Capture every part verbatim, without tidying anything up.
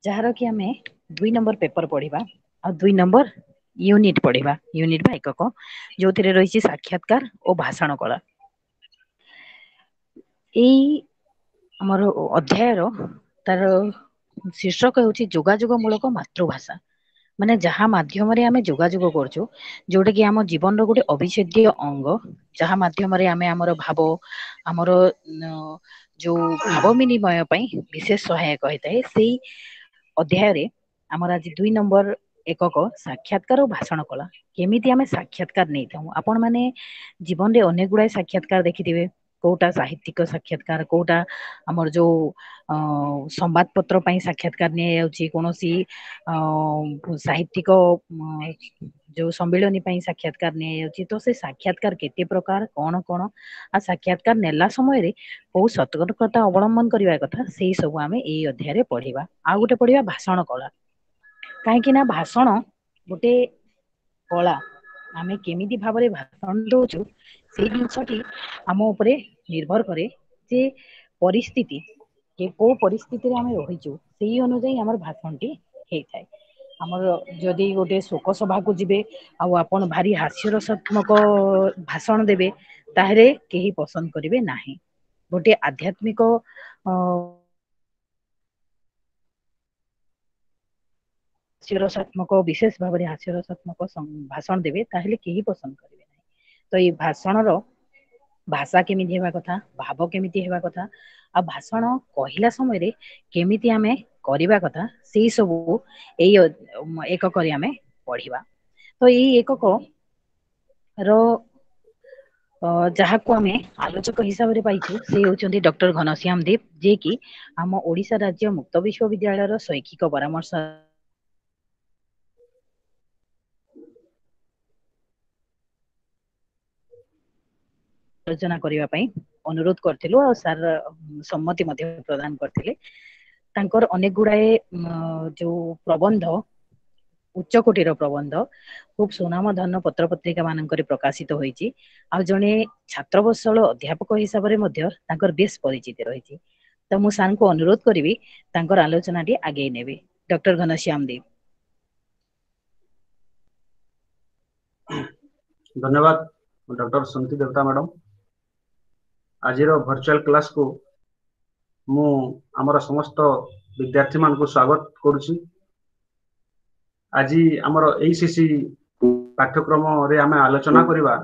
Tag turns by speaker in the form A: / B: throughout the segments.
A: ଯାହାର କି ଆମେ ଦୁଇ ନମ୍ବର ପେପର ପଢିବା ଆଉ ଦୁଇ ନମ୍ବର ୟୁନିଟ ପଢିବା, ୟୁନିଟ ବା ଏକକ, ଯୋଉଥିରେ ରହିଛି ସାକ୍ଷାତକାର ଓ ଭାଷଣ କଳା। ଏଇ ଆମର ଅଧ୍ୟାୟର ତାର ଶୀର୍ଷକ ହେଉଛି ଯୋଗାଯୋଗ ମୂଳକ ମାତୃଭାଷା, ମାନେ ଯାହା ମାଧ୍ୟମରେ ଆମେ ଯୋଗାଯୋଗ କରୁଛୁ, ଯୋଉଟା କି ଆମ ଜୀବନର ଗୋଟେ ଅବିଚ୍ଛେଦ୍ୟ ଅଙ୍ଗ, ଯାହା ମାଧ୍ୟମରେ ଆମେ ଆମର ଭାବ, ଆମର ଯୋଉ ଭାବ ବିନିମୟ ପାଇଁ ବିଶେଷ ସହାୟକ ହେଇଥାଏ। ସେଇ ଅଧ୍ୟାୟରେ ଆମର ଆଜି ଦୁଇ ନମ୍ବର ଏକକ ସାକ୍ଷାତକାର ଓ ଭାଷଣ କଳା, କେମିତି ଆମେ ସାକ୍ଷାତକାର ନେଇଥାଉ। ଆପଣ ମାନେ ଜୀବନରେ ଅନେକ ଗୁଡାଏ ସାକ୍ଷାତକାର ଦେଖିଥିବେ, କୋଉଟା ସାହିତ୍ୟିକ ସାକ୍ଷାତକାର, କୋଉଟା ଆମର ଯୋଉ ଅ ସମ୍ବାଦ ପତ୍ର ପାଇଁ ସାକ୍ଷାତକାର ନିଆଯାଉଛି, କୌଣସି ଅ ସାହିତ୍ୟିକ ଯୋଉ ସମ୍ମିଳନୀ ପାଇଁ ସାକ୍ଷାତକାର ନିଆଯାଉଛି। ତ ସେ ସାକ୍ଷାତକାର କେତେ ପ୍ରକାର, କଣ କଣ, ଆଉ ସାକ୍ଷାତକାର ନେଲା ସମୟରେ କୋଉ ସତର୍କତା ଅବଲମ୍ବନ କରିବା କଥା, ସେଇ ସବୁ ଆମେ ଏଇ ଅଧ୍ୟାୟରେ ପଢିବା। ଆଉ ଗୋଟେ ପଢିବା ଭାଷଣ କଳା, କାହିଁକି ନା ଭାଷଣ ଗୋଟେ କଳା, ଆମେ କେମିତି ଭାବରେ ଭାଷଣ ଦଉଛୁ ସେଇ ଜିନିଷଟି ଆମ ଉପରେ ନିର୍ଭର କରେ, ଯେ ପରିସ୍ଥିତି କୋଉ ପରିସ୍ଥିତିରେ ଆମେ ରହିଛୁ ସେଇ ଅନୁଯାୟୀ ଆମର ଭାଷଣଟି ହେଇଥାଏ। ଆମର ଯଦି ଗୋଟେ ଶୋକ ସଭାକୁ ଯିବେ ଆଉ ଆପଣ ଭାରି ହାସ୍ୟରସାତ୍ମକ ଭାଷଣ ଦେବେ, ତାହେଲେ କେହି ପସନ୍ଦ କରିବେ ନାହିଁ। ଗୋଟେ ଆଧ୍ୟାତ୍ମିକ ଅ ହାସ୍ୟରସାତ୍ମକ, ବିଶେଷ ଭାବରେ ହାସ୍ୟରସାତ୍ମକ ଭାଷଣ ଦେବେ, ତାହେଲେ କେହି ପସନ୍ଦ କରିବେ ନାହିଁ। ତ ଏଇ ଭାଷଣର ଭାଷା କେମିତି ହେବା କଥା, ଭାବ କେମିତି ହେବା କଥା, ଆଉ ଭାଷଣ କହିଲା ସମୟରେ କେମିତି ଆମେ କରିବା କଥା, ସେଇ ସବୁ ଏଇ ଏକକରେ ଆମେ ପଢିବା। ତ ଏଇ ଏକକ ର ଯାହାକୁ ଆମେ ଆଲୋଚକ ହିସାବରେ ପାଇଛୁ ସେ ହେଉଛନ୍ତି ଡକ୍ଟର ଘନଶ୍ୟାମ ଦେବ, ଯିଏକି ଆମ ଓଡିଶା ରାଜ୍ୟ ମୁକ୍ତ ବିଶ୍ୱବିଦ୍ୟାଳୟର ଶୈକ୍ଷିକ ପରାମର୍ଶ ଆଲୋଚନା କରିବା ପାଇଁ ଅନୁରୋଧ କରିଥିଲୁ, ଆଉ ସାର୍ ସମ୍ମତି ମଧ୍ୟ ପ୍ରଦାନ କରିଥିଲେ। ତାଙ୍କର ଅନେକ ଗୁଡାଏ ଯୋଉ ପ୍ରବନ୍ଧ, ଉଚ୍ଚ କୋଟିର ପ୍ରବନ୍ଧ, ଖୁବ ସୁନାମଧନ୍ୟ ପତ୍ର ପତ୍ରିକା ମାନଙ୍କରେ ପ୍ରକାଶିତ ହୋଇଛି। ଆଉ ଜଣେ ଛାତ୍ରବତ୍ସଳ ଅଧ୍ୟାପକ ହିସାବରେ ମଧ୍ୟ ତାଙ୍କର ବେଶ ପରିଚିତି ରହିଛି। ତ ମୁଁ ସାର୍ଙ୍କୁ ଅନୁରୋଧ କରିବି ତାଙ୍କର ଆଲୋଚନାଟି ଆଗେଇ ନେବେ। ଡକ୍ଟର ଘନଶ୍ୟାମ ଦେବ।
B: ଧନ୍ୟବାଦ ଡକ୍ଟର ସୁନୀତି ଦେବତା ମ୍ୟାଡମ। ଆଜିର ଭର୍ଚୁଆଲ କ୍ଲାସକୁ ମୁଁ ଆମର ସମସ୍ତ ବିଦ୍ୟାର୍ଥୀ ମାନଙ୍କୁ ସ୍ୱାଗତ କରୁଛି। ଆଜି ଆମର ଏଇ ସି ପାଠ୍ୟକ୍ରମରେ ଆମେ ଆଲୋଚନା କରିବା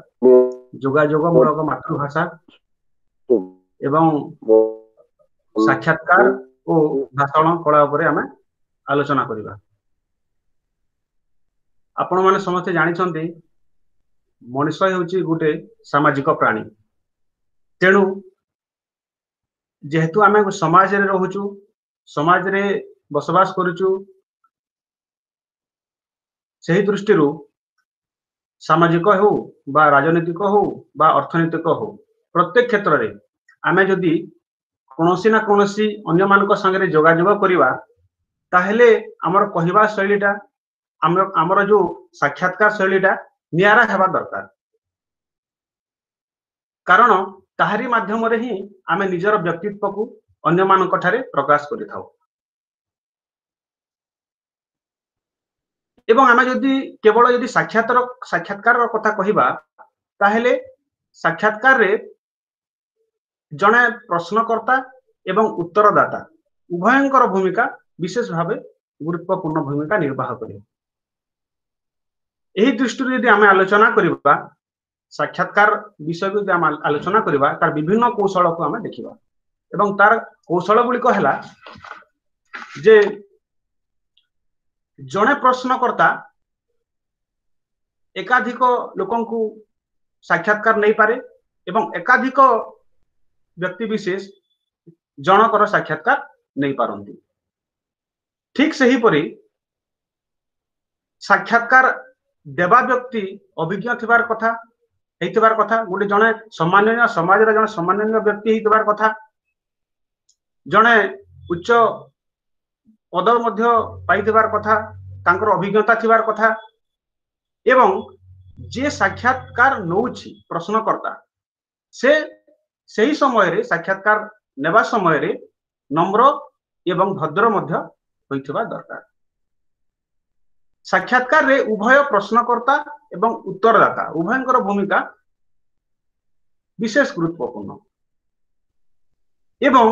B: ଯୋଗାଯୋଗ ମୂଳକ ମାତୃଭାଷା ଏବଂ ସାକ୍ଷାତକାର ଓ ଭାଷଣ କଳା ଉପରେ ଆମେ ଆଲୋଚନା କରିବା। ଆପଣମାନେ ସମସ୍ତେ ଜାଣିଛନ୍ତି ମଣିଷ ହେଉଛି ଗୋଟେ ସାମାଜିକ ପ୍ରାଣୀ। ତେଣୁ ଯେହେତୁ ଆମେ ସମାଜରେ ରହୁଛୁ, ସମାଜରେ ବସବାସ କରୁଛୁ, ସେହି ଦୃଷ୍ଟିରୁ ସାମାଜିକ ହେଉ ବା ରାଜନୈତିକ ହଉ ବା ଅର୍ଥନୈତିକ ହଉ, ପ୍ରତ୍ୟେକ କ୍ଷେତ୍ରରେ ଆମେ ଯଦି କୌଣସି ନା କୌଣସି ଅନ୍ୟମାନଙ୍କ ସାଙ୍ଗରେ ଯୋଗାଯୋଗ କରିବା, ତାହେଲେ ଆମର କହିବା ଶୈଳୀଟା, ଆମର ଆମର ଯୋଉ ସାକ୍ଷାତକାର ଶୈଳୀଟା ନିଆରା ହେବା ଦରକାର। କାରଣ ତାହାରି ମାଧ୍ୟମରେ ହିଁ ଆମେ ନିଜର ବ୍ୟକ୍ତିତ୍ୱକୁ ଅନ୍ୟମାନଙ୍କ ଠାରେ ପ୍ରକାଶ କରିଥାଉ। ଏବଂ ଆମେ ଯଦି କେବଳ ଯଦି ସାକ୍ଷାତର ସାକ୍ଷାତକାରର କଥା କହିବା, ତାହେଲେ ସାକ୍ଷାତକାରରେ ଜଣେ ପ୍ରଶ୍ନକର୍ତ୍ତା ଏବଂ ଉତ୍ତରଦାତା ଉଭୟଙ୍କର ଭୂମିକା ବିଶେଷ ଭାବେ ଗୁରୁତ୍ୱପୂର୍ଣ୍ଣ ଭୂମିକା ନିର୍ବାହ କରିବ। ଏହି ଦୃଷ୍ଟିରୁ ଯଦି ଆମେ ଆଲୋଚନା କରିବା, ସାକ୍ଷାତକାର ବିଷୟକୁ ଯଦି ଆମେ ଆଲୋଚନା କରିବା, ତାର ବିଭିନ୍ନ କୌଶଳକୁ ଆମେ ଦେଖିବା। ଏବଂ ତାର କୌଶଳ ଗୁଡ଼ିକ ହେଲା ଯେ ଜଣେ ପ୍ରଶ୍ନକର୍ତ୍ତା ଏକାଧିକ ଲୋକଙ୍କୁ ସାକ୍ଷାତକାର ନେଇପାରେ ଏବଂ ଏକାଧିକ ବ୍ୟକ୍ତି ବିଶେଷ ଜଣକର ସାକ୍ଷାତକାର ନେଇପାରନ୍ତି। ଠିକ ସେହିପରି ସାକ୍ଷାତକାର ଦେବା ବ୍ୟକ୍ତି ଅଭିଜ୍ଞ ଥିବାର କଥା, ହେଇଥିବାର କଥା, ଗୋଟେ ଜଣେ ସମ୍ମାନନୀୟ ସମାଜର ଜଣେ ସମ୍ମାନନୀୟ ବ୍ୟକ୍ତି ହେଇଥିବାର କଥା, ଜଣେ ଉଚ୍ଚ ପଦ ମଧ୍ୟ ପାଇଥିବାର କଥା, ତାଙ୍କର ଅଭିଜ୍ଞତା ଥିବାର କଥା, ଏବଂ ଯିଏ ସାକ୍ଷାତକାର ନଉଛି ପ୍ରଶ୍ନକର୍ତ୍ତା, ସେ ସେହି ସମୟରେ ସାକ୍ଷାତକାର ନେବା ସମୟରେ ନମ୍ର ଏବଂ ଭଦ୍ର ମଧ୍ୟ ହୋଇଥିବା ଦରକାର। ସାକ୍ଷାତକାରରେ ଉଭୟ ପ୍ରଶ୍ନକର୍ତ୍ତା ଏବଂ ଉତ୍ତରଦାତା ଉଭୟଙ୍କର ଭୂମିକା ବିଶେଷ ଗୁରୁତ୍ୱପୂର୍ଣ୍ଣ ଏବଂ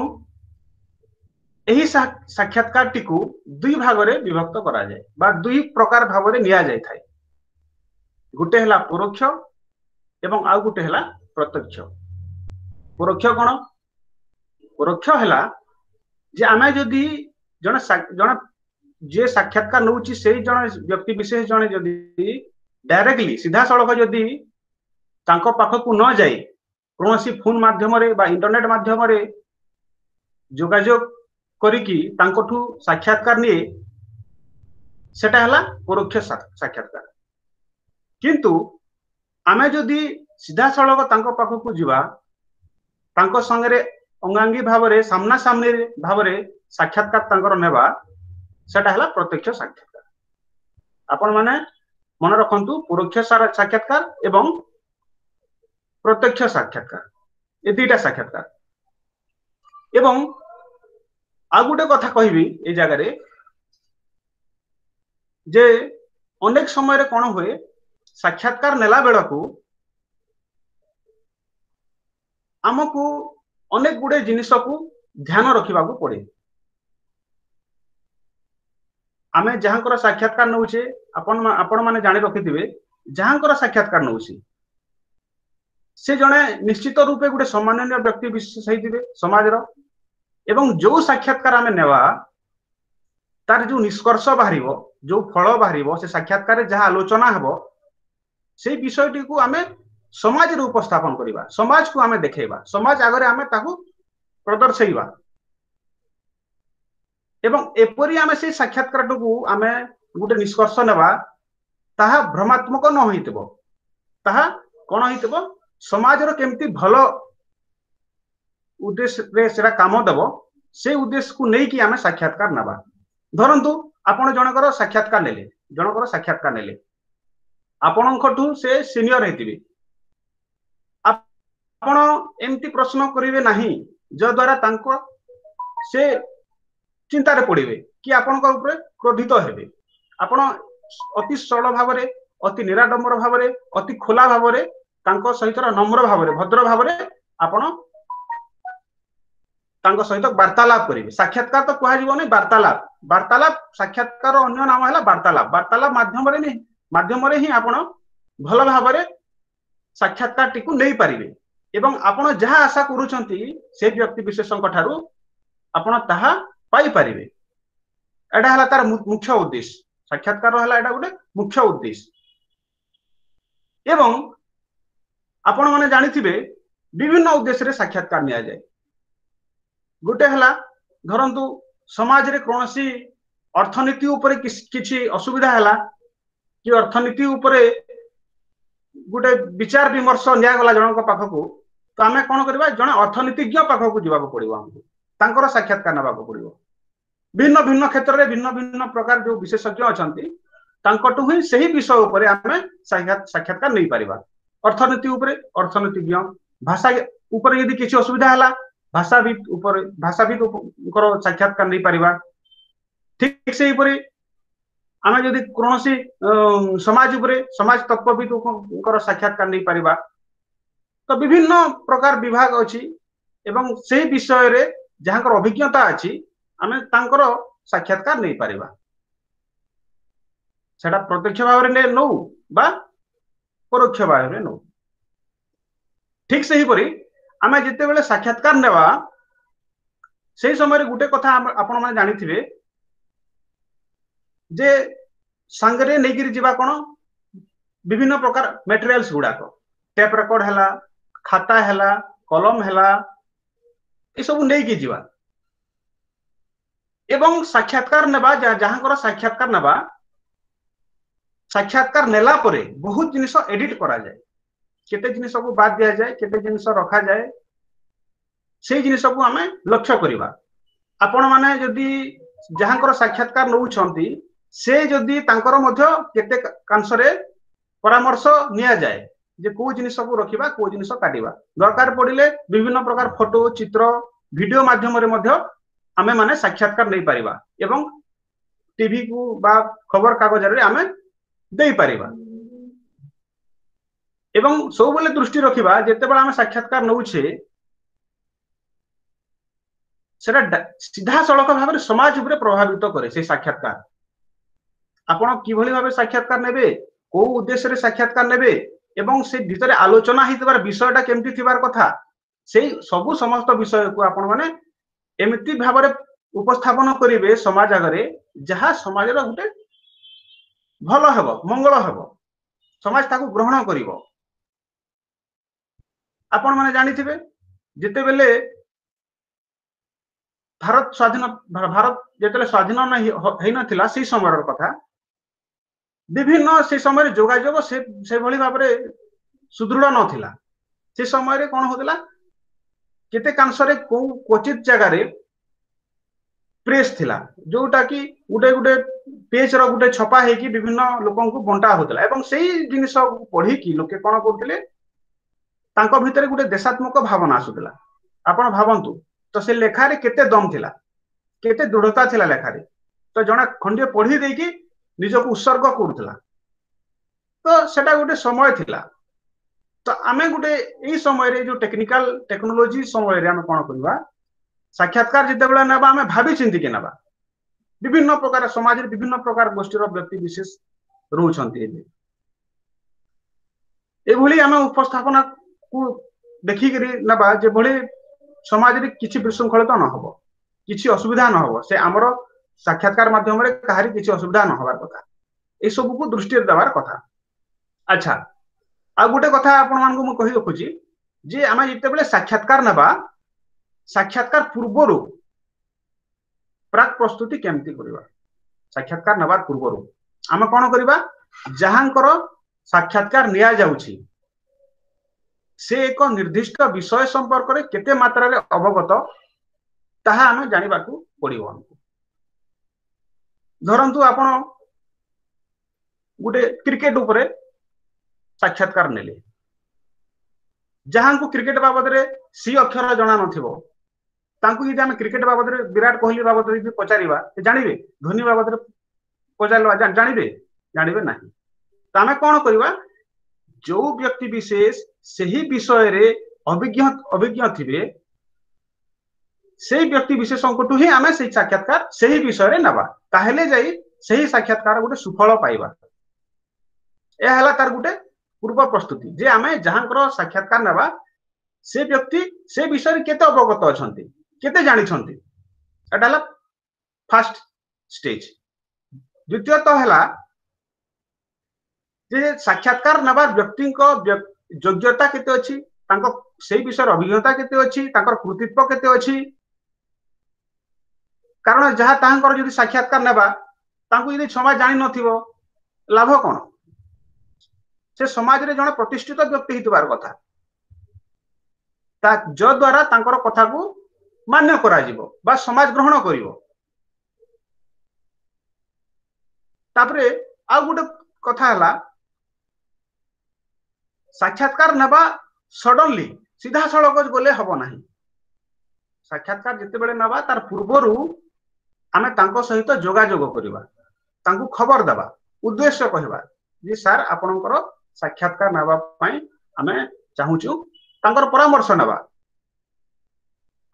B: ଏହି ସାକ୍ଷାତକାରଟିକୁ ଦୁଇ ଭାଗରେ ବିଭକ୍ତ କରାଯାଏ ବା ଦୁଇ ପ୍ରକାର ଭାବରେ ନିଆଯାଇଥାଏ। ଗୋଟେ ହେଲା ପରୋକ୍ଷ ଏବଂ ଆଉ ଗୋଟେ ହେଲା ପ୍ରତ୍ୟକ୍ଷ। ପରୋକ୍ଷ କଣ? ପରୋକ୍ଷ ହେଲା ଯେ ଆମେ ଯଦି ଜଣେ ଜଣେ ଯିଏ ସାକ୍ଷାତକାର ନଉଛି ସେଇ ଜଣେ ବ୍ୟକ୍ତି ବିଶେଷ ଜଣେ ଯଦି ଡାଇରେକ୍ଟଲି ସିଧାସଳଖ ଯଦି ତାଙ୍କ ପାଖକୁ ନ ଯାଇ କୌଣସି ଫୋନ ମାଧ୍ୟମରେ ବା ଇଣ୍ଟରନେଟ ମାଧ୍ୟମରେ ଯୋଗାଯୋଗ କରିକି ତାଙ୍କଠୁ ସାକ୍ଷାତକାର ନିଏ, ସେଟା ହେଲା ପରୋକ୍ଷ ସାକ୍ଷାତକାର। କିନ୍ତୁ ଆମେ ଯଦି ସିଧାସଳଖ ତାଙ୍କ ପାଖକୁ ଯିବା, ତାଙ୍କ ସାଙ୍ଗରେ ଅଙ୍ଗାଙ୍ଗୀ ଭାବରେ ସାମ୍ନାସାମ୍ନି ଭାବରେ ସାକ୍ଷାତକାର ତାଙ୍କର ନେବା, ସେଟା ହେଲା ପ୍ରତ୍ୟକ୍ଷ ସାକ୍ଷାତକାର। ଆପଣ ମାନେ ମନେ ରଖନ୍ତୁ, ପରୋକ୍ଷ ସାକ୍ଷାତକାର ଏବଂ ପ୍ରତ୍ୟକ୍ଷ ସାକ୍ଷାତକାର, ଏ ଦିଟା ସାକ୍ଷାତକାର। ଏବଂ ଆଉ ଗୋଟେ କଥା କହିବି ଏଇ ଜାଗାରେ ଯେ ଅନେକ ସମୟରେ କଣ ହୁଏ, ସାକ୍ଷାତକାର ନେଲା ବେଳକୁ ଆମକୁ ଅନେକ ଗୁଡେ ଜିନିଷକୁ ଧ୍ୟାନ ରଖିବାକୁ ପଡେ। ଆମେ ଯାହାଙ୍କର ସାକ୍ଷାତକାର ନଉଛେ, ଆପଣ ଆପଣ ମାନେ ଜାଣି ରଖିଥିବେ, ଯାହାଙ୍କର ସାକ୍ଷାତକାର ନଉଛି ସେ ଜଣେ ନିଶ୍ଚିତ ରୂପେ ଗୋଟେ ସମ୍ମାନନୀୟ ବ୍ୟକ୍ତି ବିଶେଷ ହେଇଥିବେ ସମାଜର, ଏବଂ ଯୋଉ ସାକ୍ଷାତକାର ଆମେ ନେବା ତାର ଯୋଉ ନିଷ୍କର୍ଷ ବାହାରିବ, ଯୋଉ ଫଳ ବାହାରିବ, ସେ ସାକ୍ଷାତକାରରେ ଯାହା ଆଲୋଚନା ହେବ, ସେଇ ବିଷୟଟିକୁ ଆମେ ସମାଜରେ ଉପସ୍ଥାପନ କରିବା, ସମାଜକୁ ଆମେ ଦେଖେଇବା, ସମାଜ ଆଗରେ ଆମେ ତାକୁ ପ୍ରଦର୍ଶେଇବା। ଏବଂ ଏପରି ଆମେ ସେଇ ସାକ୍ଷାତକାରଟିକୁ ଆମେ ଗୋଟେ ନିଷ୍କର୍ଷ ନେବା, ତାହା ଭ୍ରମାତ୍ମକ ନ ହେଇଥିବ, ତାହା କଣ ହେଇଥିବ, ସମାଜର କେମିତି ଭଲ ଉଦ୍ଦେଶ୍ୟରେ ସେଟା କାମ ଦେବ, ସେଇ ଉଦ୍ଦେଶ୍ୟକୁ ନେଇକି ଆମେ ସାକ୍ଷାତକାର ନେବା। ଧରନ୍ତୁ ଆପଣ ଜଣଙ୍କର ସାକ୍ଷାତକାର ନେଲେ, ଜଣଙ୍କର ସାକ୍ଷାତକାର ନେଲେ, ଆପଣଙ୍କଠୁ ସେ ସିନିୟର ହେଇଥିବେ, ଆପଣ ଏମିତି ପ୍ରଶ୍ନ କରିବେ ନାହିଁ ଯଦ୍ୱାରା ତାଙ୍କ ସେ ଚିନ୍ତାରେ ପଡିବେ କି ଆପଣଙ୍କ ଉପରେ କ୍ରୋଧିତ ହେବେ। ଆପଣ ଅତି ସରଳ ଭାବରେ, ଅତି ନିରାଡମ୍ବର ଭାବରେ, ଅତି ଖୋଲା ଭାବରେ, ତାଙ୍କ ସହିତ ନମ୍ର ଭାବରେ, ଭଦ୍ର ଭାବରେ ଆପଣ ତାଙ୍କ ସହିତ ବାର୍ତ୍ତାଳାପ କରିବେ। ସାକ୍ଷାତକାର ତ କୁହାଯିବନି, ବାର୍ତ୍ତାଳାପ। ବାର୍ତ୍ତାଳାପ, ସାକ୍ଷାତକାର ଅନ୍ୟ ନାମ ହେଲା ବାର୍ତ୍ତାଳାପ। ବାର୍ତ୍ତାଳାପ ମାଧ୍ୟମରେ ମାଧ୍ୟମରେ ହିଁ ଆପଣ ଭଲ ଭାବରେ ସାକ୍ଷାତକାରଟିକୁ ନେଇପାରିବେ ଏବଂ ଆପଣ ଯାହା ଆଶା କରୁଛନ୍ତି ସେ ବ୍ୟକ୍ତି ବିଶେଷଙ୍କ ଠାରୁ ଆପଣ ତାହା ପାଇପାରିବେ। ଏଇଟା ହେଲା ତାର ମୁଖ୍ୟ ଉଦ୍ଦେଶ୍ୟ। ସାକ୍ଷାତକାର ହେଲା ଏଇଟା ଗୋଟେ ମୁଖ୍ୟ ଉଦ୍ଦେଶ୍ୟ। ଏବଂ ଆପଣ ମାନେ ଜାଣିଥିବେ ବିଭିନ୍ନ ଉଦ୍ଦେଶ୍ୟରେ ସାକ୍ଷାତକାର ନିଆଯାଏ। ଗୋଟେ ହେଲା ଧରନ୍ତୁ ସମାଜରେ କୌଣସି ଅର୍ଥନୀତି ଉପରେ କିଛି ଅସୁବିଧା ହେଲା କି ଅର୍ଥନୀତି ଉପରେ ଗୋଟେ ବିଚାର ବିମର୍ଶ ନିଆଗଲା ଜଣଙ୍କ ପାଖକୁ, ତ ଆମେ କଣ କରିବା, ଜଣେ ଅର୍ଥନୀତିଜ୍ଞ ପାଖକୁ ଯିବାକୁ ପଡିବ, ଆମକୁ ତାଙ୍କର ସାକ୍ଷାତକାର ନେବାକୁ ପଡିବ। ଭିନ୍ନ ଭିନ୍ନ କ୍ଷେତ୍ରରେ ଭିନ୍ନ ଭିନ୍ନ ପ୍ରକାର ଯୋଉ ବିଶେଷଜ୍ଞ ଅଛନ୍ତି ତାଙ୍କଠୁ ହିଁ ସେହି ବିଷୟ ଉପରେ ଆମେ ସାକ୍ଷାତକାର ନେଇପାରିବା। ଅର୍ଥନୀତି ଉପରେ ଅର୍ଥନୀତିଜ୍ଞ, ଭାଷା ଉପରେ ଯଦି କିଛି ଅସୁବିଧା ହେଲା ଭାଷାବିତ୍ ଉପରେ ଭାଷାବିତଙ୍କର ସାକ୍ଷାତକାର ନେଇପାରିବା। ଠିକ ସେହିପରି ଆମେ ଯଦି କୌଣସି ସମାଜ ଉପରେ ସମାଜ ତତ୍ତ୍ୱବିତଙ୍କର ସାକ୍ଷାତକାର ନେଇପାରିବା। ତ ବିଭିନ୍ନ ପ୍ରକାର ବିଭାଗ ଅଛି ଏବଂ ସେଇ ବିଷୟରେ ଯାହାଙ୍କର ଅଭିଜ୍ଞତା ଅଛି ଆମେ ତାଙ୍କର ସାକ୍ଷାତକାର ନେଇପାରିବା। ସେଟା ପ୍ରତ୍ୟକ୍ଷ ଭାବରେ ନଉ ବା ପରୋକ୍ଷ ଭାବରେ ନଉ। ଠିକ ସେହିପରି ଆମେ ଯେତେବେଳେ ସାକ୍ଷାତକାର ନେବା ସେଇ ସମୟରେ ଗୋଟେ କଥା ଆପଣମାନେ ଜାଣିଥିବେ ଯେ ସାଙ୍ଗରେ ନେଇକିରି ଯିବା କଣ, ବିଭିନ୍ନ ପ୍ରକାର ମେଟେରିଆଲ୍ସ ଗୁଡାକ, ଟେପ୍ ରେକର୍ଡ ହେଲା, ଖାତା ହେଲା, କଲମ ହେଲା, ଏସବୁ ନେଇକି ଯିବା ଏବଂ ସାକ୍ଷାତକାର ନେବା। ଯାହାଙ୍କର ସାକ୍ଷାତକାର ନେବା, ସାକ୍ଷାତକାର ନେଲା ପରେ ବହୁତ ଜିନିଷ ଏଡିଟ କରାଯାଏ, କେତେ ଜିନିଷକୁ ବାଦ ଦିଆଯାଏ, କେତେ ଜିନିଷ ରଖାଯାଏ, ସେଇ ଜିନିଷକୁ ଆମେ ଲକ୍ଷ୍ୟ କରିବା। ଆପଣମାନେ ଯଦି ଯାହାଙ୍କର ସାକ୍ଷାତକାର ନେଉଛନ୍ତି ସେ ଯଦି ତାଙ୍କର ମଧ୍ୟ କେତେ କାଂଶରେ ପରାମର୍ଶ ନିଆଯାଏ ଯେ କୋଉ ଜିନିଷକୁ ରଖିବା, କୋଉ ଜିନିଷ କାଟିବା। ଦରକାର ପଡିଲେ ବିଭିନ୍ନ ପ୍ରକାର ଫଟୋ, ଚିତ୍ର, ଭିଡିଓ ମାଧ୍ୟମରେ ମଧ୍ୟ ଆମେ ମାନେ ସାକ୍ଷାତକାର ନେଇପାରିବା ଏବଂ ଟିଭି କୁ ବା ଖବର କାଗଜରେ ଆମେ ଦେଇପାରିବା। ଏବଂ ସବୁବେଳେ ଦୃଷ୍ଟି ରଖିବା, ଯେତେବେଳେ ଆମେ ସାକ୍ଷାତକାର ନଉଛେ, ସେଟା ସିଧାସଳଖ ଭାବରେ ସମାଜ ଉପରେ ପ୍ରଭାବିତ କରେ ସେଇ ସାକ୍ଷାତକାର। ଆପଣ କିଭଳି ଭାବେ ସାକ୍ଷାତକାର ନେବେ, କୋଉ ଉଦ୍ଦେଶ୍ୟରେ ସାକ୍ଷାତକାର ନେବେ ଏବଂ ସେ ଭିତରେ ଆଲୋଚନା ହେଇଥିବାର ବିଷୟଟା କେମିତି ଥିବାର କଥା, ସେଇ ସବୁ ସମସ୍ତ ବିଷୟକୁ ଆପଣ ମାନେ ଏମିତି ଭାବରେ ଉପସ୍ଥାପନ କରିବେ ସମାଜ ଆଗରେ, ଯାହା ସମାଜର ଗୋଟେ ଭଲ ହେବ, ମଙ୍ଗଳ ହେବ, ସମାଜ ତାକୁ ଗ୍ରହଣ କରିବ। ଆପଣ ମାନେ ଜାଣିଥିବେ, ଯେତେବେଳେ ଭାରତ ସ୍ୱାଧୀନ ଭାରତ ଯେତେବେଳେ ସ୍ୱାଧୀନ ହେଇନଥିଲା, ସେଇ ସମୟର କଥା, ବିଭିନ୍ନ ସେ ସମୟରେ ଯୋଗାଯୋଗ ସେ ସେଭଳି ଭାବରେ ସୁଦୃଢ ନଥିଲା। ସେ ସମୟରେ କଣ ହଉଥିଲା, କେତେକାଂଶରେ କୋଉ କ୍ୱଚିତ ଜାଗାରେ ପ୍ରେସ୍ ଥିଲା, ଯୋଉଟା କି ଗୋଟେ ଗୋଟେ ପେଜ ର ଗୋଟେ ଛପା ହେଇକି ବିଭିନ୍ନ ଲୋକଙ୍କୁ ବଣ୍ଟା ହଉଥିଲା। ଏବଂ ସେଇ ଜିନିଷ ପଢିକି ଲୋକେ କଣ କରୁଥିଲେ, ତାଙ୍କ ଭିତରେ ଗୋଟେ ଦେଶାତ୍ମକ ଭାବନା ଆସୁଥିଲା। ଆପଣ ଭାବନ୍ତୁ ତ, ସେ ଲେଖାରେ କେତେ ଦମ ଥିଲା, କେତେ ଦୃଢତା ଥିଲା ଲେଖାରେ। ତ ଜଣେ ଖଣ୍ଡିଏ ପଢି ଦେଇକି ନିଜକୁ ଉତ୍ସର୍ଗ କରୁଥିଲା। ତ ସେଟା ଗୋଟେ ସମୟ ଥିଲା। ତ ଆମେ ଗୋଟେ ଏଇ ସମୟରେ, ଯୋଉ ଟେକ୍ନିକାଲ ଟେକ୍ନୋଲୋଜି ସମୟରେ ଆମେ କଣ କରିବା? ସାକ୍ଷାତକାର ଯେତେବେଳେ ନେବା, ଆମେ ଭାବି ଚିନ୍ତିକି ନେବା। ବିଭିନ୍ନ ପ୍ରକାର ସମାଜରେ ବିଭିନ୍ନ ପ୍ରକାର ଗୋଷ୍ଠୀର ବ୍ୟକ୍ତି ବିଶେଷ ରହୁଛନ୍ତି। ଏବେ ଏଭଳି ଆମେ ଉପସ୍ଥାପନାକୁ ଦେଖିକିରି ନେବା, ଯେଭଳି ସମାଜରେ କିଛି ବିଶୃଙ୍ଖଳିତ ନ ହବ, କିଛି ଅସୁବିଧା ନ ହବ। ସେ ଆମର ସାକ୍ଷାତକାର ମାଧ୍ୟମରେ କାହାରି କିଛି ଅସୁବିଧା ନ ହବାର କଥା, ଏସବୁକୁ ଦୃଷ୍ଟିରେ ଦେବାର କଥା। ଆଚ୍ଛା, ଆଉ ଗୋଟେ କଥା ଆପଣମାନଙ୍କୁ ମୁଁ କହି ରଖୁଛି ଯେ ଆମେ ଯେତେବେଳେ ସାକ୍ଷାତକାର ନେବା, ସାକ୍ଷାତକାର ପୂର୍ବରୁ ପ୍ରାକ୍ ପ୍ରସ୍ତୁତି କେମିତି କରିବା? ସାକ୍ଷାତକାର ନେବାର ପୂର୍ବରୁ ଆମେ କଣ କରିବା? ଯାହାଙ୍କର ସାକ୍ଷାତକାର ନିଆଯାଉଛି, ସେ ଏକ ନିର୍ଦ୍ଦିଷ୍ଟ ବିଷୟ ସମ୍ପର୍କରେ କେତେ ମାତ୍ରାରେ ଅବଗତ, ତାହା ଆମେ ଜାଣିବାକୁ ପଡିବ ଆମକୁ। ଧରନ୍ତୁ ଆପଣ ଗୋଟେ କ୍ରିକେଟ ଉପରେ ସାକ୍ଷାତକାର ନେଲେ, ଯାହାଙ୍କୁ କ୍ରିକେଟ ବାବଦରେ ସି ଅକ୍ଷର ଜଣା ନଥିବ, ତାଙ୍କୁ ଯଦି ଆମେ କ୍ରିକେଟ ବାବଦରେ, ବିରାଟ କୋହଲି ବାବଦରେ ଯଦି ପଚାରିବା, ସେ ଜାଣିବେ? ଧୋନି ବାବଦରେ ପଚାରିବା, ଜାଣିବେ? ଜାଣିବେ ନାହିଁ। ତ ଆମେ କଣ କରିବା? ଯୋଉ ବ୍ୟକ୍ତି ବିଶେଷ ସେହି ବିଷୟରେ ଅଭିଜ୍ଞ ଅଭିଜ୍ଞ ଥିବେ, ସେଇ ବ୍ୟକ୍ତି ବିଶେଷଙ୍କଠୁ ହିଁ ଆମେ ସେଇ ସାକ୍ଷାତକାର ସେହି ବିଷୟରେ ନେବା। ତାହେଲେ ଯାଇ ସେହି ସାକ୍ଷାତକାର ଗୋଟେ ସୁଫଳ ପାଇବା। ଏହା ହେଲା ତାର ଗୋଟେ ପୂର୍ବ ପ୍ରସ୍ତୁତି ଯେ ଆମେ ଯାହାଙ୍କର ସାକ୍ଷାତକାର ନେବା, ସେ ବ୍ୟକ୍ତି ସେ ବିଷୟରେ କେତେ ଅବଗତ ଅଛନ୍ତି, କେତେ ଜାଣିଛନ୍ତି। ଏଟା ହେଲା ଫାଷ୍ଟ ଷ୍ଟେଜ। ଦ୍ୱିତୀୟତଃ ହେଲା ଯେ ସାକ୍ଷାତକାର ନେବା ବ୍ୟକ୍ତିଙ୍କ ଯୋଗ୍ୟତା କେତେ ଅଛି, ତାଙ୍କ ସେଇ ବିଷୟରେ ଅଭିଜ୍ଞତା କେତେ ଅଛି, ତାଙ୍କର କୃତିତ୍ୱ କେତେ ଅଛି। କାରଣ ଯାହା ତାହାଙ୍କର ଯଦି ସାକ୍ଷାତକାର ନେବା, ତାଙ୍କୁ ଯଦି ସମାଜ ଜାଣିନଥିବ, ଲାଭ କଣ? ସେ ସମାଜରେ ଜଣେ ପ୍ରତିଷ୍ଠିତ ବ୍ୟକ୍ତି ହେଇଥିବାର କଥା, ତା ଯଦ୍ୱାରା ତାଙ୍କର କଥାକୁ ମାନ୍ୟ କରାଯିବ ବା ସମାଜ ଗ୍ରହଣ କରିବ। ତାପରେ ଆଉ ଗୋଟେ କଥା ହେଲା, ସାକ୍ଷାତକାର ନେବା ସଡନଲି ସିଧାସଳଖ ଗଲେ ହବ ନାହିଁ। ସାକ୍ଷାତକାର ଯେତେବେଳେ ନେବା, ତାର ପୂର୍ବରୁ ଆମେ ତାଙ୍କ ସହିତ ଯୋଗାଯୋଗ କରିବା, ତାଙ୍କୁ ଖବର ଦେବା, ଉଦ୍ଦେଶ୍ୟ କହିବା ଯେ ସାର୍, ଆପଣଙ୍କର ସାକ୍ଷାତକାର ନେବା ପାଇଁ ଆମେ ଚାହୁଁଛୁ। ତାଙ୍କର ପରାମର୍ଶ ନେବା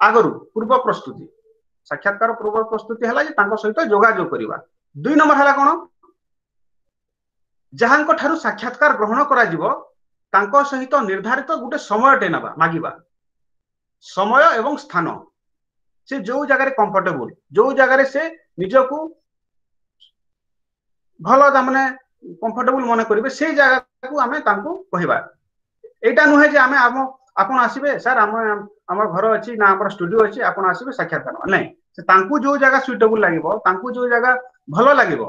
B: ଆଗରୁ। ପୂର୍ବ ପ୍ରସ୍ତୁତି, ସାକ୍ଷାତକାର ପୂର୍ବ ପ୍ରସ୍ତୁତି ହେଲା ଯେ ତାଙ୍କ ସହିତ ଯୋଗାଯୋଗ କରିବା। ଦୁଇ ନମ୍ବର ହେଲା କଣ? ଯାହାଙ୍କ ଠାରୁ ସାକ୍ଷାତକାର ଗ୍ରହଣ କରାଯିବ, ତାଙ୍କ ସହିତ ନିର୍ଦ୍ଧାରିତ ଗୋଟେ ସମୟଟେ ନେବା, ମାଗିବା ସମୟ ଏବଂ ସ୍ଥାନ। ସେ ଯୋଉ ଜାଗାରେ କମ୍ଫର୍ଟେବୁଲ, ଯୋଉ ଜାଗାରେ ସେ ନିଜକୁ ଭଲ, ତାମାନେ କମ୍ଫର୍ଟେବୁଲ ମନେ କରିବେ, ସେଇ ଜାଗାକୁ ଆମେ ତାଙ୍କୁ କହିବା। ଏଇଟା ନୁହେଁ ଯେ ଆମେ ଆମ ଆପଣ ଆସିବେ ସାର୍, ଆମ ଆମର ଘର ଅଛି ନା ଆମର ଷ୍ଟୁଡିଓ ଅଛି, ଆପଣ ଆସିବେ ସାକ୍ଷାତକାର। ନାଇଁ, ସେ ତାଙ୍କୁ ଯୋଉ ଜାଗା ସୁଇଟେବୁଲ ଲାଗିବ, ତାଙ୍କୁ ଯୋଉ ଜାଗା ଭଲ ଲାଗିବ,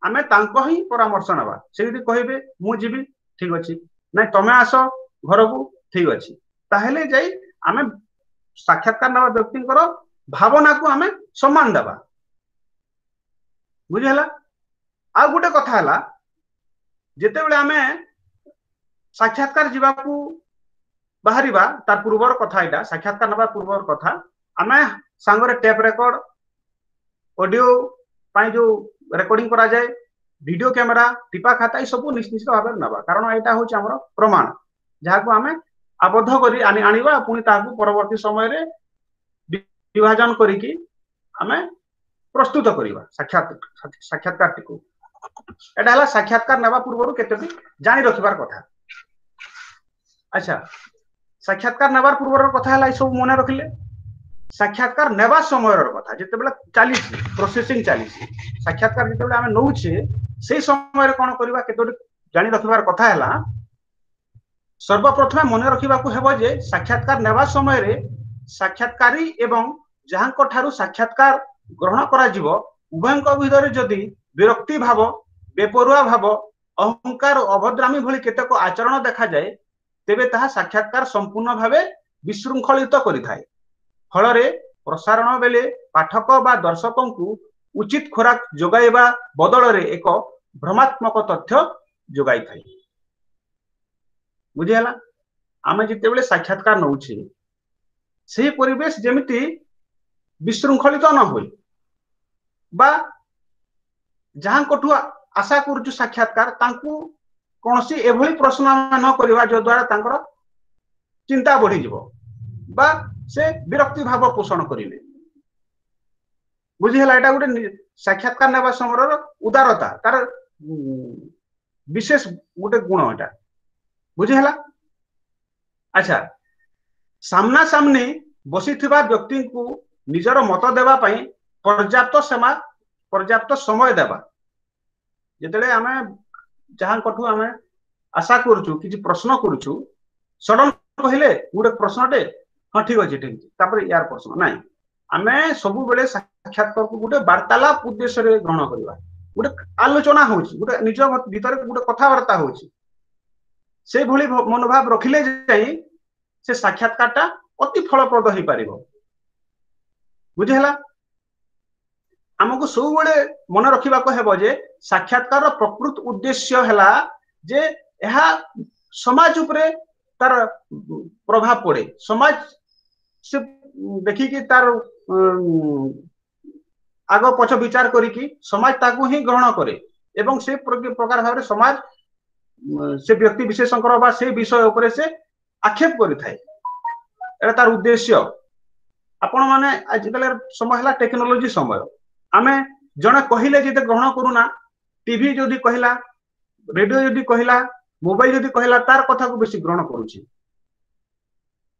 B: ଆମେ ତାଙ୍କ ହିଁ ପରାମର୍ଶ ନେବା। ସେ ଯଦି କହିବେ ମୁଁ ଯିବି, ଠିକ ଅଛି। ନାଇଁ, ତମେ ଆସ ଘରକୁ, ଠିକ ଅଛି। ତାହେଲେ ଯାଇ ଆମେ ସାକ୍ଷାତକାର ନେବା ବ୍ୟକ୍ତିଙ୍କର ଭାବନାକୁ ଆମେ ସମ୍ମାନ ଦେବା। ବୁଝିହେଲା? ଆଉ ଗୋଟେ କଥା ହେଲା, ଯେତେବେଳେ ଆମେ ସାକ୍ଷାତକାର ଯିବାକୁ ବାହାରିବା, ତାର ପୂର୍ବର କଥା ଏଇଟା, ସାକ୍ଷାତକାର ନେବା ପୂର୍ବର କଥା, ଆମେ ସାଙ୍ଗରେ ଟେପ୍ ରେକର୍ଡ, ଅଡିଓ ପାଇଁ ଯୋଉ ରେକର୍ଡିଂ କରାଯାଏ, ଭିଡିଓ କ୍ୟାମେରା, ଟିପା ଖାତା, ଏ ସବୁ ନିଶ୍ଚିତ ଭାବରେ ନେବା, କାରଣ ଏଇଟା ହଉଛି ଆମର ପ୍ରମାଣ, ଯାହାକୁ ଆମେ ଆବଦ୍ଧ କରି ଆଣିବା, ପୁଣି ତାହାକୁ ପରବର୍ତ୍ତୀ ସମୟରେ ବିଭାଜନ କରିକି ଆମେ ପ୍ରସ୍ତୁତ କରିବା ସାକ୍ଷାତ ସାକ୍ଷାତକାରଟିକୁ। ଏଇଟା ହେଲା ସାକ୍ଷାତକାର ନେବା ପୂର୍ବରୁ କେତୋଟି ଜାଣି ରଖିବାର କଥା। ଆଚ୍ଛା, ସାକ୍ଷାତକାର ନେବାର ପୂର୍ବର କଥା ହେଲା ଏସବୁ ମନେ ରଖିଲେ। ସାକ୍ଷାତକାର ନେବା ସମୟର କଥା, ଯେତେବେଳେ ଚାଲିଛି ପ୍ରୋସେସିଂ ଚାଲିଛି, ସାକ୍ଷାତକାର ଯେତେବେଳେ ଆମେ ନଉଛେ, ସେଇ ସମୟରେ କଣ କରିବା କେତୋଟି ଜାଣି ରଖିବାର କଥା ହେଲା, ସର୍ବପ୍ରଥମେ ମନେ ରଖିବାକୁ ହେବ ଯେ ସାକ୍ଷାତକାର ନେବା ସମୟରେ ସାକ୍ଷାତକାରୀ ଏବଂ ଯାହାଙ୍କ ଠାରୁ ସାକ୍ଷାତକାର ଗ୍ରହଣ କରାଯିବ ଉଭୟଙ୍କ ଭିତରେ ଯଦି ବିରକ୍ତି ଭାବ, ବେପରୁଆ ଭାବ, ଅହଙ୍କାର, ଅଭଦ୍ରାମୀ ଭଳି କେତେକ ଆଚରଣ ଦେଖାଯାଏ, ତେବେ ତାହା ସାକ୍ଷାତକାର ସମ୍ପୂର୍ଣ୍ଣ ଭାବେ ବିଶୃଙ୍ଖଳିତ କରିଥାଏ। ଫଳରେ ପ୍ରସାରଣ ବେଳେ ପାଠକ ବା ଦର୍ଶକଙ୍କୁ ଉଚିତ ଖୋରାକ ଯୋଗାଇବା ବଦଳରେ ଏକ ଭ୍ରମାତ୍ମକ ତଥ୍ୟ ଯୋଗାଇଥାଏ। ବୁଝିହେଲା? ଆମେ ଯେତେବେଳେ ସାକ୍ଷାତକାର ନଉଛେ, ସେହି ପରିବେଶ ଯେମିତି ବିଶୃଙ୍ଖଳିତ ନ ହୁଏ ବା ଯାହାଙ୍କଠୁ ଆଶା କରୁଛୁ ସାକ୍ଷାତକାର ତାଙ୍କୁ କୌଣସି ଏଭଳି ପ୍ରଶ୍ନ ଆମେ ନ କରିବା ଯଦ୍ୱାରା ତାଙ୍କର ଚିନ୍ତା ବଢିଯିବ ବା ସେ ବିରକ୍ତି ଭାବ ପୋଷଣ କରିବେ। ବୁଝିହେଲା? ଏଇଟା ଗୋଟେ ସାକ୍ଷାତକାର ନେବା ସମୟର ଉଦାରତା, ତାର ବିଶେଷ ଗୋଟେ ଗୁଣ ଏଟା। ବୁଝିହେଲା? ଆଚ୍ଛା, ସାମ୍ନା ସାମ୍ନି ବସିଥିବା ବ୍ୟକ୍ତିଙ୍କୁ ନିଜର ମତ ଦେବା ପାଇଁ ପର୍ଯ୍ୟାପ୍ତ ସେମା ପର୍ଯ୍ୟାପ୍ତ ସମୟ ଦେବା। ଯେତେବେଳେ ଆମେ ଯାହାଙ୍କଠୁ ଆମେ ଆଶା କରୁଛୁ କିଛି ପ୍ରଶ୍ନ କରୁଛୁ, ସଡନ କହିଲେ ଗୋଟେ ପ୍ରଶ୍ନଟେ, ହଁ ଠିକ ଅଛି ଠିକ ଅଛି, ତାପରେ ୟାର ପ୍ରଶ୍ନ ନାଇଁ। ଆମେ ସବୁବେଳେ ସାକ୍ଷାତକାରକୁ ଗୋଟେ ବାର୍ତ୍ତାଳାପ ଉଦ୍ଦେଶ୍ୟରେ ଗ୍ରହଣ କରିବା। ଗୋଟେ ଆଲୋଚନା ହଉଛି, ଗୋଟେ ନିଜ ଭିତରେ ଗୋଟେ କଥାବାର୍ତ୍ତା ହଉଛି, ସେଇଭଳି ମନୋଭାବ ରଖିଲେ ଯାଇ ସେ ସାକ୍ଷାତକାରଟା ଅତି ଫଳପ୍ରଦ ହେଇପାରିବ। ବୁଝିହେଲା? ଆମକୁ ସବୁବେଳେ ମନେ ରଖିବାକୁ ହେବ ଯେ ସାକ୍ଷାତକାରର ପ୍ରକୃତ ଉଦ୍ଦେଶ୍ୟ ହେଲା ଯେ ଏହା ସମାଜ ଉପରେ ତାର ପ୍ରଭାବ ପଡେ। ସମାଜ ସେ ଦେଖିକି ତାର ଆଗ ପଛ ବିଚାର କରିକି ସମାଜ ତାକୁ ହିଁ ଗ୍ରହଣ କରେ ଏବଂ ସେ ପ୍ରକାର ଭାବରେ ସମାଜ ସେ ବ୍ୟକ୍ତି ବିଶେଷଙ୍କର ବା ସେ ବିଷୟ ଉପରେ ସେ ଆକ୍ଷେପ କରିଥାଏ। ଏଇଟା ତାର ଉଦ୍ଦେଶ୍ୟ। ଆପଣ ମାନେ ଆଜିକାଲି ସମୟ ହେଲା ଟେକ୍ନୋଲୋଜି ସମୟ। ଆମେ ଜଣେ କହିଲେ ଯେତେ ଗ୍ରହଣ କରୁନା, ଟିଭି ଯଦି କହିଲା, ରେଡିଓ ଯଦି କହିଲା, ମୋବାଇଲ ଯଦି କହିଲା, ତାର କଥାକୁ ବେଶୀ ଗ୍ରହଣ କରୁଛି।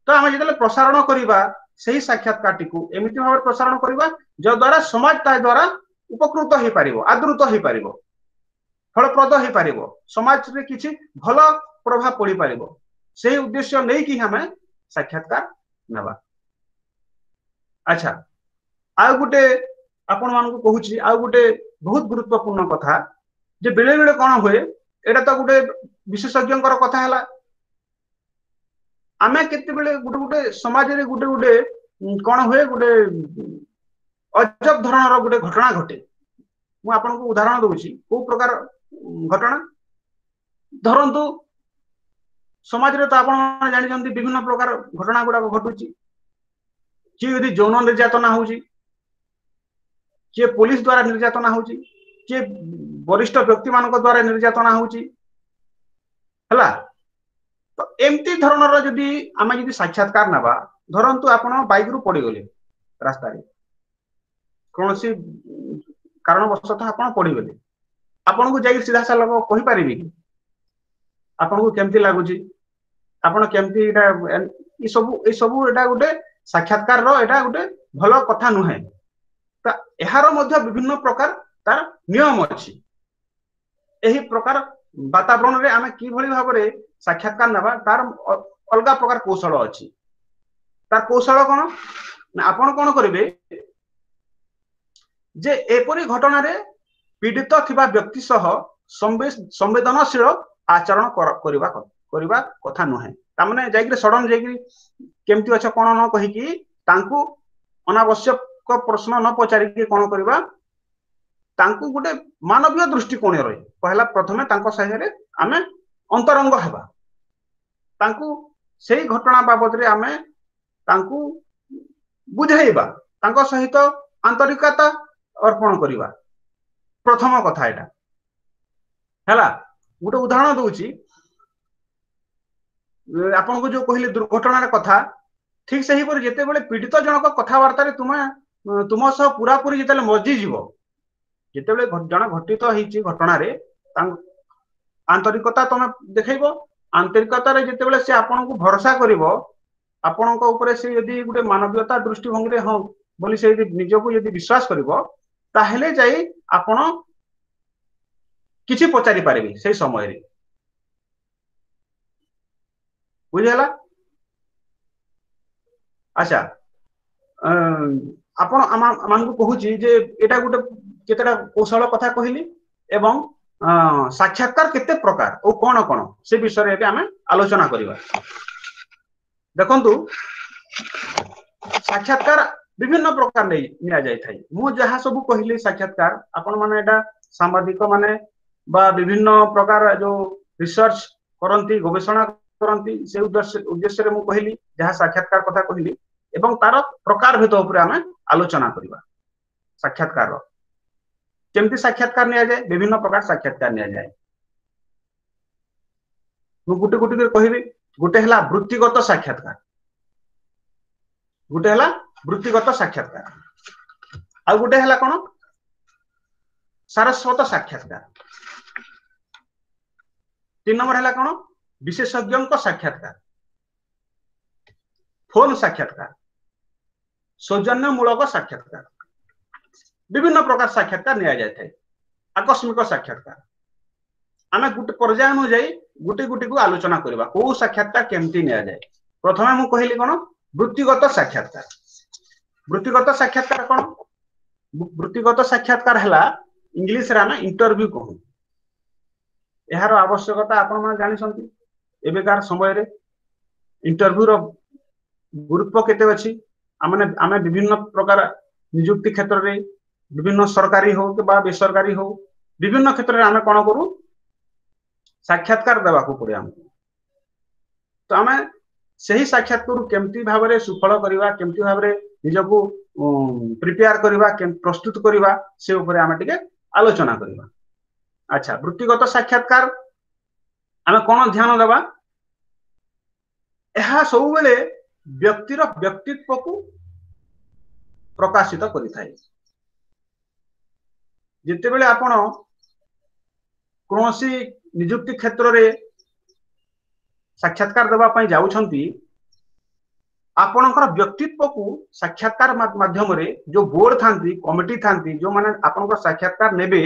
B: ତ ଆମେ ଯେତେବେଳେ ପ୍ରସାରଣ କରିବା, ସେହି ସାକ୍ଷାତକାରଟିକୁ ଏମିତି ଭାବରେ ପ୍ରସାରଣ କରିବା ଯଦ୍ୱାରା ସମାଜ ତା ଦ୍ୱାରା ଉପକୃତ ହେଇପାରିବ, ଆଦୃତ ହେଇପାରିବ, ଫଳପ୍ରଦ ହେଇପାରିବ, ସମାଜରେ କିଛି ଭଲ ପ୍ରଭାବ ପଡିପାରିବ। ସେଇ ଉଦ୍ଦେଶ୍ୟ ନେଇକି ଆମେ ସାକ୍ଷାତକାର ନେବା। ଆଚ୍ଛା, ଆଉ ଗୋଟେ ଆପଣ ମାନଙ୍କୁ କହୁଛି, ଆଉ ଗୋଟେ ବହୁତ ଗୁରୁତ୍ୱପୂର୍ଣ୍ଣ କଥା ଯେ ବେଳେ ବେଳେ କଣ ହୁଏ, ଏଇଟା ତ ଗୋଟେ ବିଶେଷଜ୍ଞଙ୍କର କଥା ହେଲା। ଆମେ କେତେବେଳେ ଗୋଟେ ଗୋଟେ ସମାଜରେ ଗୋଟେ ଗୋଟେ କଣ ହୁଏ, ଗୋଟେ ଅଜବ ଧରଣର ଗୋଟେ ଘଟଣା ଘଟେ। ମୁଁ ଆପଣଙ୍କୁ ଉଦାହରଣ ଦଉଛି କୋଉ ପ୍ରକାର ଘଟଣା। ଧରନ୍ତୁ ସମାଜରେ ତ ଆପଣ ଜାଣିଛନ୍ତି ବିଭିନ୍ନ ପ୍ରକାର ଘଟଣା ଗୁଡାକ ଘଟୁଛି। କିଏ ଯଦି ଯୌନ ନିର୍ଯାତନା ହଉଛି, କିଏ ପୋଲିସ ଦ୍ଵାରା ନିର୍ଯାତନା ହଉଛି, କିଏ ବରିଷ୍ଠ ବ୍ୟକ୍ତି ମାନଙ୍କ ଦ୍ଵାରା ନିର୍ଯାତନା ହଉଛି, ହେଲା। ତ ଏମିତି ଧରଣର ଯଦି ଆମେ ଯଦି ସାକ୍ଷାତକାର ନେବା, ଧରନ୍ତୁ ଆପଣ ବାଇକରୁ ପଡିଗଲେ ରାସ୍ତାରେ, କୌଣସି କାରଣବଶତଃ ଆପଣ ପଡିଗଲେ, ଆପଣଙ୍କୁ ଯାଇକି ସିଧାସଳଖ କହିପାରିବେ କି ଆପଣଙ୍କୁ କେମିତି ଲାଗୁଛି, ଆପଣ କେମିତି ଏଇଟା ଏ ସବୁ ଏ ସବୁ ଏଇଟା ଗୋଟେ ସାକ୍ଷାତକାରର ଏଇଟା ଗୋଟେ ଭଲ କଥା ନୁହେଁ। ତ ଏହାର ମଧ୍ୟ ବିଭିନ୍ନ ପ୍ରକାର ତାର ନିୟମ ଅଛି। ଏହି ପ୍ରକାର ବାତାବରଣରେ ଆମେ କିଭଳି ଭାବରେ ସାକ୍ଷାତକାର ନେବା ତାର ଅଲଗା ପ୍ରକାର କୌଶଳ ଅଛି। ତାର କୌଶଳ କଣ ନା, ଆପଣ କଣ କରିବେ ଯେ ଏପରି ଘଟଣାରେ ପୀଡ଼ିତ ଥିବା ବ୍ୟକ୍ତି ସହ ସମ୍ବେଦନଶୀଳ ଆଚରଣ କରିବା କରିବା କଥା ନୁହେଁ। ତାମାନେ ଯାଇକିରି ସଡନ ଯାଇକିରି କେମିତି ଅଛ କଣ ନ କହିକି ତାଙ୍କୁ ଅନାବଶ୍ୟକ ପ୍ରଶ୍ନ ନ ପଚାରିକି କଣ କରିବା, ତାଙ୍କୁ ଗୋଟେ ମାନବୀୟ ଦୃଷ୍ଟିକୋଣରେ କହିଲା ପ୍ରଥମେ ତାଙ୍କ ସାଙ୍ଗରେ ଆମେ ଅନ୍ତରଙ୍ଗ ହେବା, ତାଙ୍କୁ ସେଇ ଘଟଣା ବାବଦରେ ଆମେ ତାଙ୍କୁ ବୁଝାଇବା, ତାଙ୍କ ସହିତ ଆନ୍ତରିକତା ଅର୍ପଣ କରିବା। ପ୍ରଥମ କଥା ଏଇଟା ହେଲା। ଗୋଟେ ଉଦାହରଣ ଦଉଛି ଆପଣଙ୍କୁ, ଯୋଉ କହିଲି ଦୁର୍ଘଟଣାର କଥା, ଠିକ ସେହିପରି ଯେତେବେଳେ ପୀଡ଼ିତ ଜଣକ କଥାବାର୍ତ୍ତାରେ ତୁମେ ତୁମ ସହ ପୁରାପୁରି ଯେତେବେଳେ ମଜିଯିବ, ଯେତେବେଳେ ଜଣେ ଘଟିତ ହେଇଛି ଘଟଣାରେ ଆନ୍ତରିକତା ତମେ ଦେଖେଇବ, ଆନ୍ତରିକତାରେ ଯେତେବେଳେ ସେ ଆପଣଙ୍କୁ ଭରସା କରିବ, ଆପଣଙ୍କ ଉପରେ ସେ ଯଦି ଗୋଟେ ମାନବୀୟତା ଦୃଷ୍ଟିଭଙ୍ଗୀରେ ହଁ ବୋଲି ସେ ଯଦି ନିଜକୁ ଯଦି ବିଶ୍ୱାସ କରିବ, ତାହେଲେ ଯାଇ ଆପଣ କିଛି ପଚାରି ପାରିବେ ସେଇ ସମୟରେ। ବୁଝିହେଲା? ଆଚ୍ଛା, ଆପଣ ଆମମାନଙ୍କୁ କହୁଛି ଯେ ଏଇଟା ଗୋଟେ କେତେଟା କୌଶଳ କଥା କହିଲି ଏବଂ ସାକ୍ଷାତକାର କେତେ ପ୍ରକାର ଓ କଣ କଣ ସେ ବିଷୟରେ ଏବେ ଆମେ ଆଲୋଚନା କରିବା। ଦେଖନ୍ତୁ, ସାକ୍ଷାତକାର ବିଭିନ୍ନ ପ୍ରକାର ନେଇ ନିଆଯାଇଥାଏ। ମୁଁ ଯାହା ସବୁ କହିଲି ସାକ୍ଷାତକାର, ଆପଣ ମାନେ ଏଇଟା ସାମ୍ବାଦିକ ମାନେ ବା ବିଭିନ୍ନ ପ୍ରକାର ଯୋଉ ରିସର୍ଚ୍ଚ କରନ୍ତି, ଗବେଷଣା କରନ୍ତି, ସେ ଉଦ୍ଦେଶ୍ୟ ଉଦ୍ଦେଶ୍ୟରେ ମୁଁ କହିଲି ଯାହା ସାକ୍ଷାତକାର କଥା କହିଲି ଏବଂ ତାର ପ୍ରକାର ଭେଦ ଉପରେ ଆମେ ଆଲୋଚନା କରିବା। ସାକ୍ଷାତକାର କେମିତି ସାକ୍ଷାତକାର ନିଆଯାଏ? ବିଭିନ୍ନ ପ୍ରକାର ସାକ୍ଷାତକାର ନିଆଯାଏ। ମୁଁ ଗୋଟେ ଗୋଟେ କରି କହିବି। ଗୋଟେ ହେଲା ବୃତ୍ତିଗତ ସାକ୍ଷାତକାର, ଗୋଟେ ହେଲା ବୃତ୍ତିଗତ ସାକ୍ଷାତକାର, ଆଉ ଗୋଟେ ହେଲା କଣ ସାରସ୍ୱତ ସାକ୍ଷାତକାର, ତିନି ନମ୍ବର ହେଲା କଣ ବିଶେଷଜ୍ଞଙ୍କ ସାକ୍ଷାତକାର, ଫୋନ ସାକ୍ଷାତକାର, ସୌଜନ୍ୟମୂଳକ ସାକ୍ଷାତକାର। ବିଭିନ୍ନ ପ୍ରକାର ସାକ୍ଷାତକାର ନିଆଯାଇଥାଏ। ଆକସ୍ମିକ ସାକ୍ଷାତକାର। ଆମେ ଗୋଟେ ପର୍ଯ୍ୟାୟ ଅନୁଯାୟୀ ଗୋଟେ ଗୋଟିକୁ ଆଲୋଚନା କରିବା, କୋଉ ସାକ୍ଷାତକାର କେମିତି ନିଆଯାଏ। ପ୍ରଥମେ ମୁଁ କହିଲି କଣ ବୃତ୍ତିଗତ ସାକ୍ଷାତକାର। ବୃତ୍ତିଗତ ସାକ୍ଷାତକାର କଣ? ବୃତ୍ତିଗତ ସାକ୍ଷାତକାର ହେଲା ଇଂଲିଶରେ ଆମେ ଇଣ୍ଟରଭ୍ୟୁ କହୁ। ଏହାର ଆବଶ୍ୟକତା ଆପଣମାନେ ଜାଣିଛନ୍ତି, ଏବେକାର ସମୟରେ ଇଣ୍ଟରଭ୍ୟୁର ଗୁରୁତ୍ୱ କେତେ ଅଛି। ଆମେ ଆମେ ବିଭିନ୍ନ ପ୍ରକାର ନିଯୁକ୍ତି କ୍ଷେତ୍ରରେ, ବିଭିନ୍ନ ସରକାରୀ ହଉ କିମ୍ବା ବେସରକାରୀ ହଉ, ବିଭିନ୍ନ କ୍ଷେତ୍ରରେ ଆମେ କଣ କରୁ, ସାକ୍ଷାତକାର ଦେବାକୁ ପଡେ ଆମକୁ। ତ ଆମେ ସେହି ସାକ୍ଷାତକାରରୁ କେମିତି ଭାବରେ ସୁଫଳ କରିବା, କେମିତି ଭାବରେ ନିଜକୁ ପ୍ରିପେୟାର କରିବା, ପ୍ରସ୍ତୁତ କରିବା, ସେ ଉପରେ ଆମେ ଟିକେ ଆଲୋଚନା କରିବା। ଆଚ୍ଛା, ବୃତ୍ତିଗତ ସାକ୍ଷାତକାର ଆମେ କଣ ଧ୍ୟାନ ଦେବା? ଏହା ସବୁବେଳେ ବ୍ୟକ୍ତିର ବ୍ୟକ୍ତିତ୍ୱକୁ ପ୍ରକାଶିତ କରିଥାଏ। ଯେତେବେଳେ ଆପଣ କୌଣସି ନିଯୁକ୍ତି କ୍ଷେତ୍ରରେ ସାକ୍ଷାତକାର ଦେବା ପାଇଁ ଯାଉଛନ୍ତି, ଆପଣଙ୍କର ବ୍ୟକ୍ତିତ୍ୱକୁ ସାକ୍ଷାତକାର ମାଧ୍ୟମରେ ଯୋଉ ବୋର୍ଡ ଥାନ୍ତି, କମିଟି ଥାନ୍ତି, ଯୋଉମାନେ ଆପଣଙ୍କର ସାକ୍ଷାତକାର ନେବେ,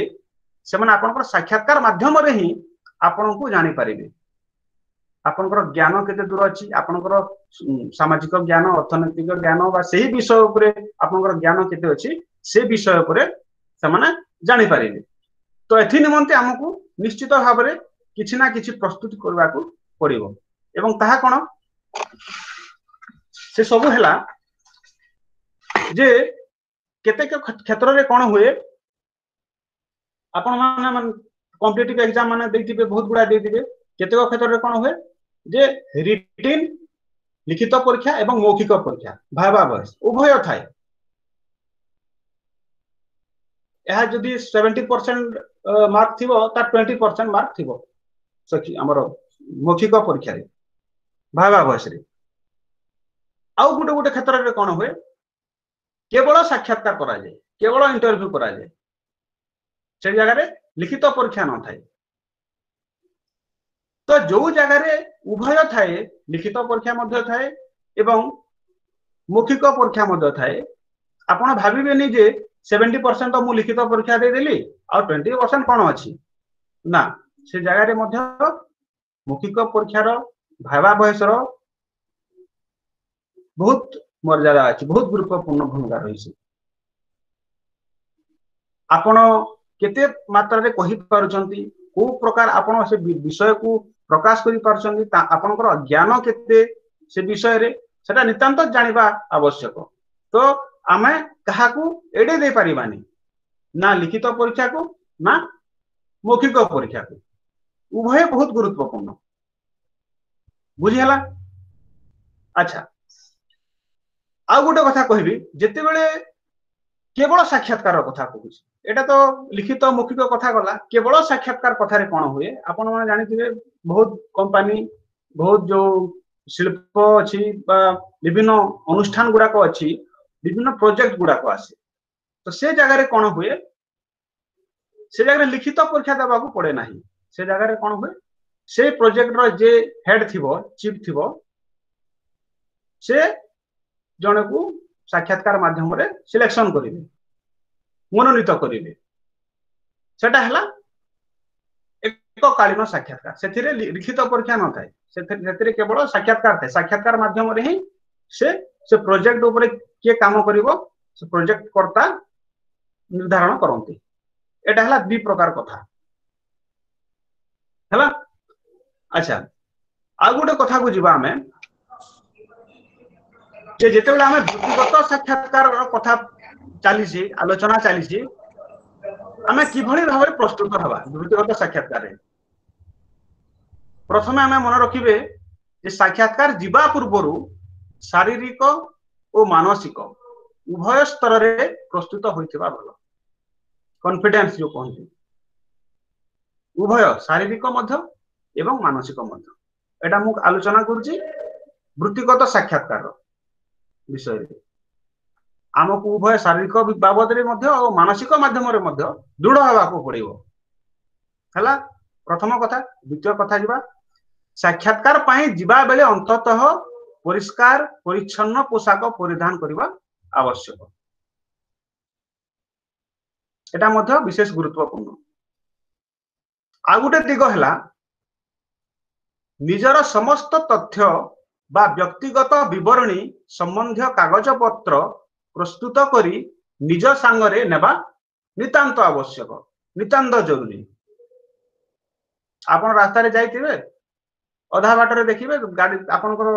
B: ସେମାନେ ଆପଣଙ୍କର ସାକ୍ଷାତକାର ମାଧ୍ୟମରେ ହିଁ ଆପଣଙ୍କୁ ଜାଣିପାରିବେ ଆପଣଙ୍କର ଜ୍ଞାନ କେତେ ଦୂର ଅଛି, ଆପଣଙ୍କର ସାମାଜିକ ଜ୍ଞାନ, ଅର୍ଥନୈତିକ ଜ୍ଞାନ ବା ସେଇ ବିଷୟ ଉପରେ ଆପଣଙ୍କର ଜ୍ଞାନ କେତେ ଅଛି, ସେ ବିଷୟ ଉପରେ ସେମାନେ ଜାଣିପାରିବେ। ତ ଏଥି ନିମନ୍ତେ ଆମକୁ ନିଶ୍ଚିତ ଭାବରେ କିଛି ନା କିଛି ପ୍ରସ୍ତୁତି କରିବାକୁ ପଡିବ ଏବଂ ତାହା କଣ ସେ ସବୁ ହେଲା ଯେ କେତେକ କ୍ଷେତ୍ରରେ କଣ ହୁଏ, ଆପଣ ମାନେ କମ୍ପିଟେଟିଭ ଏକ୍ଜାମ ମାନେ ଦେଇଥିବେ, ବହୁତ ଗୁଡା ଦେଇଥିବେ। କେତେକ କ୍ଷେତ୍ରରେ କଣ ହୁଏ ଯେ ରିଟିନ୍ ଲିଖିତ ପରୀକ୍ଷା ଏବଂ ମୌଖିକ ପରୀକ୍ଷା ଭାଇବା ଭଏସ ଉଭୟ ଥାଏ। ଏହା ଯଦି ସେଭେଣ୍ଟି ପରସେଣ୍ଟ ମାର୍କ ଥିବ, ତାର ଟ୍ୱେଣ୍ଟି ପରସେଣ୍ଟ ମାର୍କ ଥିବ ଆମର ମୌଖିକ ପରୀକ୍ଷାରେ ଭାଇବା ଭଏସରେ। ଆଉ ଗୋଟେ ଗୋଟେ କ୍ଷେତ୍ରରେ କଣ ହୁଏ, କେବଳ ସାକ୍ଷାତକାର କରାଯାଏ, କେବଳ ଇଣ୍ଟରଭ୍ୟୁ କରାଯାଏ, ସେ ଜାଗାରେ ଲିଖିତ ପରୀକ୍ଷା ନଥାଏ। ତ ଯୋଉ ଜାଗାରେ ଉଭୟ ଥାଏ, ଲିଖିତ ପରୀକ୍ଷା ମଧ୍ୟ ଥାଏ ଏବଂ ମୌଖିକ ପରୀକ୍ଷା ମଧ୍ୟ ଥାଏ, ଆପଣ ଭାବିବେନି ଯେ ସେଭେଣ୍ଟି ପରସେଣ୍ଟ ତ ମୁଁ ଲିଖିତ ପରୀକ୍ଷା ଦେଇଦେଲି ଆଉ ଟ୍ୱେଣ୍ଟି ପରସେଣ୍ଟ କଣ ଅଛି। ନା, ସେ ଜାଗାରେ ମଧ୍ୟ ମୌଖିକ ପରୀକ୍ଷାର ଭାଇବା ବୟସର ବହୁତ ମର୍ଯ୍ୟାଦା ଅଛି, ବହୁତ ଗୁରୁତ୍ୱପୂର୍ଣ୍ଣ ଭୂମିକା ରହିଛି। ଆପଣ କେତେ ମାତ୍ରାରେ କହିପାରୁଛନ୍ତି, କୋଉ ପ୍ରକାର ଆପଣ ସେ ବିଷୟକୁ ପ୍ରକାଶ କରିପାରୁଛନ୍ତି, ଆପଣଙ୍କର ଜ୍ଞାନ କେତେ ସେ ବିଷୟରେ, ସେଟା ନିତାନ୍ତ ଜାଣିବା ଆବଶ୍ୟକ। ତ ଆମେ କାହାକୁ ଏଡେଇ ଦେଇପାରିବାନି, ନା ଲିଖିତ ପରୀକ୍ଷାକୁ ନା ମୌଖିକ ପରୀକ୍ଷାକୁ, ଉଭୟ ବହୁତ ଗୁରୁତ୍ୱପୂର୍ଣ୍ଣ। ବୁଝିହେଲା? ଆଚ୍ଛା, ଆଉ ଗୋଟେ କଥା କହିବି, ଯେତେବେଳେ କେବଳ ସାକ୍ଷାତକାର କଥା କହୁଛି, ଏଇଟା ତ ଲିଖିତ ମୌଖିକ କଥା ଗଲା। କେବଳ ସାକ୍ଷାତକାର କଥାରେ କଣ ହୁଏ, ଆପଣ ମାନେ ଜାଣିଥିବେ, ବହୁତ କମ୍ପାନୀ, ବହୁତ ଯୋଉ ଶିଳ୍ପ ଅଛି ବା ବିଭିନ୍ନ ଅନୁଷ୍ଠାନ ଗୁଡାକ ଅଛି, ବିଭିନ୍ନ ପ୍ରୋଜେକ୍ଟ ଗୁଡାକ ଆସେ। ତ ସେ ଜାଗାରେ କଣ ହୁଏ? ସେ ଜାଗାରେ ଲିଖିତ ପରୀକ୍ଷା ଦେବାକୁ ପଡେ ନାହିଁ। ସେ ଜାଗାରେ କଣ ହୁଏ? ସେ ପ୍ରୋଜେକ୍ଟର ଯେ ହେଡ ଥିବ, ଚିଫ ଥିବ, ସେ ଜଣକୁ ସାକ୍ଷାତକାର ମାଧ୍ୟମରେ ସିଲେକ୍ସନ କରିବେ, ମନୋନୀତ କରିବେ। ସେଟା ହେଲା ଏକକାଳୀନ ସାକ୍ଷାତକାର। ସେଥିରେ ଲିଖିତ ପରୀକ୍ଷା ନଥାଏ, ସେଥିରେ କେବଳ ସାକ୍ଷାତକାର ଥାଏ। ସାକ୍ଷାତକାର ମାଧ୍ୟମରେ ହିଁ ସେ ସେ ପ୍ରୋଜେକ୍ଟ ଉପରେ କିଏ କାମ କରିବ, ସେ ପ୍ରୋଜେକ୍ଟ କର୍ତ୍ତା ନିର୍ଦ୍ଧାରଣ କରନ୍ତି। ଏଟା ହେଲା ଦି ପ୍ରକାର କଥା ହେଲା। ଆଚ୍ଛା, ଆଉ ଗୋଟେ କଥାକୁ ଯିବା ଆମେ ଯେ ଯେତେବେଳେ ଆମେ ବୃତ୍ତିଗତ ସାକ୍ଷାତକାର କଥା ଚାଲିଛି, ଆଲୋଚନା ଚାଲିଛି, ଆମେ କିଭଳି ଭାବରେ ପ୍ରସ୍ତୁତ ହେବା ବୃତ୍ତିଗତ ସାକ୍ଷାତକାରରେ? ପ୍ରଥମେ ଆମେ ମନେ ରଖିବେ ଯେ ସାକ୍ଷାତକାର ଯିବା ପୂର୍ବରୁ ଶାରୀରିକ ଓ ମାନସିକ ଉଭୟ ସ୍ତରରେ ପ୍ରସ୍ତୁତ ହୋଇଥିବା ଭଲ। କନଫିଡେନ୍ସ ଯୋଉ କହନ୍ତି, ଉଭୟ ଶାରୀରିକ ମଧ୍ୟ ଏବଂ ମାନସିକ ମଧ୍ୟ। ଏଇଟା ମୁଁ ଆଲୋଚନା କରୁଛି ବୃତ୍ତିଗତ ସାକ୍ଷାତକାର ବିଷୟରେ। ଆମକୁ ଉଭୟ ଶାରୀରିକ ବାବଦରେ ମଧ୍ୟ ଓ ମାନସିକ ମାଧ୍ୟମରେ ମଧ୍ୟ ଦୃଢ ହେବାକୁ ପଡିବ। ହେଲା ପ୍ରଥମ କଥା। ଦ୍ୱିତୀୟ କଥା ଯିବା, ସାକ୍ଷାତକାର ପାଇଁ ଯିବା ବେଳେ ଅନ୍ତତଃ ପରିଷ୍କାର ପରିଚ୍ଛନ୍ନ ପୋଷାକ ପରିଧାନ କରିବା ଆବଶ୍ୟକ। ଏଟା ମଧ୍ୟ ବିଶେଷ ଗୁରୁତ୍ୱପୂର୍ଣ୍ଣ। ଆଉ ଗୋଟେ ଦିଗ ହେଲା, ନିଜର ସମସ୍ତ ତଥ୍ୟ ବା ବ୍ୟକ୍ତିଗତ ବିବରଣୀ ସମ୍ବନ୍ଧୀୟ କାଗଜପତ୍ର ପ୍ରସ୍ତୁତ କରି ନିଜ ସାଙ୍ଗରେ ନେବା ନିତାନ୍ତ ଆବଶ୍ୟକ, ନିତାନ୍ତ ଜରୁରୀ। ଆପଣ ରାସ୍ତାରେ ଯାଇଥିବେ, ଅଧା ବାଟରେ ଦେଖିବେ ଗାଡି ଆପଣଙ୍କର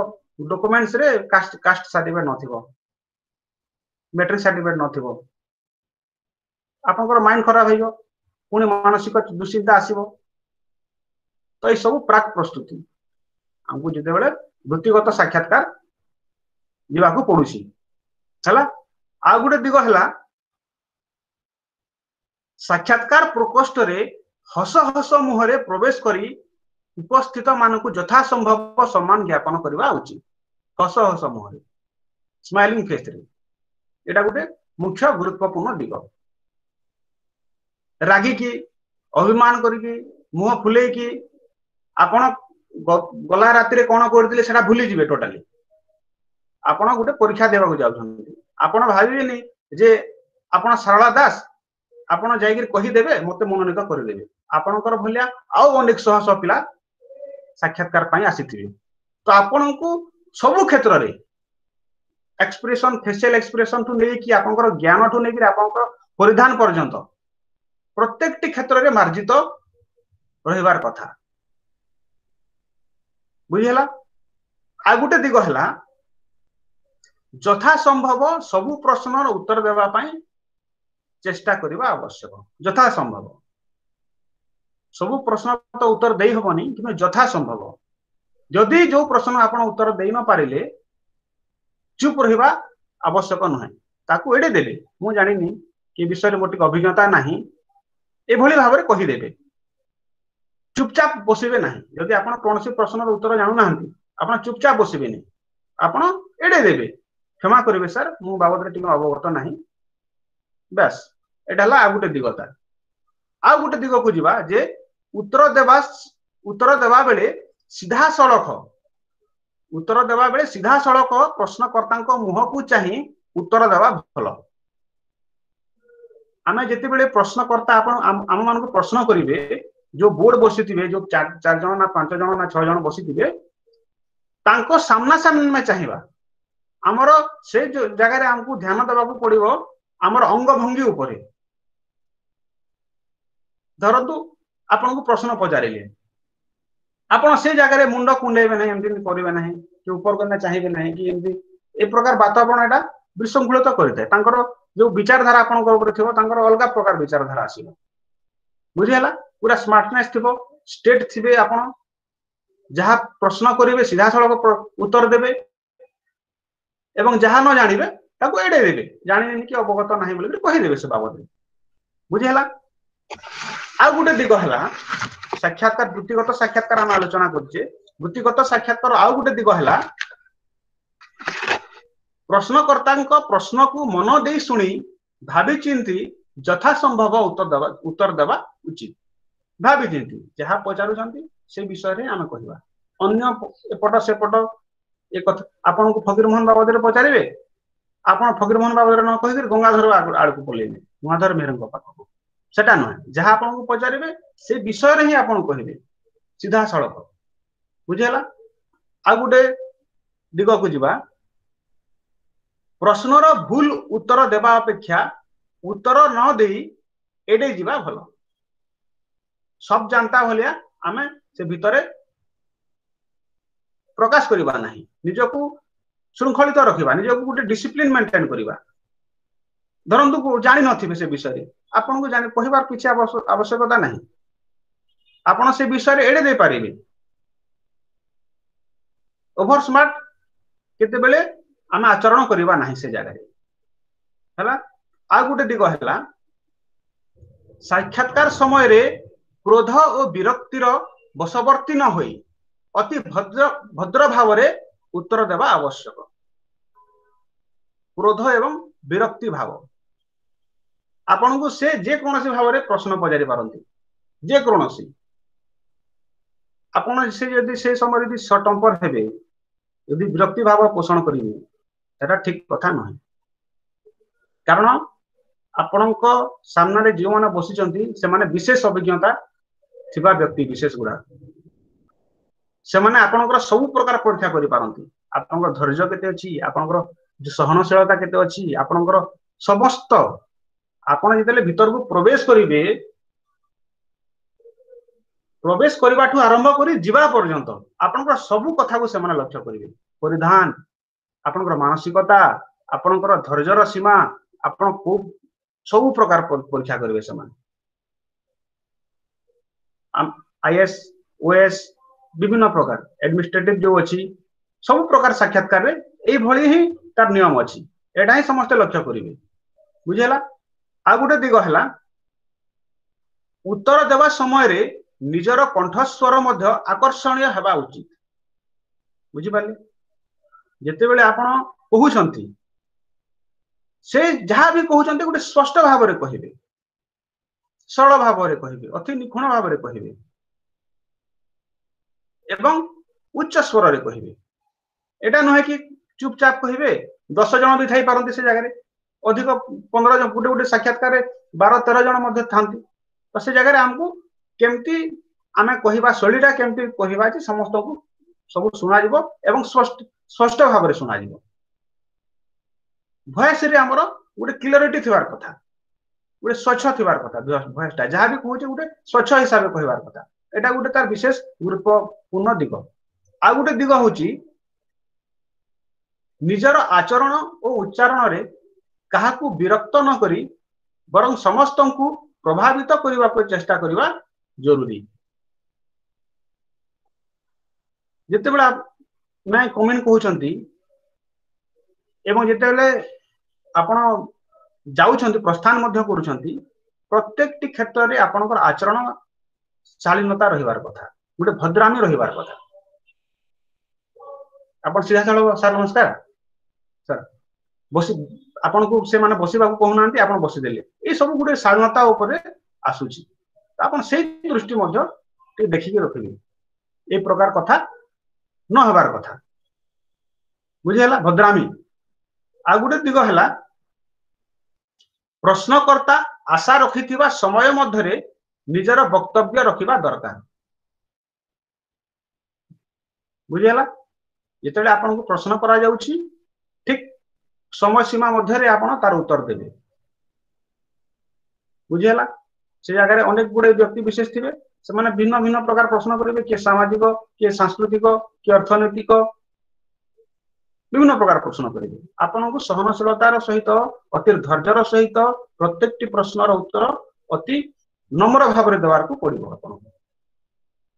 B: ଡକୁମେଣ୍ଟସରେ କାଷ୍ଟ କାଷ୍ଟ ସାର୍ଟିଫିକେଟ ନଥିବ, ମେଟ୍ରିକ ସାର୍ଟିଫିକେଟ ନଥିବ, ଆପଣଙ୍କର ମାଇଣ୍ଡ ଖରାପ ହେଇଯିବ, ପୁଣି ମାନସିକ ଦୁଶ୍ଚିନ୍ତା ଆସିବ। ତ ଏଇ ସବୁ ପ୍ରାକ୍ ପ୍ରସ୍ତୁତି ଆମକୁ ଯେତେବେଳେ ବୃତ୍ତିଗତ ସାକ୍ଷାତକାର ଯିବାକୁ ପଡୁଛି ହେଲା। ଆଉ ଗୋଟେ ଦିଗ ହେଲା, ସାକ୍ଷାତକାର ପ୍ରକୋଷ୍ଠରେ ହସ ହସ ମୁହଁରେ ପ୍ରବେଶ କରି ଉପସ୍ଥିତ ମାନଙ୍କୁ ଯଥାସମ୍ଭବ ସମ୍ମାନ ଜ୍ଞାପନ କରିବା ଉଚିତ। ହସ ହସ ମୁହଁରେ, ସ୍ମାଇଲିଂ ଫେସରେ, ଏଇଟା ଗୋଟେ ମୁଖ୍ୟ ଗୁରୁତ୍ୱପୂର୍ଣ୍ଣ ଦିଗ। ରାଗିକି, ଅଭିମାନ କରିକି, ମୁହଁ ଫୁଲେଇକି, ଆପଣ ଗଲା ରାତିରେ କଣ କରିଥିଲେ ସେଟା ଭୁଲିଯିବେ ଟୋଟାଲି। ଆପଣ ଗୋଟେ ପରୀକ୍ଷା ଦେବାକୁ ଯାଉଛନ୍ତି, ଆପଣ ଭାବିବେନି ଯେ ଆପଣ ସାରଳା ଦାସ, ଆପଣ ଯାଇକିରି କହିଦେବେ ମତେ ମନୋନୀତ କରିଦେବେ। ଆପଣଙ୍କର ଭଳିଆ ଆଉ ଅନେକ ଶହ ଶହ ପିଲା ସାକ୍ଷାତକାର ପାଇଁ ଆସିଥିବେ। ତ ଆପଣଙ୍କୁ ସବୁ କ୍ଷେତ୍ରରେ ଏକ୍ସପ୍ରେସନ, ଫେସିଆଲ ଏକ୍ସପ୍ରେସନ ଠୁ ନେଇକି ଆପଣଙ୍କର ଜ୍ଞାନଠୁ ନେଇକିରି ଆପଣଙ୍କର ପରିଧାନ ପର୍ଯ୍ୟନ୍ତ ପ୍ରତ୍ୟେକଟି କ୍ଷେତ୍ରରେ ମାର୍ଜିତ ରହିବାର କଥା। ବୁଝିହେଲା? ଆଉ ଗୋଟେ ଦିଗ ହେଲା, ଯଥା ସମ୍ଭବ ସବୁ ପ୍ରଶ୍ନର ଉତ୍ତର ଦେବା ପାଇଁ ଚେଷ୍ଟା କରିବା ଆବଶ୍ୟକ। ଯଥା ସମ୍ଭବ ସବୁ ପ୍ରଶ୍ନ ତ ଉତ୍ତର ଦେଇ ହବନି, କିନ୍ତୁ ଯଥା ସମ୍ଭବ ଯଦି ଯୋଉ ପ୍ରଶ୍ନ ଆପଣ ଉତ୍ତର ଦେଇ ନ ପାରିଲେ ଚୁପ ରହିବା ଆବଶ୍ୟକ ନୁହେଁ, ତାକୁ ଏଡେଇ ଦେବେ। ମୁଁ ଜାଣିନି କି ବିଷୟରେ ମୋର ଟିକେ ଅଭିଜ୍ଞତା ନାହିଁ, ଏଭଳି ଭାବରେ କହିଦେବେ, ଚୁପଚାପ ବସିବେ ନାହିଁ। ଯଦି ଆପଣ କୌଣସି ପ୍ରଶ୍ନର ଉତ୍ତର ଜାଣୁନାହାନ୍ତି, ଆପଣ ଚୁପଚାପ ବସିବେନି, ଆପଣ ଏଡେଇ ଦେବେ, କ୍ଷମା କରିବେ ସାର୍, ମୁଁ ବାବଦରେ ଟିକେ ଅବଗତ ନାହିଁ। ବ୍ୟାସ୍, ଏଇଟା ହେଲା ଆଉ ଗୋଟେ ଦିଗତା। ଆଉ ଗୋଟେ ଦିଗକୁ ଯିବା ଯେ ଉତ୍ତର ଦେବା ଉତ୍ତର ଦେବା ବେଳେ ସିଧାସଳଖ ଉତ୍ତର ଦେବା ବେଳେ ସିଧାସଳଖ ପ୍ରଶ୍ନକର୍ତ୍ତାଙ୍କ ମୁହଁକୁ ଚାହିଁ ଉତ୍ତର ଦେବା ଭଲ। ଆମେ ଯେତେବେଳେ ପ୍ରଶ୍ନକର୍ତ୍ତା ଆପଣ ଆମ ମାନଙ୍କୁ ପ୍ରଶ୍ନ କରିବେ, ଯୋଉ ବୋର୍ଡ ବସିଥିବେ, ଯୋଉ ଚାରି ଜଣ ନା ପାଞ୍ଚ ଜଣ ନା ଛଅ ଜଣ ବସିଥିବେ, ତାଙ୍କ ସାମ୍ନା ସାମ୍ନା ଆମେ ଚାହିଁବା। ଆମର ସେ ଯୋଉ ଜାଗାରେ ଆମକୁ ଧ୍ୟାନ ଦେବାକୁ ପଡିବ ଆମର ଅଙ୍ଗ ଭଙ୍ଗୀ ଉପରେ। ଧରନ୍ତୁ ଆପଣଙ୍କୁ ପ୍ରଶ୍ନ ପଚାରିଲେ, ଆପଣ ସେ ଜାଗାରେ ମୁଣ୍ଡ କୁଣ୍ଡେଇବେ ନାହିଁ, ଏମିତି କରିବେ ନାହିଁ କି ଉପରକୁ ଚାହିଁବେ ନାହିଁ କି ଏମିତି ଏ ପ୍ରକାର ବାତାବରଣ ଏଟା ବିଶୃଙ୍ଖଳିତ କରିଥାଏ। ତାଙ୍କର ଯୋଉ ବିଚାରଧାରା ଆପଣଙ୍କ ଉପରେ ଥିବ, ତାଙ୍କର ଅଲଗା ପ୍ରକାର ବିଚାରଧାରା ଆସିବ। ବୁଝିହେଲା? ପୁରା ସ୍ମାର୍ଟନେସ୍ ଥିବ, ଷ୍ଟେଟ ଥିବେ ଆପଣ, ଯାହା ପ୍ରଶ୍ନ କରିବେ ସିଧାସଳଖ ଉତ୍ତର ଦେବେ ଏବଂ ଯାହା ନ ଜାଣିବେ ତାକୁ ଏଡେଇ ଦେବେ, ଜାଣିବେନି କି ଅବଗତ ନାହିଁ ବୋଲି କହିଦେବେ ସେ ବାବଦରେ। ବୁଝିହେଲା? ଆଉ ଗୋଟେ ଦିଗ ହେଲା ସାକ୍ଷାତକାର, ବୃତ୍ତିଗତ ସାକ୍ଷାତକାର ଆମେ ଆଲୋଚନା କରୁଛେ। ବୃତ୍ତିଗତ ସାକ୍ଷାତକାର ଆଉ ଗୋଟେ ଦିଗ ହେଲା ପ୍ରଶ୍ନକର୍ତ୍ତାଙ୍କ ପ୍ରଶ୍ନକୁ ମନ ଦେଇ ଶୁଣି ଭାବି ଚିନ୍ତି ଯଥା ସମ୍ଭବ ଉତ୍ତର ଦେବା ଉତ୍ତର ଦେବା ଉଚିତ। ଭାବି ଚିନ୍ତି ଯାହା ପଚାରୁଛନ୍ତି ସେ ବିଷୟରେ ଆମେ କହିବା, ଅନ୍ୟ ଏପଟ ସେପଟ ଏ କଥା। ଆପଣଙ୍କୁ ଫକୀରମୋହନ ବାବଦରେ ପଚାରିବେ, ଆପଣ ଫକୀରମୋହନ ବାବଦରେ ନ କହିକିରି ଗଙ୍ଗାଧର ଆଡକୁ ପଳେଇବେ, ଗଙ୍ଗାଧର ମେହେରଙ୍କ ପାଖକୁ, ସେଟା ନୁହେଁ। ଯାହା ଆପଣଙ୍କୁ ପଚାରିବେ ସେ ବିଷୟରେ ହିଁ ଆପଣ କହିବେ ସିଧାସଳଖ। ବୁଝିହେଲା? ଆଉ ଗୋଟେ ଦିଗକୁ ଯିବା। ପ୍ରଶ୍ନର ଭୁଲ ଉତ୍ତର ଦେବା ଅପେକ୍ଷା ଉତ୍ତର ନ ଦେଇ ଏଡେଇ ଯିବା ଭଲ। ସବ ଜାନ୍ତା ଭଳିଆ ଆମେ ସେ ଭିତରେ ପ୍ରକାଶ କରିବା ନାହିଁ, ନିଜକୁ ଶୃଙ୍ଖଳିତ ରଖିବା, ନିଜକୁ ଗୋଟେ ଡିସିପ୍ଲିନ ମେଣ୍ଟେନ କରିବା। ଧରନ୍ତୁ ଜାଣିନଥିବେ ସେ ବିଷୟରେ, ଆପଣଙ୍କୁ ଜାଣି କହିବାର କିଛି ଆବଶ୍ୟକତା ନାହିଁ, ଆପଣ ସେ ବିଷୟରେ ଏଡେଇ ଦେଇପାରିବେ। ଓଭର ସ୍ମାର୍ଟ କେତେବେଳେ ଆମେ ଆଚରଣ କରିବା ନାହିଁ ସେ ଜାଗାରେ। ହେଲା? ଆଉ ଗୋଟେ ଦିଗ ହେଲା ସାକ୍ଷାତକାର ସମୟରେ କ୍ରୋଧ ଓ ବିରକ୍ତିର ବଶବର୍ତ୍ତୀ ନ ହୋଇ ଅତି ଭଦ୍ର ଭଦ୍ର ଭାବରେ ଉତ୍ତର ଦେବା ଆବଶ୍ୟକ। କ୍ରୋଧ ଏବଂ ବିରକ୍ତି ଭାବ, ଆପଣଙ୍କୁ ସେ ଯେକୌଣସି ଭାବରେ ପ୍ରଶ୍ନ ପଚାରି ପାରନ୍ତି, ଯେକୌଣସି। ଆପଣ ସେ ଯଦି ସେ ସମୟରେ ଯଦି ସର୍ଟ ଟେମ୍ପର ହେବେ, ଯଦି ବିରକ୍ତି ଭାବ ପୋଷଣ କରିବେ, ସେଟା ଠିକ କଥା ନୁହେଁ। କାରଣ ଆପଣଙ୍କ ସାମ୍ନାରେ ଯେଉଁମାନେ ବସିଛନ୍ତି ସେମାନେ ବିଶେଷ ଅଭିଜ୍ଞତା ଥିବା ବ୍ୟକ୍ତି ବିଶେଷ ଗୁଡା, ସେମାନେ ଆପଣଙ୍କର ସବୁ ପ୍ରକାର ପରୀକ୍ଷା କରିପାରନ୍ତି। ଆପଣଙ୍କର ଧୈର୍ଯ୍ୟ କେତେ ଅଛି, ଆପଣଙ୍କର ସହନଶୀଳତା କେତେ ଅଛି, ଆପଣଙ୍କର ସମସ୍ତ। ଆପଣ ଯେତେବେଳେ ଭିତରକୁ ପ୍ରବେଶ କରିବେ, ପ୍ରବେଶ କରିବାଠୁ ଆରମ୍ଭ କରି ଯିବା ପର୍ଯ୍ୟନ୍ତ ଆପଣଙ୍କର ସବୁ କଥାକୁ ସେମାନେ ଲକ୍ଷ୍ୟ କରିବେ। ପରିଧାନ, ଆପଣଙ୍କର ମାନସିକତା, ଆପଣଙ୍କର ଧୈର୍ଯ୍ୟର ସୀମା, ଆପଣ କୋଉ ସବୁ ପ୍ରକାର ପରୀକ୍ଷା କରିବେ ସେମାନେ। ଆଇଏଏସ୍, ଓଏଏସ୍, ବିଭିନ୍ନ ପ୍ରକାର ଆଡମିନିଷ୍ଟ୍ରେଟିଭ ଯୋଉ ଅଛି, ସବୁ ପ୍ରକାର ସାକ୍ଷାତକାରରେ ଏଇଭଳି ହିଁ ତାର ନିୟମ ଅଛି। ଏଇଟା ହିଁ ସମସ୍ତେ ଲକ୍ଷ୍ୟ କରିବେ। ବୁଝିହେଲା? ଆଉ ଗୋଟେ ଦିଗ ହେଲା ଉତ୍ତର ଦେବା ସମୟରେ ନିଜର କଣ୍ଠସ୍ୱର ମଧ୍ୟ ଆକର୍ଷଣୀୟ ହେବା ଉଚିତ। ବୁଝିପାରିଲେ? ଯେତେବେଳେ ଆପଣ କହୁଛନ୍ତି, ସେ ଯାହା ବି କହୁଛନ୍ତି ଗୋଟେ ସ୍ପଷ୍ଟ ଭାବରେ କହିବେ, ସରଳ ଭାବରେ କହିବେ, ଅତି ନିଖୁଣ ଭାବରେ କହିବେ ଏବଂ ଉଚ୍ଚ ସ୍ୱରରେ କହିବେ। ଏଇଟା ନୁହେଁ କି ଚୁପଚାପ କହିବେ। ଦଶ ଜଣ ବି ଥାଇପାରନ୍ତି ସେ ଜାଗାରେ, ଅଧିକ ପନ୍ଦର ଜଣ, ଗୋଟେ ଗୋଟେ ସାକ୍ଷାତକାରରେ ବାର ତେର ଜଣ ମଧ୍ୟ ଥାନ୍ତି। ତ ସେ ଜାଗାରେ ଆମକୁ କେମିତି ଆମେ କହିବା ଶୈଳୀଟା କେମିତି କହିବା ଯେ ସମସ୍ତଙ୍କୁ ସବୁ ଶୁଣାଯିବ ଏବଂ ସ୍ପଷ୍ଟ ସ୍ପଷ୍ଟ ଭାବରେ ଶୁଣାଯିବ। ଭଏସରେ ଆମର ଗୋଟେ କ୍ଲିୟରିଟି ଥିବାର କଥା, ଗୋଟେ ସ୍ୱଚ୍ଛ ଥିବାର କଥା। ଭଏସଟା ଯାହା ବି କହୁଛେ ଗୋଟେ ସ୍ୱଚ୍ଛ ହିସାବରେ କହିବାର କଥା। ଏଇଟା ଗୋଟେ ତାର ବିଶେଷ ଗୁରୁତ୍ୱପୂର୍ଣ୍ଣ ଦିଗ। ଆଉ ଗୋଟେ ଦିଗ ହଉଛି ନିଜର ଆଚରଣ ଓ ଉଚ୍ଚାରଣରେ କାହାକୁ ବିରକ୍ତ ନ କରି ବରଂ ସମସ୍ତଙ୍କୁ ପ୍ରଭାବିତ କରିବାକୁ ଚେଷ୍ଟା କରିବା ଜରୁରୀ। ଯେତେବେଳେ ନାଇଁ କମେଣ୍ଟ କହୁଛନ୍ତି ଏବଂ ଯେତେବେଳେ ଆପଣ ଯାଉଛନ୍ତି, ପ୍ରସ୍ଥାନ ମଧ୍ୟ କରୁଛନ୍ତି, ପ୍ରତ୍ୟେକଟି କ୍ଷେତ୍ରରେ ଆପଣଙ୍କର ଆଚରଣ ଶାଳୀନତା ରହିବାର କଥା, ଗୋଟେ ଭଦ୍ରାମି ରହିବାର କଥା। ଆପଣ ସିଧାସଳଖ ସାର୍ ନମସ୍କାର ସାର୍ ବସି, ଆପଣଙ୍କୁ ସେମାନେ ବସିବାକୁ କହୁନାହାନ୍ତି, ଆପଣ ବସିଦେଲେ, ଏଇ ସବୁ ଗୋଟେ ଶାଳୀନତା ଉପରେ ଆସୁଛି। ଆପଣ ସେଇ ଦୃଷ୍ଟି ମଧ୍ୟ ଟିକେ ଦେଖିକି ରଖିବେ, ଏଇ ପ୍ରକାର କଥା ନ ହେବାର କଥା। ବୁଝିହେଲା? ଭଦ୍ରାମି। ଆଉ ଗୋଟେ ଦିଗ ହେଲା ପ୍ରଶ୍ନକର୍ତ୍ତା ଆଶା ରଖିଥିବା ସମୟ ମଧ୍ୟରେ ନିଜର ବକ୍ତବ୍ୟ ରଖିବା ଦରକାର। ବୁଝିହେଲା? ଯେତେବେଳେ ଆପଣଙ୍କୁ ପ୍ରଶ୍ନ କରାଯାଉଛି, ଠିକ ସମୟ ସୀମା ମଧ୍ୟରେ ଆପଣ ତାର ଉତ୍ତର ଦେବେ। ବୁଝିହେଲା? ସେ ଜାଗାରେ ଅନେକ ଗୁଡେ ବ୍ୟକ୍ତି ବିଶେଷ ଥିବେ, ସେମାନେ ଭିନ୍ନ ଭିନ୍ନ ପ୍ରକାର ପ୍ରଶ୍ନ କରିବେ। କିଏ ସାମାଜିକ, କିଏ ସାଂସ୍କୃତିକ, କିଏ ଅର୍ଥନୈତିକ, ବିଭିନ୍ନ ପ୍ରକାର ପ୍ରଶ୍ନ କରିବେ। ଆପଣଙ୍କୁ ସହନଶୀଳତାର ସହିତ, ଅତି ଧୈର୍ଯ୍ୟର ସହିତ ପ୍ରତ୍ୟେକଟି ପ୍ରଶ୍ନର ଉତ୍ତର ଅତି ନମ୍ର ଭାବରେ ଦେବାକୁ ପଡିବ ଆପଣଙ୍କୁ,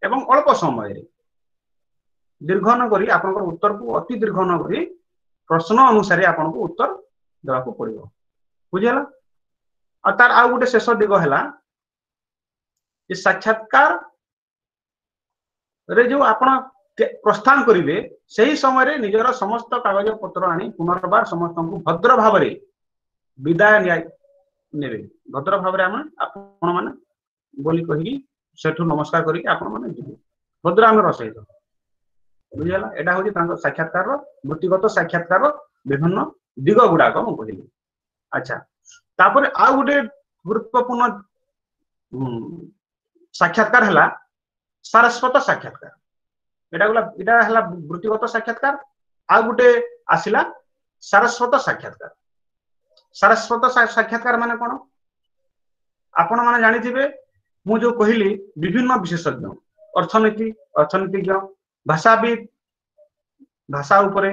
B: ଏବଂ ଅଳ୍ପ ସମୟରେ, ଦୀର୍ଘ ନ କରି, ଆପଣଙ୍କର ଉତ୍ତରକୁ ଅତି ଦୀର୍ଘ ନ କରି ପ୍ରଶ୍ନ ଅନୁସାରେ ଆପଣଙ୍କୁ ଉତ୍ତର ଦେବାକୁ ପଡିବ। ବୁଝିହେଲା? ଆଉ ତାର ଆଉ ଗୋଟେ ଶେଷ ଦିଗ ହେଲା ଯେ ସାକ୍ଷାତକାର ରେ ଯୋଉ ଆପଣ ପ୍ରସ୍ଥାନ କରିବେ, ସେହି ସମୟରେ ନିଜର ସମସ୍ତ କାଗଜ ପତ୍ର ଆଣି ପୁନର୍ବାର ସମସ୍ତଙ୍କୁ ଭଦ୍ର ଭାବରେ ବିଦାୟ ନେବେ। ଭଦ୍ର ଭାବରେ ଆମେ ଆପଣ ମାନେ ବୋଲି କହିକି ସେଠୁ ନମସ୍କାର କରିକି ଆପଣ ମାନେ ଯିବେ ଭଦ୍ରାମୀର ସହିତ। ବୁଝିଗଲା? ଏଇଟା ହଉଛି ତାଙ୍କ ସାକ୍ଷାତକାରର, ବୃତ୍ତିଗତ ସାକ୍ଷାତକାର ବିଭିନ୍ନ ଦିଗ ଗୁଡାକ ମୁଁ କହିଲି। ଆଚ୍ଛା, ତାପରେ ଆଉ ଗୋଟେ ଗୁରୁତ୍ୱପୂର୍ଣ୍ଣ ସାକ୍ଷାତକାର ହେଲା ସାରସ୍ୱତ ସାକ୍ଷାତକାର। ଏଇଟା ଗଲା, ଏଇଟା ହେଲା ବୃତ୍ତିଗତ ସାକ୍ଷାତକାର। ଆଉ ଗୋଟେ ଆସିଲା ସାରସ୍ୱତ ସାକ୍ଷାତକାର। ସାରସ୍ୱତ ସାକ୍ଷାତକାର ମାନେ କଣ? ଆପଣ ମାନେ ଜାଣିଥିବେ, ମୁଁ ଯୋଉ କହିଲି ବିଭିନ୍ନ ବିଶେଷଜ୍ଞ, ଅର୍ଥନୀତି ଅର୍ଥନୀତିଜ୍ଞ, ଭାଷାବିତ୍ ଭାଷା ଉପରେ,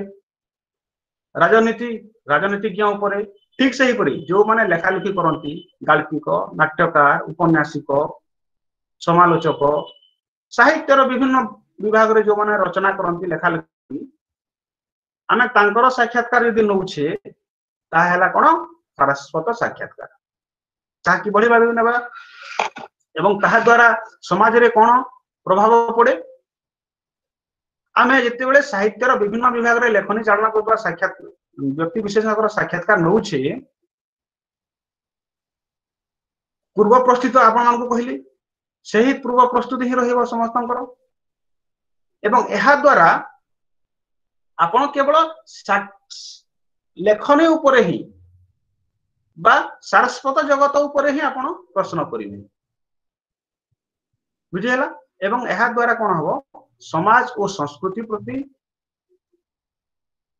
B: ରାଜନୀତି ରାଜନୀତିଜ୍ଞ ଉପରେ, ଠିକ ସେହିପରି ଯୋଉମାନେ ଲେଖାଲେଖି କରନ୍ତି, ଗାଳ୍ପିକ, ନାଟ୍ୟକାର, ଉପନ୍ୟାସିକ, ସମାଲୋଚକ, ସାହିତ୍ୟର ବିଭିନ୍ନ ବିଭାଗରେ ଯୋଉମାନେ ରଚନା କରନ୍ତି, ଲେଖାଲେଖି, ଆମେ ତାଙ୍କର ସାକ୍ଷାତକାର ଯଦି ନଉଛେ, ତାହା ହେଲା କଣ? ସାରସ୍ୱତ ସାକ୍ଷାତକାର। ତାହା କିଭଳି ଭାବେ ନେବା ଏବଂ ତାହା ଦ୍ୱାରା ସମାଜରେ କଣ ପ୍ରଭାବ ପଡେ? ଆମେ ଯେତେବେଳେ ସାହିତ୍ୟର ବିଭିନ୍ନ ବିଭାଗରେ ଲେଖନୀ ଚାଳନା କରୁଥିବା ସାକ୍ଷାତ ବ୍ୟକ୍ତି ବିଶେଷଙ୍କର ସାକ୍ଷାତକାର ନଉଛେ, ପୂର୍ବ ପ୍ରସ୍ତୁତ ଆପଣମାନଙ୍କୁ କହିଲି, ସେହି ପୂର୍ବ ପ୍ରସ୍ତୁତି ହିଁ ରହିବ ସମସ୍ତଙ୍କର। ଏବଂ ଏହା ଦ୍ୱାରା ଆପଣ କେବଳ ଲେଖନୀ ଉପରେ ହିଁ ବା ସାରସ୍ୱତ ଜଗତ ଉପରେ ହିଁ ଆପଣ ପ୍ରଶ୍ନ କରିବେ। ବୁଝିହେଲା? ଏବଂ ଏହା ଦ୍ୱାରା କଣ ହବ? ସମାଜ ଓ ସଂସ୍କୃତି ପ୍ରତି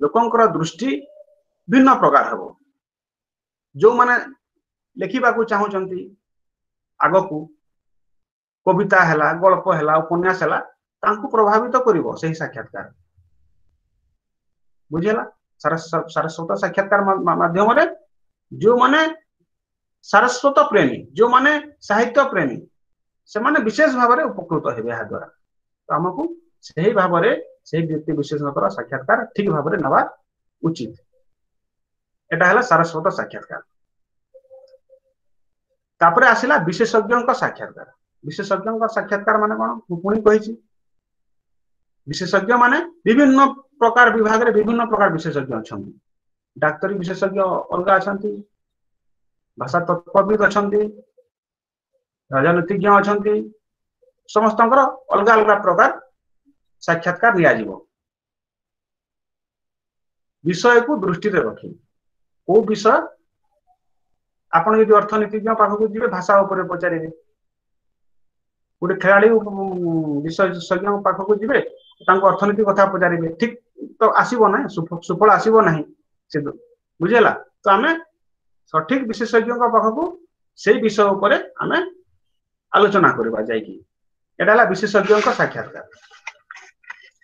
B: ଲୋକଙ୍କର ଦୃଷ୍ଟି ଭିନ୍ନ ପ୍ରକାର ହେବ। ଯୋଉମାନେ ଲେଖିବାକୁ ଚାହୁଁଛନ୍ତି ଆଗକୁ, କବିତା ହେଲା, ଗଳ୍ପ ହେଲା, ଉପନ୍ୟାସ ହେଲା, ତାଙ୍କୁ ପ୍ରଭାବିତ କରିବ ସେହି ସାକ୍ଷାତକାର। ବୁଝିହେଲା? ସାରସ୍ୱତ ସାକ୍ଷାତକାର ମାଧ୍ୟମରେ ଯୋଉମାନେ ସାରସ୍ୱତ ପ୍ରେମୀ, ଯୋଉମାନେ ସାହିତ୍ୟ ପ୍ରେମୀ, ସେମାନେ ବିଶେଷ ଭାବରେ ଉପକୃତ ହେବେ ଏହା ଦ୍ୱାରା। ତ ଆମକୁ ସେହି ଭାବରେ ସେହି ବ୍ୟକ୍ତି ବିଶେଷଙ୍କର ସାକ୍ଷାତକାର ଠିକ ଭାବରେ ନେବା ଉଚିତ। ଏଟା ହେଲା ସାରସ୍ୱତ ସାକ୍ଷାତକାର। ତାପରେ ଆସିଲା ବିଶେଷଜ୍ଞଙ୍କ ସାକ୍ଷାତକାର। ବିଶେଷଜ୍ଞଙ୍କ ସାକ୍ଷାତକାର ମାନେ କଣ? ମୁଁ ପୁଣି କହିଛି, ବିଶେଷଜ୍ଞ ମାନେ ବିଭିନ୍ନ ପ୍ରକାର ବିଭାଗରେ ବିଭିନ୍ନ ପ୍ରକାର ବିଶେଷଜ୍ଞ ଅଛନ୍ତି। ଡାକ୍ତରୀ ବିଶେଷଜ୍ଞ ଅଲଗା ଅଛନ୍ତି, ଭାଷା ତତ୍ତ୍ୱବିତ୍ ଅଛନ୍ତି, ରାଜନୀତିଜ୍ଞ ଅଛନ୍ତି, ସମସ୍ତଙ୍କର ଅଲଗା ଅଲଗା ପ୍ରକାର ସାକ୍ଷାତକାର ନିଆଯିବ ବିଷୟକୁ ଦୃଷ୍ଟିରେ ରଖି। କୋଉ ବିଷୟ? ଆପଣ ଯଦି ଅର୍ଥନୀତିଜ୍ଞ ପାଖକୁ ଯିବେ, ଭାଷା ଉପରେ ପଚାରିବେ। ଗୋଟେ ଖେଳାଳି ବିଶେଷଜ୍ଞ ପାଖକୁ ଯିବେ, ତାଙ୍କୁ ଅର୍ଥନୀତି କଥା ପଚାରିବେ, ଠିକ ତ ଆସିବ ନା, ସୁଫଳ ଆସିବ ନାହିଁ ସେ। ବୁଝିହେଲା? ତ ଆମେ ସଠିକ ବିଶେଷଜ୍ଞଙ୍କ ପାଖକୁ ସେଇ ବିଷୟ ଉପରେ ଆମେ ଆଲୋଚନା କରିବା ଯାଇକି। ଏଟା ହେଲା ବିଶେଷଜ୍ଞଙ୍କ ସାକ୍ଷାତକାର।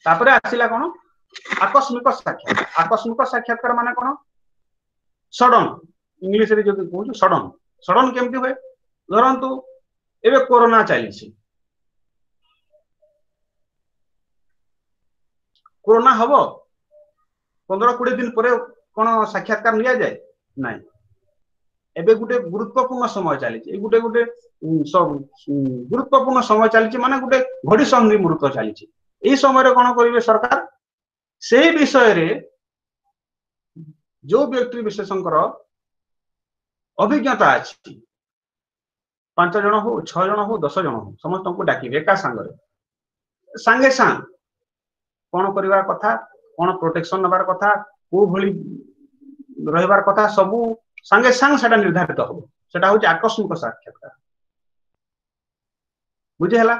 B: ତାପରେ ଆସିଲା କଣ? ଆକସ୍ମିକ ସାକ୍ଷାତକାର। ଆକସ୍ମିକ ସାକ୍ଷାତକାର ମାନେ କଣ? ସଡନ, ଇଂଲିଶରେ ଯଦି କହୁଛୁ ସଡନ। ସଡନ କେମିତି ହୁଏ? ଧରନ୍ତୁ ଏବେ କୋରୋନା ଚାଲିଛି, କୋରୋନା ହବ ପନ୍ଦର କୋଡିଏ ଦିନ ପରେ କଣ ସାକ୍ଷାତକାର ନିଆଯାଏ? ନାଇଁ। ଏବେ ଗୋଟେ ଗୁରୁତ୍ୱପୂର୍ଣ୍ଣ ସମୟ ଚାଲିଛି, ଏଇ ଗୋଟେ ଗୋଟେ ଗୁରୁତ୍ୱପୂର୍ଣ୍ଣ ସମୟ ଚାଲିଛି, ମାନେ ଗୋଟେ ଘଡି ସନ୍ଧି ମୁହୂର୍ତ୍ତ ଚାଲିଛି। ଏଇ ସମୟରେ କଣ କରିବେ ସରକାର? ସେଇ ବିଷୟରେ ଯୋଉ ବ୍ୟକ୍ତି ବିଶେଷଙ୍କର ଅଭିଜ୍ଞତା ଅଛି, ପାଞ୍ଚ ଜଣ ହଉ, ଛଅ ଜଣ ହଉ, ଦଶ ଜଣ ହଉ, ସମସ୍ତଙ୍କୁ ଡାକିବେ ଏକା ସାଙ୍ଗରେ। ସାଙ୍ଗେ ସାଙ୍ଗ କଣ କରିବା କଥା, କଣ ପ୍ରୋଟେକ୍ସନ ନେବାର କଥା, କୋଉ ଭଳି ରହିବାର କଥା, ସବୁ ସାଙ୍ଗେ ସାଙ୍ଗେ ସେଟା ନିର୍ଦ୍ଧାରିତ ହବ। ସେଟା ହଉଛି ଆକସ୍ମିକ ସାକ୍ଷାତକାର। ବୁଝିହେଲା?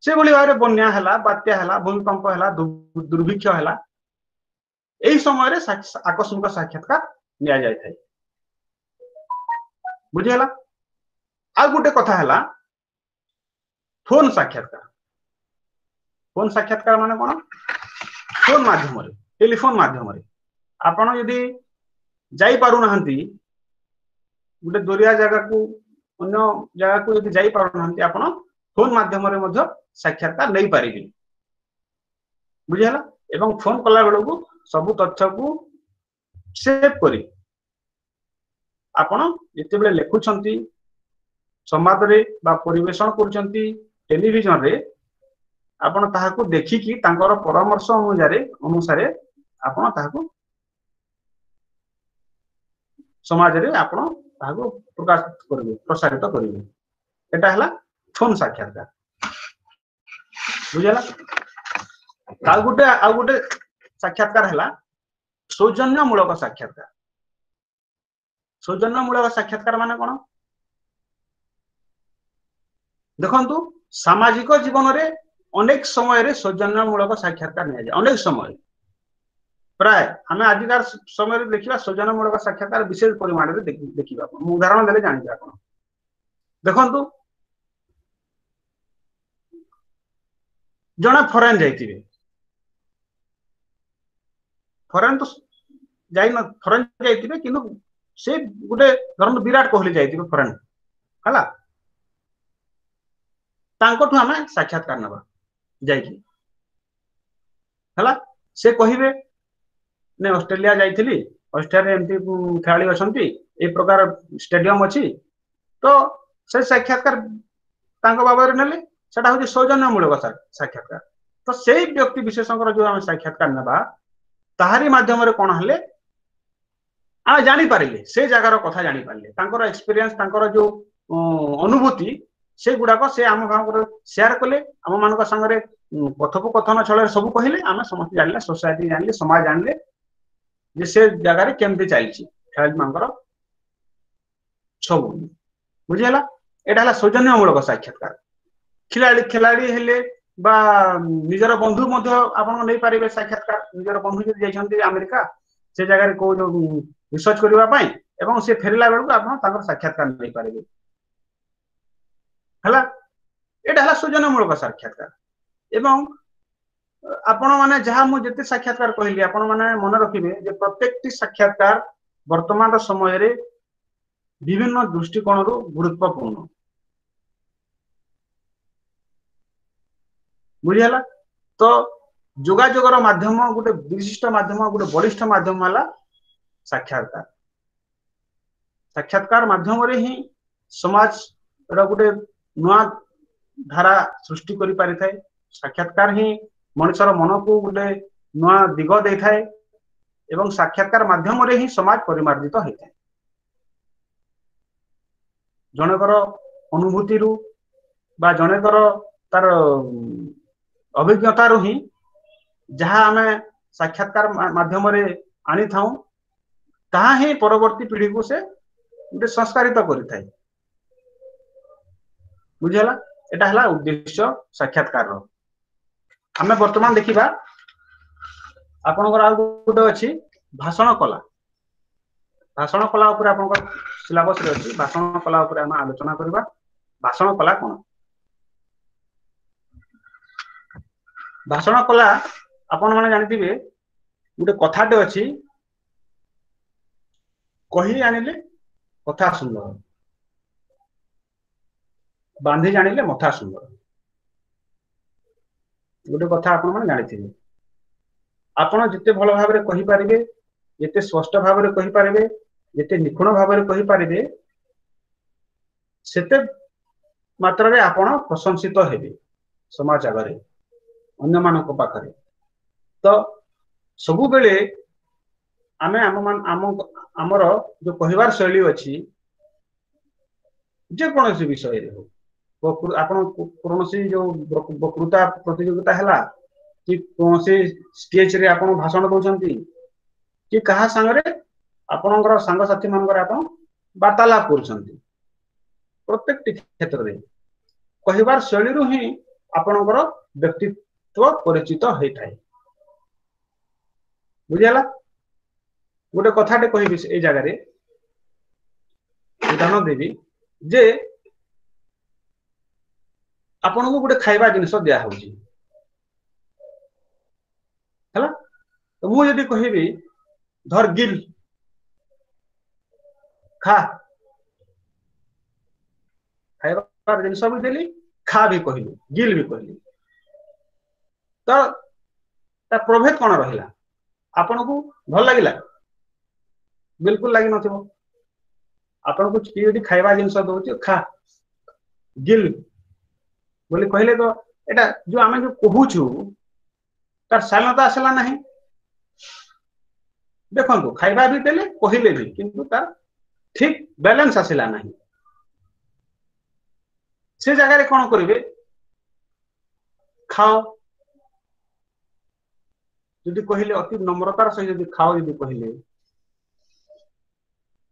B: ସେଭଳି ଭାବରେ ବନ୍ୟା ହେଲା, ବାତ୍ୟା ହେଲା, ଭୂମିକମ୍ପ ହେଲା, ଦୁର୍ଭିକ୍ଷ ହେଲା, ଏଇ ସମୟରେ ଆକସ୍ମିକ ସାକ୍ଷାତକାର ନିଆଯାଇଥାଏ। ବୁଝିହେଲା? ଆଉ ଗୋଟେ କଥା ହେଲା ଫୋନ ସାକ୍ଷାତକାର। ଫୋନ ସାକ୍ଷାତକାର ମାନେ କଣ? ଫୋନ ମାଧ୍ୟମରେ, ଟେଲିଫୋନ ମାଧ୍ୟମରେ ଆପଣ ଯଦି ଯାଇପାରୁନାହାନ୍ତି ଗୋଟେ ଦୂରିଆ ଜାଗାକୁ, ଅନ୍ୟ ଜାଗାକୁ ଯଦି ଯାଇପାରୁନାହାନ୍ତି, ଆପଣ ଫୋନ ମାଧ୍ୟମରେ ମଧ୍ୟ ସାକ୍ଷାତକାର ନେଇପାରିବେ। ବୁଝିହେଲା? ଏବଂ ଫୋନ କଲା ବେଳକୁ ସବୁ ତଥ୍ୟକୁ ସେଭ୍ କରି ଆପଣ ଯେତେବେଳେ ଲେଖୁଛନ୍ତି ସମ୍ବାଦରେ ବା ପରିବେଷଣ କରୁଛନ୍ତି ଟେଲିଭିଜନରେ, ଆପଣ ତାହାକୁ ଦେଖିକି ତାଙ୍କର ପରାମର୍ଶ ଅନୁଯାୟୀ ଅନୁସାରେ ଆପଣ ତାହାକୁ ସମାଜରେ ଆପଣ ତାହାକୁ ପ୍ରକାଶ କରିବେ, ପ୍ରସାରିତ କରିବେ। ଏଟା ହେଲା ଫୋନ ସାକ୍ଷାତକାର। ବୁଝିହେଲା? ଆଉ ଗୋଟେ ଆଉ ଗୋଟେ ସାକ୍ଷାତକାର ହେଲା ସୌଜନ୍ୟମୂଳକ ସାକ୍ଷାତକାର। ସୌଜନ୍ୟମୂଳକ ସାକ୍ଷାତକାର ମାନେ କଣ? ଦେଖନ୍ତୁ, ସାମାଜିକ ଜୀବନରେ ଅନେକ ସମୟରେ ସୌଜନ୍ୟମୂଳକ ସାକ୍ଷାତକାର ନିଆଯାଏ। ଅନେକ ସମୟରେ ପ୍ରାୟ ଆମେ ଆଜିକାର ସମୟରେ ଦେଖିବା, ସୌଜନ୍ୟମୂଳକ ସାକ୍ଷାତକାର ବିଶେଷ ପରିମାଣରେ ଦେଖିବା। ମୁଁ ଉଦାହରଣ ଦେଲେ ଜାଣିବେ ଆପଣ। ଦେଖନ୍ତୁ, ଜଣେ ଫରେନ୍ ଯାଇଥିବେ, ଫରେନ୍ ତ ଯାଇ ଫରେନ୍ ଯାଇଥିବେ, କିନ୍ତୁ ସେ ଗୋଟେ ଧରନ୍ତୁ ବିରାଟ କୋହଲି ଯାଇଥିବେ ଫରେନ୍, ହେଲା, ତାଙ୍କଠୁ ଆମେ ସାକ୍ଷାତକାର ନେବା ଯାଇକି, ହେଲା। ସେ କହିବେ, ନାଇଁ, ଅଷ୍ଟ୍ରେଲିଆ ଯାଇଥିଲି, ଅଷ୍ଟ୍ରେଲିଆରେ ଏମିତି ଖେଳାଳି ଅଛନ୍ତି, ଏଇ ପ୍ରକାର ଷ୍ଟାଡିୟମ ଅଛି। ତ ସେ ସାକ୍ଷାତକାର ତାଙ୍କ ବାବଦରେ ନେଲେ, ସେଟା ହଉଛି ସୌଜନ୍ୟମୂଳକ ସାକ୍ଷାତକାର। ତ ସେଇ ବ୍ୟକ୍ତି ବିଶେଷଙ୍କର ଯୋଉ ଆମେ ସାକ୍ଷାତକାର ନେବା, ତାହାରି ମାଧ୍ୟମରେ କଣ ହେଲେ ଆମେ ଜାଣିପାରିଲେ, ସେ ଜାଗାର କଥା ଜାଣିପାରିଲେ, ତାଙ୍କର ଏକ୍ସପିରିଏନ୍ସ, ତାଙ୍କର ଯୋଉ ଅନୁଭୂତି, ସେଗୁଡାକ ସେ ଆମ ମାନଙ୍କର ସେୟାର କଲେ, ଆମ ମାନଙ୍କ ସାଙ୍ଗରେ କଥୋପକଥନ ଛଳରେ ସବୁ କହିଲେ। ଆମେ ସମସ୍ତେ ଜାଣିଲେ, ସୋସାଇଟି ଜାଣିଲେ, ସମାଜ ଜାଣିଲେ ଯେ ସେ ଜାଗାରେ କେମିତି ଚାଲିଛି ଖେଳାଳି ମାନଙ୍କର ସବୁ। ବୁଝିହେଲା? ଏଇଟା ହେଲା ସୌଜନ୍ୟମୂଳକ ସାକ୍ଷାତକାର। ଖେଳାଳି ଖେଳାଳି ହେଲେ ବା ନିଜର ବନ୍ଧୁ ମଧ୍ୟ ଆପଣ ନେଇପାରିବେ ସାକ୍ଷାତକାର। ନିଜର ବନ୍ଧୁ ଯଦି ଯାଇଛନ୍ତି ଆମେରିକା, ସେ ଜାଗାରେ କୋଉ ରିସର୍ଚ୍ଚ କରିବା ପାଇଁ, ଏବଂ ସେ ଫେରିଲା ବେଳକୁ ଆପଣ ତାଙ୍କର ସାକ୍ଷାତକାର ନେଇପାରିବେ। ହେଲା, ଏଇଟା ହେଲା ସୌଜନ୍ୟମୂଳକ ସାକ୍ଷାତକାର। ଏବଂ ଆପଣ ମାନେ ଯାହା ମୁଁ ଯେତେ ସାକ୍ଷାତକାର କହିଲି, ଆପଣ ମାନେ ମନେ ରଖିବେ ଯେ ପ୍ରତ୍ୟେକଟି ସାକ୍ଷାତକାର ବର୍ତ୍ତମାନର ସମୟରେ ବିଭିନ୍ନ ଦୃଷ୍ଟିକୋଣରୁ ଗୁରୁତ୍ୱପୂର୍ଣ୍ଣ। ବୁଝିହେଲା? ତ ଯୋଗାଯୋଗର ମାଧ୍ୟମ, ଗୋଟେ ବିଶିଷ୍ଟ ମାଧ୍ୟମ, ଗୋଟେ ବଳିଷ୍ଠ ମାଧ୍ୟମ ହେଲା ସାକ୍ଷାତକାର। ସାକ୍ଷାତକାର ମାଧ୍ୟମରେ ହିଁ ସମାଜର ଗୋଟେ ନୂଆ ଧାରା ସୃଷ୍ଟି କରିପାରିଥାଏ। ସାକ୍ଷାତକାର ହିଁ ମଣିଷର ମନକୁ ଗୋଟେ ନୂଆ ଦିଗ ଦେଇଥାଏ ଏବଂ ସାକ୍ଷାତକାର ମାଧ୍ୟମରେ ହିଁ ସମାଜ ପରିମାର୍ଜିତ ହେଇଥାଏ। ଜଣଙ୍କର ଅନୁଭୂତିରୁ ବା ଜଣଙ୍କର ତାର ଅଭିଜ୍ଞତାରୁ ହିଁ ଯାହା ଆମେ ସାକ୍ଷାତକାର ମାଧ୍ୟମରେ ଆଣିଥାଉ, ତାହା ହିଁ ପରବର୍ତ୍ତୀ ପିଢିକୁ ସେ ଗୋଟେ ସଂସ୍କାରିତ କରିଥାଏ। ବୁଝିହେଲା? ଏଟା ହେଲା ଉଦ୍ଦେଶ୍ୟ ସାକ୍ଷାତକାରର। ଆମେ ବର୍ତ୍ତମାନ ଦେଖିବା, ଆପଣଙ୍କର ଆଉ ଗୋଟେ ଅଛି ଭାଷଣ କଲା। ଭାଷଣ କଲା ଉପରେ ଆପଣଙ୍କର ସିଲାବସରେ ଅଛି। ଭାଷଣ କଲା ଉପରେ ଆମେ ଆଲୋଚନା କରିବା। ଭାଷଣ କଲା କଣ? ଭାଷଣ କଲା, ଆପଣ ମାନେ ଜାଣିଥିବେ, ଗୋଟେ କଥାଟେ ଅଛି, କହି ଆଣିଲେ କଥା ସୁନ୍ଦର, ବାନ୍ଧି ଜାଣିଲେ ମଥା ସୁନ୍ଦର। ଗୋଟେ କଥା ଆପଣ ମାନେ ଜାଣିଥିବେ, ଆପଣ ଯେତେ ଭଲ ଭାବରେ କହିପାରିବେ, ଯେତେ ସ୍ପଷ୍ଟ ଭାବରେ କହିପାରିବେ, ଯେତେ ନିଖୁଣ ଭାବରେ କହିପାରିବେ, ସେତେ ମାତ୍ରାରେ ଆପଣ ପ୍ରଶଂସିତ ହେବେ ସମାଜ ଆଗରେ, ଅନ୍ୟମାନଙ୍କ ପାଖରେ। ତ ସବୁବେଳେ ଆମେ ଆମ ଆମ ଆମର ଯୋଉ କହିବାର ଶୈଳୀ ଅଛି, ଯେକୌଣସି ବିଷୟରେ ହଉ, ଆପଣ କୌଣସି ଯୋଉ ବକ୍ତୃତା ପ୍ରତିଯୋଗିତା ହେଲା କି କୌଣସି ଷ୍ଟେଜରେ ଆପଣ ଭାଷଣ ଦଉଛନ୍ତି କି କାହା ସାଙ୍ଗରେ ଆପଣଙ୍କର ସାଙ୍ଗସାଥି ମାନଙ୍କରେ ଆପଣ ବାର୍ତ୍ତାଳାପ କରୁଛନ୍ତି, ପ୍ରତ୍ୟେକଟି କ୍ଷେତ୍ରରେ କହିବାର ଶୈଳୀରୁ ହିଁ ଆପଣଙ୍କର ବ୍ୟକ୍ତିତ୍ୱ ପରିଚିତ ହେଇଥାଏ। ବୁଝିହେଲା? ଗୋଟେ କଥାଟେ କହିବି ଏଇ ଜାଗାରେ, ଉଦାହରଣ ଦେବି ଯେ ଆପଣଙ୍କୁ ଗୋଟେ ଖାଇବା ଜିନିଷ ଦିଆ ହଉଛି, ହେଲା, ତ ମୁଁ ଯଦି କହିବି, ଧର ଗିଲ ଖା, ଖାଇବା ଜିନିଷ ବି ଦେଲି, ଖା ବି କହିଲି, ଗିଲ ବି କହିଲି, ତ ତା ପ୍ରଭେଦ କଣ ରହିଲା? ଆପଣଙ୍କୁ ଭଲ ଲାଗିଲା? ବିଲକୁଲ ଲାଗିନଥିବ। ଆପଣଙ୍କୁ କିଏ ଯଦି ଖାଇବା ଜିନିଷ ଦଉଛି, ଖା, ଗିଲ୍ ବୋଲି କହିଲେ, ତ ଏଇଟା ଯୋଉ ଆମେ ଯୋଉ କହୁଛୁ ତାର ଶାଳୀନତା ଆସିଲା ନାହିଁ। ଦେଖନ୍ତୁ, ଖାଇବା ବି ଦେଲେ, କହିଲେ ବି, କିନ୍ତୁ ତାର ଠିକ ବାଲାନ୍ସ ଆସିଲା ନାହିଁ। ସେ ଜାଗାରେ କଣ କରିବେ? ଖାଅ ଯଦି କହିଲେ, ଅତି ନମ୍ରତାର ସହିତ ଯଦି ଖାଅ ଯଦି କହିଲେ,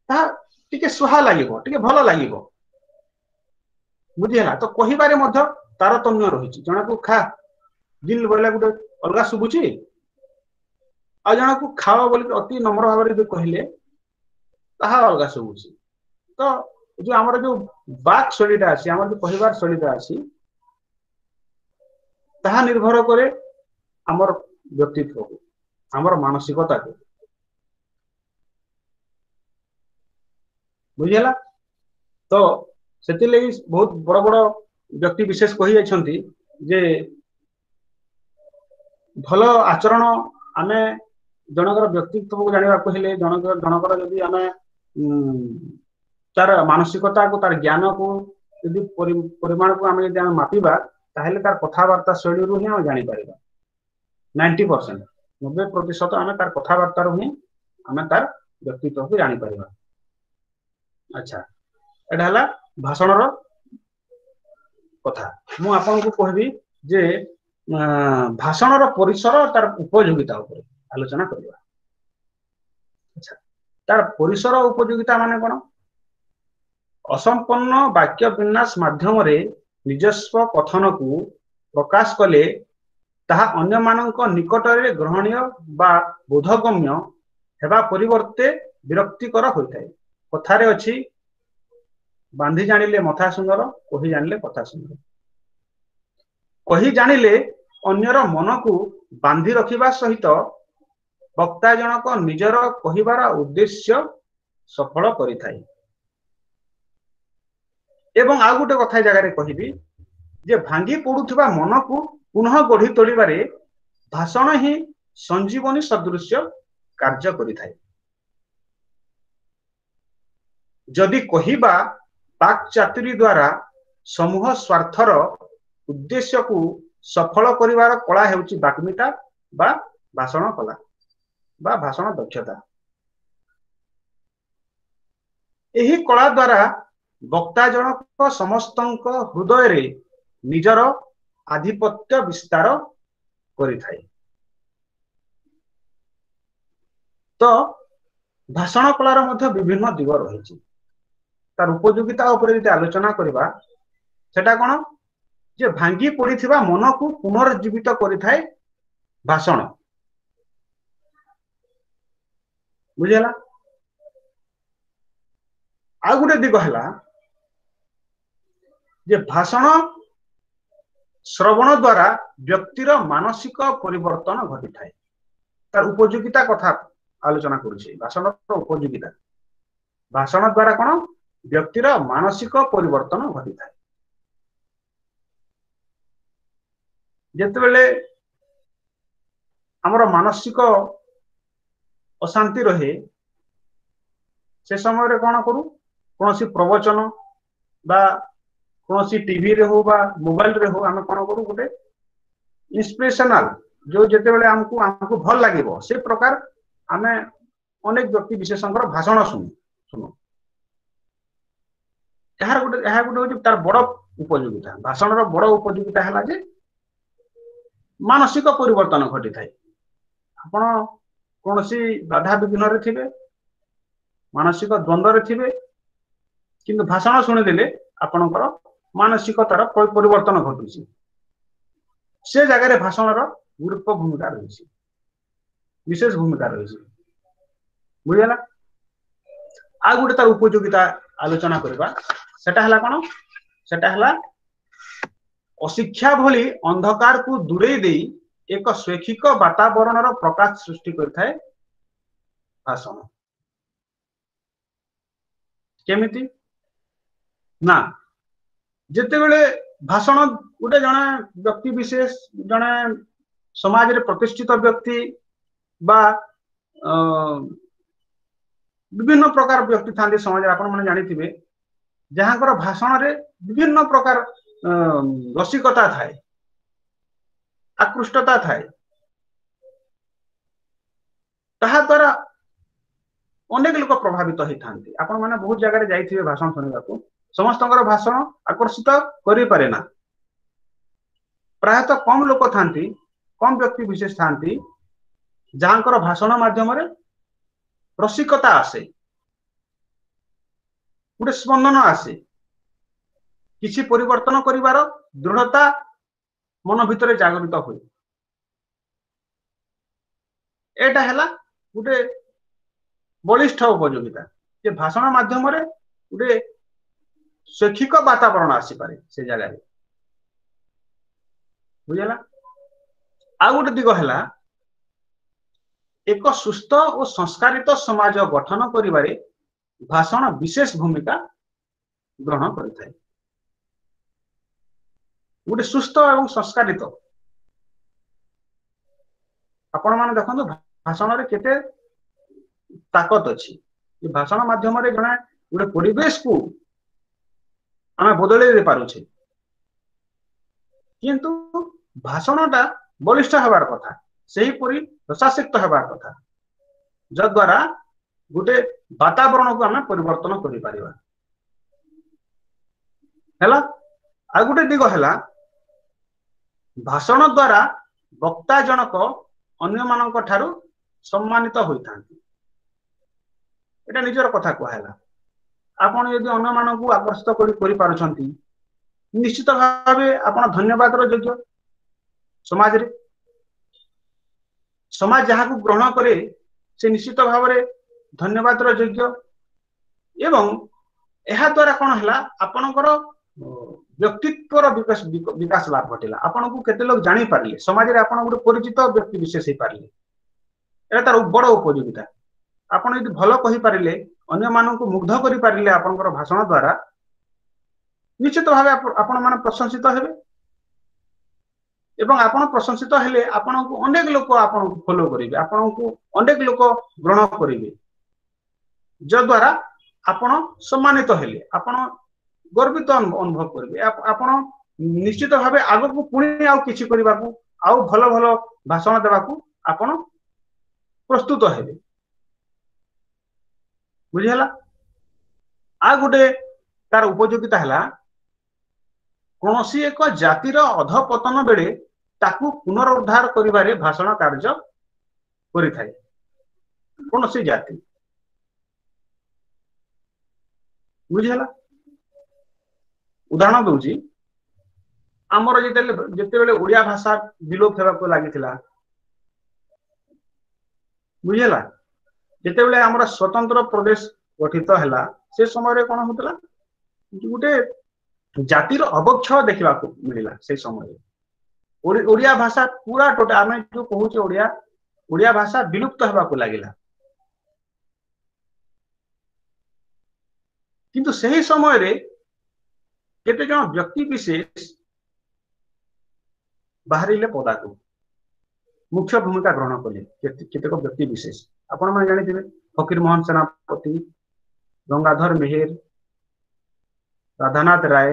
B: ତାହା ଟିକେ ସୁହା ଲାଗିବ, ଟିକେ ଭଲ ଲାଗିବ। ବୁଝିହେଲା? ତ କହିବାରେ ମଧ୍ୟ ତାରତମ୍ୟ ରହିଛି। ଜଣକୁ ଖା, ଗିଲ୍ ବୋଇଲେ ଗୋଟେ ଅଲଗା ଶୁଭୁଛି, ଆଉ ଜଣକୁ ଖାଅ ବୋଲି ଅତି ନମ୍ର ଭାବରେ ଯଦି କହିଲେ ତାହା ଅଲଗା ଶୁଭୁଛି। ତ ଯୋଉ ଆମର ଯୋଉ ବାକ୍ ଶୈଳୀଟା ଅଛି, ଆମର ଯୋଉ କହିବାର ଶୈଳୀଟା ଅଛି, ତାହା ନିର୍ଭର କରେ ଆମର ବ୍ୟକ୍ତିତ୍ୱକୁ, ଆମର ମାନସିକତାକୁ। ବୁଝିହେଲା? ତ ସେଥିଲାଗି ବହୁତ ବଡ ବଡ ବ୍ୟକ୍ତି ବିଶେଷ କହି ଯାଇଛନ୍ତି ଯେ ଭଲ ଆଚରଣ, ଆମେ ଜଣଙ୍କର ବ୍ୟକ୍ତିତ୍ୱକୁ ଜାଣିବାକୁ ହେଲେ, ଜଣଙ୍କର ଜଣଙ୍କର ଯଦି ଆମେ ଉଁ ତାର ମାନସିକତାକୁ, ତାର ଜ୍ଞାନକୁ ଯଦି ପରିମାଣକୁ ଆମେ ଯଦି ଆମେ ମାପିବା, ତାହେଲେ ତାର କଥାବାର୍ତ୍ତା ଶୈଳୀରୁ ହିଁ ଆମେ ଜାଣିପାରିବା। ନାଇଣ୍ଟି ପରସେଣ୍ଟ, ନବେ ପ୍ରତିଶତ ଆମେ ତାର କଥାବାର୍ତ୍ତାରୁ ହିଁ ଆମେ ତାର ବ୍ୟକ୍ତିତ୍ୱକୁ ଜାଣିପାରିବା। ଆଚ୍ଛା, ଏଇଟା ହେଲା ଭାଷଣର କଥା। ମୁଁ ଆପଣଙ୍କୁ କହିବି ଯେ ଭାଷଣର ପରିସର, ତାର ଉପଯୋଗିତା ଉପରେ ଆଲୋଚନା କରିବା। ଆଚ୍ଛା, ତାର ପରିସର ଉପଯୋଗିତା ମାନେ କଣ? ଅସମ୍ପନ୍ନ ବାକ୍ୟ ବିନ୍ୟାସ ମାଧ୍ୟମରେ ନିଜସ୍ୱ କଥନକୁ ପ୍ରକାଶ କଲେ ତାହା ଅନ୍ୟମାନଙ୍କ ନିକଟରେ ଗ୍ରହଣୀୟ ବା ବୋଧଗମ୍ୟ ହେବା ପରିବର୍ତ୍ତେ ବିରକ୍ତିକର ହୋଇଥାଏ। କଥାରେ ଅଛି, ବାନ୍ଧି ଜାଣିଲେ ମଥା ସୁନ୍ଦର, କହି ଜାଣିଲେ କଥା ସୁନ୍ଦର। କହି ଜାଣିଲେ ଅନ୍ୟର ମନକୁ ବାନ୍ଧି ରଖିବା ସହିତ ବକ୍ତା ଜଣକ ନିଜର କହିବାର ଉଦ୍ଦେଶ୍ୟ ସଫଳ କରିଥାଏ। ଏବଂ ଆଉ ଗୋଟେ କଥା ଏ ଜାଗାରେ କହିବି ଯେ ଭାଙ୍ଗି ପଡୁଥିବା ମନକୁ ପୁନଃ ଗଢି ତୋଳିବାରେ ଭାଷଣ ହିଁ ସଞ୍ଜୀବନୀ ସଦୃଶ୍ୟ କାର୍ଯ୍ୟ କରିଥାଏ। ଯଦି କହିବା ବାକ୍ ଚାତୁରୀ ଦ୍ଵାରା ସମୂହ ସ୍ୱାର୍ଥର ଉଦ୍ଦେଶ୍ୟକୁ ସଫଳ କରିବାର କଳା ହେଉଛି ବାଗ୍ମିତା ବା ଭାଷଣ କଳା ବା ଭାଷଣ ଦକ୍ଷତା। ଏହି କଳା ଦ୍ଵାରା ବକ୍ତା ଜଣକ ସମସ୍ତଙ୍କ ହୃଦୟରେ ନିଜର ଆଧିପତ୍ୟ ବିସ୍ତାର କରିଥାଏ। ତ ଭାଷଣ କଳାର ମଧ୍ୟ ବିଭିନ୍ନ ଦିଗ ରହିଛି। ତାର ଉପଯୋଗିତା ଉପରେ ଯଦି ଆଲୋଚନା କରିବା, ସେଟା କଣ ଯେ ଭାଙ୍ଗି ପଡିଥିବା ମନକୁ ପୁନର୍ଜୀବିତ କରିଥାଏ ଭାଷଣ। ବୁଝିହେଲା? ଆଉ ଗୋଟେ ଦିଗ ହେଲା ଯେ ଭାଷଣ ଶ୍ରବଣ ଦ୍ଵାରା ବ୍ୟକ୍ତିର ମାନସିକ ପରିବର୍ତ୍ତନ ଘଟିଥାଏ। ତାର ଉପଯୋଗିତା କଥା ଆଲୋଚନା କରୁଛି, ଭାଷଣର ଉପଯୋଗିତା। ଭାଷଣ ଦ୍ଵାରା କଣ ବ୍ୟକ୍ତିର ମାନସିକ ପରିବର୍ତ୍ତନ ଘଟିଥାଏ। ଯେତେବେଳେ ଆମର ମାନସିକ ଅଶାନ୍ତି ରହେ, ସେ ସମୟରେ କଣ କରୁ? କୌଣସି ପ୍ରବଚନ ବା କୌଣସି ଟିଭିରେ ହଉ ବା ମୋବାଇଲରେ ହଉ, ଆମେ କଣ କରୁ? ଗୋଟେ ଇନ୍ସପିରେସନାଲ ଯୋଉ ଯେତେବେଳେ ଆମକୁ ଆମକୁ ଭଲ ଲାଗିବ, ସେ ପ୍ରକାର ଆମେ ଅନେକ ବ୍ୟକ୍ତି ବିଶେଷଙ୍କର ଭାଷଣ ଶୁଣୁ ଶୁଣୁ ଏହାର ଗୋଟେ ଏହା ଗୋଟେ ହଉଛି ତାର ବଡ ଉପଯୋଗିତା। ଭାଷଣର ବଡ ଉପଯୋଗିତା ହେଲା ଯେ ମାନସିକ ପରିବର୍ତ୍ତନ ଘଟିଥାଏ। ଆପଣ କୌଣସି ବାଧା ବିଘ୍ନରେ ଥିବେ, ମାନସିକ ଦ୍ୱନ୍ଦ୍ୱରେ ଥିବେ, କିନ୍ତୁ ଭାଷଣ ଶୁଣିଦେଲେ ଆପଣଙ୍କର ମାନସିକତାର ପରିବର୍ତ୍ତନ ଘଟୁଛି। ସେ ଜାଗାରେ ଭାଷଣର ଗୁରୁତ୍ୱ ଭୂମିକା ରହିଛି, ବିଶେଷ ଭୂମିକା ରହିଛି। ବୁଝିହେଲା? ଆଉ ଗୋଟେ ତାର ଉପଯୋଗିତା ଆଲୋଚନା କରିବା, ସେଟା ହେଲା କଣ? ସେଟା ହେଲା ଅଶିକ୍ଷା ଭଳି ଅନ୍ଧକାରକୁ ଦୂରେଇ ଦେଇ ଏକ ଶୈକ୍ଷିକ ବାତାବରଣର ପ୍ରକାଶ ସୃଷ୍ଟି କରିଥାଏ ଭାଷଣ। କେମିତି ନା ଯେତେବେଳେ ଭାଷଣ ଗୋଟେ ଜଣେ ବ୍ୟକ୍ତି ବିଶେଷ, ଜଣେ ସମାଜରେ ପ୍ରତିଷ୍ଠିତ ବ୍ୟକ୍ତି ବା ଅ ବିଭିନ୍ନ ପ୍ରକାର ବ୍ୟକ୍ତି ଥାନ୍ତି ସମାଜରେ, ଆପଣ ମାନେ ଜାଣିଥିବେ, ଯାହାଙ୍କର ଭାଷଣରେ ବିଭିନ୍ନ ପ୍ରକାର ରସିକତା ଥାଏ, ଆକୃଷ୍ଟତା ଥାଏ। ତାହା ଦ୍ୱାରା ଅନେକ ଲୋକ ପ୍ରଭାବିତ ହେଇଥାନ୍ତି। ଆପଣ ମାନେ ବହୁତ ଜାଗାରେ ଯାଇଥିବେ ଭାଷଣ ଶୁଣିବାକୁ। ସମସ୍ତଙ୍କର ଭାଷଣ ଆକର୍ଷିତ କରିପାରେ ନା। ପ୍ରାୟତଃ କମ ଲୋକ ଥାନ୍ତି, କମ ବ୍ୟକ୍ତି ବିଶେଷ ଥାନ୍ତି, ଯାହାଙ୍କର ଭାଷଣ ମାଧ୍ୟମରେ ରସିକତା ଆସେ, ଗୋଟେ ସ୍ପନ୍ଦନ ଆସେ, କିଛି ପରିବର୍ତ୍ତନ କରିବାର ଦୃଢତା ମନ ଭିତରେ ଜାଗୃତ ହୁଏ। ଏଇଟା ହେଲା ଗୋଟେ ବଳିଷ୍ଠ ଉପଯୋଗିତା ଯେ ଭାଷଣ ମାଧ୍ୟମରେ ଗୋଟେ ଶୈକ୍ଷିକ ବାତାବରଣ ଆସିପାରେ ସେ ଜାଗାରେ। ବୁଝିଲା? ଆଉ ଗୋଟେ ଦିଗ ହେଲା, ଏକ ସୁସ୍ଥ ଓ ସଂସ୍କାରିତ ସମାଜ ଗଠନ କରିବାରେ ଭାଷଣ ବିଶେଷ ଭୂମିକା ଗ୍ରହଣ କରିଥାଏ। ଗୋଟେ ସୁସ୍ଥ ଏବଂ ସଂସ୍କାରିତ, ଆପଣ ମାନେ ଦେଖନ୍ତୁ ଭାଷଣରେ କେତେ ତାକତ ଅଛି। ଭାଷଣ ମାଧ୍ୟମରେ ଜଣେ ଗୋଟେ ପରିବେଶକୁ ଆମେ ବଦଳେଇ ଦେଇ ପାରୁଛେ। କିନ୍ତୁ ଭାଷଣଟା ବଳିଷ୍ଠ ହେବାର କଥା, ସେହିପରି ରସାସିକ୍ତ ହେବାର କଥା, ଯଦ୍ୱାରା ଗୋଟେ ବାତାବରଣକୁ ଆମେ ପରିବର୍ତ୍ତନ କରିପାରିବା। ହେଲା? ଆଉ ଗୋଟେ ଦିଗ ହେଲା, ଭାଷଣ ଦ୍ୱାରା ବକ୍ତା ଜଣକ ଅନ୍ୟମାନଙ୍କ ଠାରୁ ସମ୍ମାନିତ ହୋଇଥାନ୍ତି। ଏଇଟା ନିଜର କଥା କୁହାହେଲା। ଆପଣ ଯଦି ଅନ୍ୟମାନଙ୍କୁ ଆକର୍ଷିତ କରି କରିପାରୁଛନ୍ତି, ନିଶ୍ଚିତ ଭାବେ ଆପଣ ଧନ୍ୟବାଦର ଯୋଗ୍ୟ ସମାଜରେ। ସମାଜ ଯାହାକୁ ଗ୍ରହଣ କରେ, ସେ ନିଶ୍ଚିତ ଭାବରେ ଧନ୍ୟବାଦର ଯୋଗ୍ୟ। ଏବଂ ଏହା ଦ୍ୱାରା କଣ ହେଲା? ଆପଣଙ୍କର ବ୍ୟକ୍ତିତ୍ୱର ବିକାଶ ବିକାଶ ଲାଭ ଘଟିଲା। ଆପଣଙ୍କୁ କେତେ ଲୋକ ଜାଣିପାରିଲେ, ସମାଜରେ ଆପଣ ଗୋଟେ ପରିଚିତ ବ୍ୟକ୍ତି ବିଶେଷ ହେଇପାରିଲେ। ଏଇଟା ତାର ବଡ ଉପଯୋଗିତା। ଆପଣ ଯଦି ଭଲ କହିପାରିଲେ, ଅନ୍ୟମାନଙ୍କୁ ମୁଗ୍ଧ କରିପାରିଲେ ଆପଣଙ୍କର ଭାଷଣ ଦ୍ୱାରା, ନିଶ୍ଚିତ ଭାବେ ଆପଣ ମାନେ ପ୍ରଶଂସିତ ହେବେ। ଏବଂ ଆପଣ ପ୍ରଶଂସିତ ହେଲେ ଆପଣଙ୍କୁ ଅନେକ ଲୋକ ଆପଣଙ୍କୁ ଫଲୋ କରିବେ, ଆପଣଙ୍କୁ ଅନେକ ଲୋକ ଗ୍ରହଣ କରିବେ, ଯଦ୍ୱାରା ଆପଣ ସମ୍ମାନିତ ହେଲେ, ଆପଣ ଗର୍ବିତ ଅନୁଭବ କରିବେ। ଆପଣ ନିଶ୍ଚିତ ଭାବେ ଆଗକୁ ପୁଣି ଆଉ କିଛି କରିବାକୁ, ଆଉ ଭଲ ଭଲ ଭାଷଣ ଦେବାକୁ ଆପଣ ପ୍ରସ୍ତୁତ ହେବେ। ବୁଝିହେଲା? ଆଉ ଗୋଟେ ତାର ଉପଯୋଗିତା ହେଲା, କୌଣସି ଏକ ଜାତିର ଅଧପତନ ବେଳେ ତାକୁ ପୁନରୁଦ୍ଧାର କରିବାରେ ଭାଷଣ କାର୍ଯ୍ୟ କରିଥାଏ। କୌଣସି ଜାତି, ବୁଝିହେଲା? ଉଦାହରଣ ଦଉଛି, ଆମର ଯେତେବେଳେ ଯେତେବେଳେ ଓଡିଆ ଭାଷା ବିଲୋପ ହେବାକୁ ଲାଗିଥିଲା, ବୁଝିହେଲା, ଯେତେବେଳେ ଆମର ସ୍ୱତନ୍ତ୍ର ପ୍ରଦେଶ ଗଠିତ ହେଲା, ସେ ସମୟରେ କଣ ହଉଥିଲା? ଗୋଟେ ଜାତିର ଅବକ୍ଷୟ ଦେଖିବାକୁ ମିଳିଲା। ସେଇ ସମୟରେ ଓଡିଆ ଭାଷା ପୁରା ଟୋଟା, ଆମେ ଯୋଉ କହୁଛେ ଓଡିଆ, ଓଡିଆ ଭାଷା ବିଲୁପ୍ତ ହେବାକୁ ଲାଗିଲା। କିନ୍ତୁ ସେହି ସମୟରେ କେତେ ଜଣ ବ୍ୟକ୍ତି ବିଶେଷ ବାହାରିଲେ ପଦାକୁ, ମୁଖ୍ୟ ଭୂମିକା ଗ୍ରହଣ କଲେ କେତେକ ବ୍ୟକ୍ତି ବିଶେଷ। ଆପଣ ମାନେ ଜାଣିଥିବେ, ଫକୀର ମୋହନ ସେନାପତି, ଗଙ୍ଗାଧର ମେହେର, ରାଧାନାଥ ରାୟ,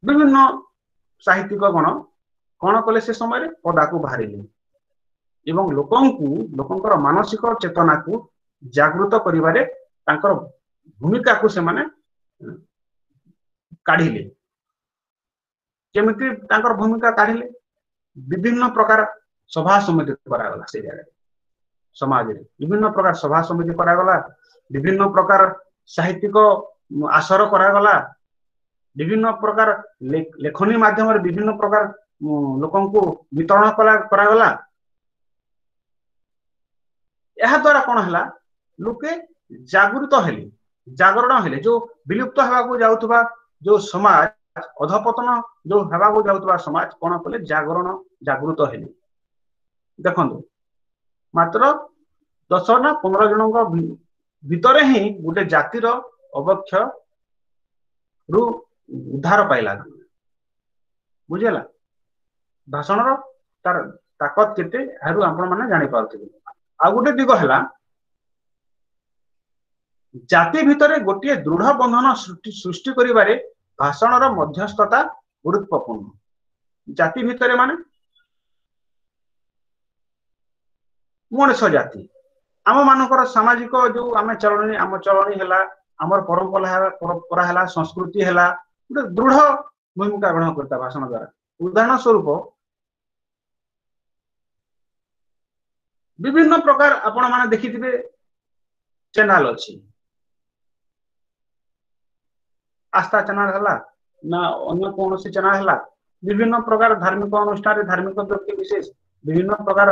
B: ବିଭିନ୍ନ ସାହିତ୍ୟିକ ଗଣ କଣ କଲେ? ସେ ସମୟରେ ପଦାକୁ ବାହାରିଲେ ଏବଂ ଲୋକଙ୍କୁ, ଲୋକଙ୍କର ମାନସିକ ଚେତନାକୁ ଜାଗୃତ କରିବାରେ ତାଙ୍କର ଭୂମିକାକୁ ସେମାନେ କାଢିଲେ। କେମିତି ତାଙ୍କର ଭୂମିକା କାଢିଲେ? ବିଭିନ୍ନ ପ୍ରକାର ସଭା ସମିତି କରାଗଲା ସେଇ ଜାଗାରେ। ସମାଜରେ ବିଭିନ୍ନ ପ୍ରକାର ସଭା ସମିତି କରାଗଲା, ବିଭିନ୍ନ ପ୍ରକାର ସାହିତ୍ୟିକ ଆସର କରାଗଲା, ବିଭିନ୍ନ ପ୍ରକାର ଲେଖନୀ ମାଧ୍ୟମରେ ବିଭିନ୍ନ ପ୍ରକାର ଲୋକଙ୍କୁ ବିତରଣ କଲା କରାଗଲା। ଏହା ଦ୍ୱାରା କଣ ହେଲା? ଲୋକେ ଜାଗୃତ ହେଲେ, ଜାଗରଣ ହେଲେ। ଯୋଉ ବିଲୁପ୍ତ ହେବାକୁ ଯାଉଥିବା ଯୋଉ ସମାଜ, ଅଧପତନ ଯୋଉ ହେବାକୁ ଯାଉଥିବା ସମାଜ, କଣ କଲେ? ଜାଗରଣ, ଜାଗୃତ ହେଲେ। ଦେଖନ୍ତୁ, ମାତ୍ର ଦଶ ନା ପନ୍ଦର ଜଣଙ୍କ ଭିତରେ ହିଁ ଗୋଟେ ଜାତିର ଅବକ୍ଷୟ ରୁ ଉଦ୍ଧାର ପାଇଲା। ବୁଝିହେଲା? ଭାଷଣର ତାର ତାକତ କେତେ, ଏହାରୁ ଆପଣ ମାନେ ଜାଣିପାରୁଥିବେ। ଆଉ ଗୋଟେ ଦିଗ ହେଲା, ଜାତି ଭିତରେ ଗୋଟିଏ ଦୃଢ ବନ୍ଧନ ସୃଷ୍ଟି କରିବାରେ ଭାଷଣର ମଧ୍ୟସ୍ଥତା ଗୁରୁତ୍ୱପୂର୍ଣ୍ଣ। ଜାତି ଭିତରେ ମାନେ ମଣିଷ ଜାତି, ଆମ ମାନଙ୍କର ସାମାଜିକ ଯୋଉ ଆମେ ଚଳଣି, ଆମ ଚଳଣି ହେଲା, ଆମର ପରମ୍ପରା ହେଲା, ପରମ୍ପରା ହେଲା, ସଂସ୍କୃତି ହେଲା, ଗୋଟେ ଦୃଢ ଭୂମିକା ଗ୍ରହଣ କରିଥାଏ ଭାଷଣ ଦ୍ଵାରା। ଉଦାହରଣ ସ୍ୱରୂପ ବିଭିନ୍ନ ପ୍ରକାର ଆପଣ ମାନେ ଦେଖିଥିବେ ଚ୍ୟାନେଲ ଅଛି, ଆସ୍ଥା ଚ୍ୟାନେଲ ହେଲା ନା ଅନ୍ୟ କୌଣସି ଚ୍ୟାନେଲ ହେଲା, ବିଭିନ୍ନ ପ୍ରକାର ଧାର୍ମିକ ଅନୁଷ୍ଠାନରେ ଧାର୍ମିକ ବ୍ୟକ୍ତି ବିଶେଷ, ବିଭିନ୍ନ ପ୍ରକାର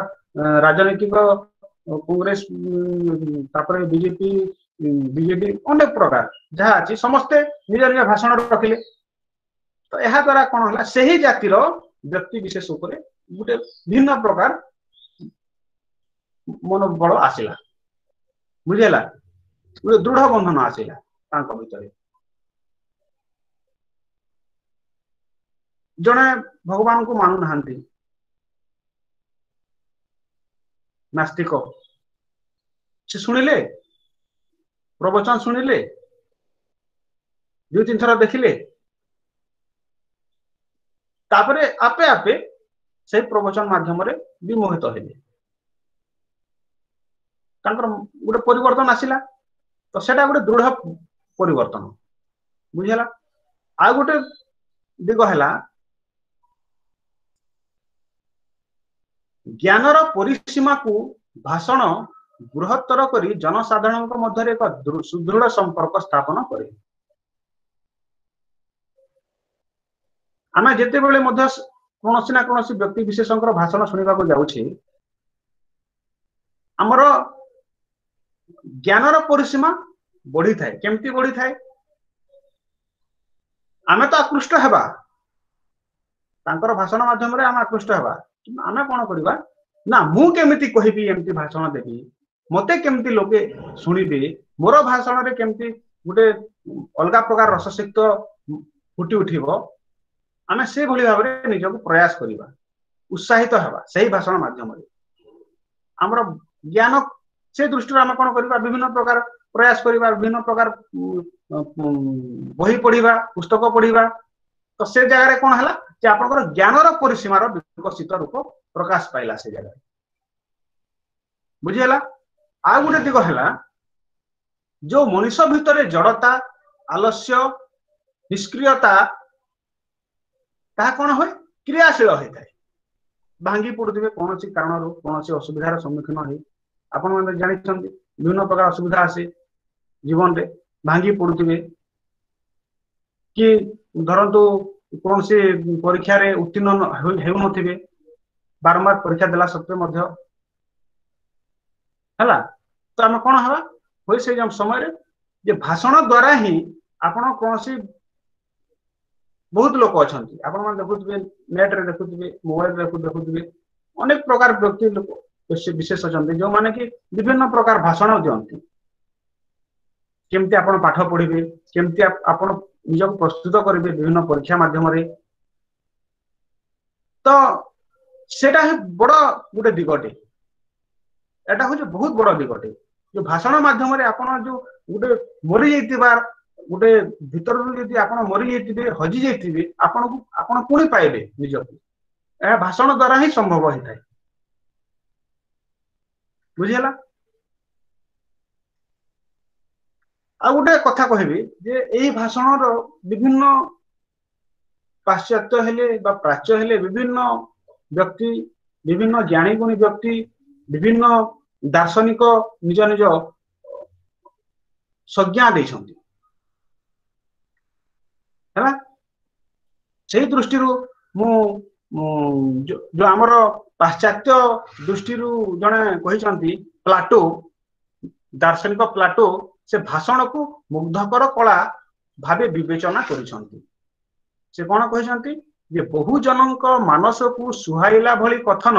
B: ରାଜନୈତିକ କଂଗ୍ରେସ, ତାପରେ ବିଜେପି, ବିଜେଡି, ଅନେକ ପ୍ରକାର ଯାହା ଅଛି, ସମସ୍ତେ ନିଜ ନିଜ ଭାଷଣ ରଖିଲେ। ତ ଏହା ଦ୍ୱାରା କଣ ହେଲା, ସେହି ଜାତିର ବ୍ୟକ୍ତି ବିଶେଷ ଉପରେ ଗୋଟେ ଭିନ୍ନ ପ୍ରକାର ମନୋବଳ ଆସିଲା, ବୁଝିହେଲା, ଗୋଟେ ଦୃଢ ବନ୍ଧନ ଆସିଲା ତାଙ୍କ ଭିତରେ। ଜଣେ ଭଗବାନଙ୍କୁ ମାନୁନାହାନ୍ତି, ନାସ୍ତିକ, ସେ ଶୁଣିଲେ ପ୍ରବଚନ, ଶୁଣିଲେ ଦୁଇ ତିନି ଥର ଦେଖିଲେ, ତାପରେ ଆପେ ଆପେ ସେଇ ପ୍ରବଚନ ମାଧ୍ୟମରେ ବିମୋହିତ ହେଲେ, ତାଙ୍କର ଗୋଟେ ପରିବର୍ତ୍ତନ ଆସିଲା। ତ ସେଟା ଗୋଟେ ଦୃଢ ପରିବର୍ତ୍ତନ, ବୁଝିହେଲା। ଆଉ ଗୋଟେ ଦିଗ ହେଲା ଜ୍ଞାନର ପରିସୀମାକୁ ଭାଷଣ ବୃହତ୍ତର କରି ଜନସାଧାରଣଙ୍କ ମଧ୍ୟରେ ଏକ ସୁଦୃଢ ସମ୍ପର୍କ ସ୍ଥାପନ କରେ। ଆମେ ଯେତେବେଳେ ମଧ୍ୟ କୌଣସି ନା କୌଣସି ବ୍ୟକ୍ତି ବିଶେଷଙ୍କର ଭାଷଣ ଶୁଣିବାକୁ ଯାଉଛେ, ଆମର ଜ୍ଞାନର ପରିସୀମା ବଢିଥାଏ। କେମିତି ବଢିଥାଏ? ଆମେ ତ ଆକୃଷ୍ଟ ହେବା, ତାଙ୍କର ଭାଷଣ ମାଧ୍ୟମରେ ଆମେ ଆକୃଷ୍ଟ ହେବା, ଆମେ କଣ କରିବା ନା, ମୁଁ କେମିତି କହିବି, ଏମିତି ଭାଷଣ ଦେବି, ମତେ କେମିତି ଲୋକେ ଶୁଣିବେ, ମୋର ଭାଷଣରେ କେମିତି ଗୋଟେ ଅଲଗା ପ୍ରକାର ରସସିକ୍ତ ଫୁଟି ଉଠିବ, ଆମେ ସେଇଭଳି ଭାବରେ ନିଜକୁ ପ୍ରୟାସ କରିବା, ଉତ୍ସାହିତ ହେବା ସେଇ ଭାଷଣ ମାଧ୍ୟମରେ। ଆମର ଜ୍ଞାନ ସେ ଦୃଷ୍ଟିରୁ ଆମେ କଣ କରିବା, ବିଭିନ୍ନ ପ୍ରକାର ପ୍ରୟାସ କରିବା, ବିଭିନ୍ନ ପ୍ରକାର ବହି ପଢିବା, ପୁସ୍ତକ ପଢିବା। ତ ସେ ଜାଗାରେ କଣ ହେଲା ଯେ ଆପଣଙ୍କର ଜ୍ଞାନର ପରିସୀମାର ବିକଶିତ ରୂପ ପ୍ରକାଶ ପାଇଲା ସେ ଜାଗାରେ, ବୁଝିହେଲା। ଆଉ ଗୋଟେ ଦିଗ ହେଲା ଯୋଉ ମଣିଷ ଭିତରେ ଜଡତା, ଆଲସ୍ୟ, ନିଷ୍କ୍ରିୟତା, ତାହା କଣ ହୁଏ, କ୍ରିୟାଶୀଳ ହେଇଥାଏ। ଭାଙ୍ଗି ପଡୁଥିବେ କୌଣସି କାରଣରୁ, କୌଣସି ଅସୁବିଧାର ସମ୍ମୁଖୀନ ହେଇ, ଆପଣମାନେ ଜାଣିଛନ୍ତି ବିଭିନ୍ନ ପ୍ରକାର ଅସୁବିଧା ଆସେ ଜୀବନରେ, ଭାଙ୍ଗି ପଡୁଥିବେ କି ଧରନ୍ତୁ କୌଣସି ପରୀକ୍ଷାରେ ଉତ୍ତୀର୍ଣ୍ଣ ହେଉନଥିବେ, ବାରମ୍ବାର ପରୀକ୍ଷା ଦେଲା ସତ୍ତ୍ୱେ ମଧ୍ୟ ହେଲା। ତ ଆମେ କଣ ହେବା ହୁଏ ସେଇ ସମୟରେ ଯେ ଭାଷଣ ଦ୍ଵାରା ହିଁ ଆପଣ କୌଣସି, ବହୁତ ଲୋକ ଅଛନ୍ତି ଆପଣମାନେ ଦେଖୁଥିବେ, ନେଟରେ ଦେଖୁଥିବେ, ମୋବାଇଲରେ ଦେଖୁଥିବେ, ଅନେକ ପ୍ରକାର ବ୍ୟକ୍ତି ଲୋକ ବିଶେଷ ଅଛନ୍ତି ଯୋଉମାନେ କି ବିଭିନ୍ନ ପ୍ରକାର ଭାଷଣ ଦିଅନ୍ତି, କେମିତି ଆପଣ ପାଠ ପଢିବେ, କେମିତି ଆପଣ ନିଜକୁ ପ୍ରସ୍ତୁତ କରିବେ ବିଭିନ୍ନ ପରୀକ୍ଷା ମାଧ୍ୟମରେ। ତ ସେଟା ହିଁ ବଡ ଗୋଟେ ଦିଗଟେ, ଏଟା ହଉଛି ବହୁତ ବଡ ଦିଗଟେ, ଯୋଉ ଭାଷଣ ମାଧ୍ୟମରେ ଆପଣ ଯୋଉ ଗୋଟେ ମରିଯାଇଥିବା ଗୋଟେ ଭିତରରୁ ଯଦି ଆପଣ ମରିଯାଇଥିବେ, ହଜି ଯାଇଥିବେ, ଆପଣଙ୍କୁ ଆପଣ ପୁଣି ପାଇବେ ନିଜକୁ, ଏହା ଭାଷଣ ଦ୍ଵାରା ହିଁ ସମ୍ଭବ ହେଇଥାଏ, ବୁଝିହେଲା। ଆଉ ଗୋଟେ କଥା କହିବି ଯେ ଏଇ ଭାଷଣର ବିଭିନ୍ନ ପାଶ୍ଚାତ୍ୟ ହେଲେ ବା ପ୍ରାଚ୍ୟ ହେଲେ ବିଭିନ୍ନ ବ୍ୟକ୍ତି, ବିଭିନ୍ନ ଜ୍ଞାନୀ ଗୁଣୀ ବ୍ୟକ୍ତି, ବିଭିନ୍ନ ଦାର୍ଶନିକ ନିଜ ନିଜ ସଂଜ୍ଞା ଦେଇଛନ୍ତି, ହେଲା। ସେଇ ଦୃଷ୍ଟିରୁ ମୁଁ ଯୋଉ ଆମର ପାଶ୍ଚାତ୍ୟ ଦୃଷ୍ଟିରୁ ଜଣେ କହିଛନ୍ତି ପ୍ଲାଟୋ, ଦାର୍ଶନିକ ପ୍ଲାଟୋ, ସେ ଭାଷଣକୁ ମୁଗ୍ଧକର କଳା ଭାବେ ବିବେଚନା କରିଛନ୍ତି। ସେ କଣ କହିଛନ୍ତି ଯେ ବହୁଜନଙ୍କ ମାନସକୁ ସୁହାଇଲା ଭଳି କଥନ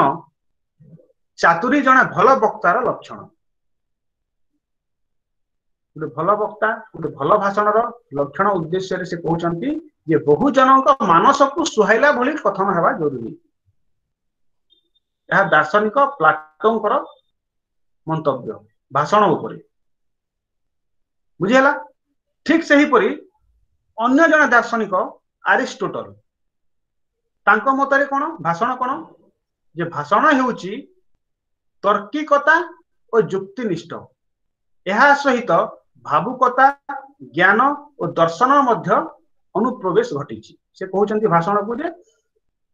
B: ଚାତୁରୀ ଜଣେ ଭଲ ବକ୍ତାର ଲକ୍ଷଣ। ଗୋଟେ ଭଲ ବକ୍ତା, ଗୋଟେ ଭଲ ଭାଷଣର ଲକ୍ଷଣ ଉଦ୍ଦେଶ୍ୟରେ ସେ କହୁଛନ୍ତି ଯେ ବହୁଜନଙ୍କ ମାନସକୁ ସୁହାଇଲା ଭଳି କଥନ ହେବା ଜରୁରୀ। ଏହା ଦାର୍ଶନିକ ପ୍ଲାଟୋଙ୍କର ମନ୍ତବ୍ୟ ଭାଷଣ ଉପରେ। ବୁଝିହେଲା? ଠିକ ସେହିପରି ଅନ୍ୟ ଜଣେ ଦାର୍ଶନିକ ଆରିଷ୍ଟୋଟଲ, ତାଙ୍କ ମତରେ କଣ ଭାଷଣ କଣ? ଯେ ଭାଷଣ ହେଉଛି ତର୍କିକତା ଓ ଯୁକ୍ତିନିଷ୍ଠ, ଏହା ସହିତ ଭାବୁକତା, ଜ୍ଞାନ ଓ ଦର୍ଶନ ମଧ୍ୟ ଅନୁପ୍ରବେଶ ଘଟିଛି। ସେ କହୁଛନ୍ତି ଭାଷଣକୁ ଯେ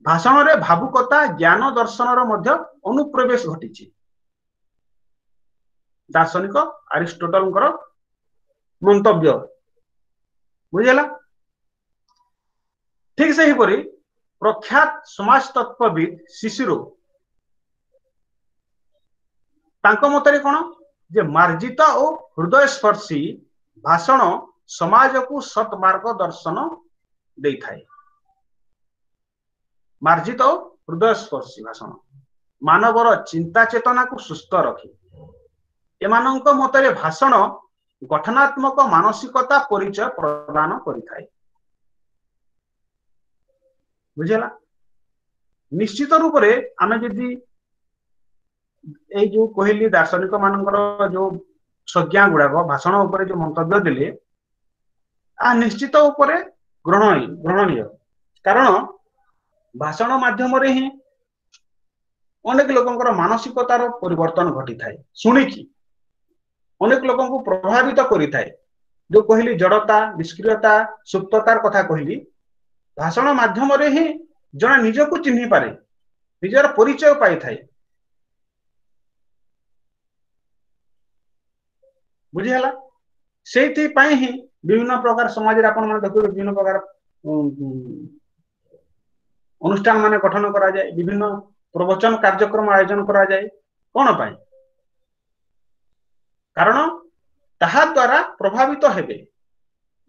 B: ଭାଷଣରେ ଭାବୁକତା, ଜ୍ଞାନ, ଦର୍ଶନର ମଧ୍ୟ ଅନୁପ୍ରବେଶ ଘଟିଛି। ଦାର୍ଶନିକ ଆରିଷ୍ଟୋଟଲଙ୍କର ମନ୍ତବ୍ୟ। ବୁଝିହେଲା? ଠିକ ସେହିପରି ପ୍ରଖ୍ୟାତ ସମାଜତତ୍ତ୍ୱବିତ୍ ଶିଶିରୋ, ତାଙ୍କ ମତରେ କଣ? ଯେ ମାର୍ଜିତ ଓ ହୃଦୟସ୍ପର୍ଶୀ ଭାଷଣ ସମାଜକୁ ସତ୍ ମାର୍ଗ ଦର୍ଶନ ଦେଇଥାଏ। ମାର୍ଜିତ ଓ ହୃଦୟସ୍ପର୍ଶୀ ଭାଷଣ ମାନବର ଚିନ୍ତା ଚେତନାକୁ ସୁସ୍ଥ ରଖେ। ଏମାନଙ୍କ ମତରେ ଭାଷଣ ଗଠନାତ୍ମକ ମାନସିକତା ପରିଚୟ ପ୍ରଦାନ କରିଥାଏ। ବୁଝିହେଲା? ନିଶ୍ଚିତ ରୂପରେ ଆମେ ଯଦି ଏଇ ଯୋଉ କହିଲି ଦାର୍ଶନିକ ମାନଙ୍କର ଯୋଉ ସଂଜ୍ଞା ଗୁଡାକ ଭାଷଣ ଉପରେ ଯୋଉ ମନ୍ତବ୍ୟ ଦେଲେ, ଆ ନିଶ୍ଚିତ ଉପରେ ଗ୍ରହଣ ଗ୍ରହଣୀୟ। କାରଣ ଭାଷଣ ମାଧ୍ୟମରେ ହିଁ ଅନେକ ଲୋକଙ୍କର ମାନସିକତାର ପରିବର୍ତ୍ତନ ଘଟିଥାଏ, ଶୁଣିକି ଅନେକ ଲୋକଙ୍କୁ ପ୍ରଭାବିତ କରିଥାଏ। ଯୋଉ କହିଲି ଜଡତା, ନିଷ୍କ୍ରିୟତା, ସୁପ୍ତତାର କଥା କହିଲି, ଭାଷଣ ମାଧ୍ୟମରେ ହିଁ ଜଣେ ନିଜକୁ ଚିହ୍ନି ପାରେ, ନିଜର ପରିଚୟ ପାଇଥାଏ। ବୁଝିହେଲା? ସେଇଥିପାଇଁ ହିଁ ବିଭିନ୍ନ ପ୍ରକାର ସମାଜରେ ଆପଣ ମାନେ ଦେଖୁଥିବେ ବିଭିନ୍ନ ପ୍ରକାର ଅନୁଷ୍ଠାନ ମାନେ ଗଠନ କରାଯାଏ, ବିଭିନ୍ନ ପ୍ରବଚନ କାର୍ଯ୍ୟକ୍ରମ ଆୟୋଜନ କରାଯାଏ। କଣ ପାଇଁ? କାରଣ ତାହା ଦ୍ୱାରା ପ୍ରଭାବିତ ହେବେ,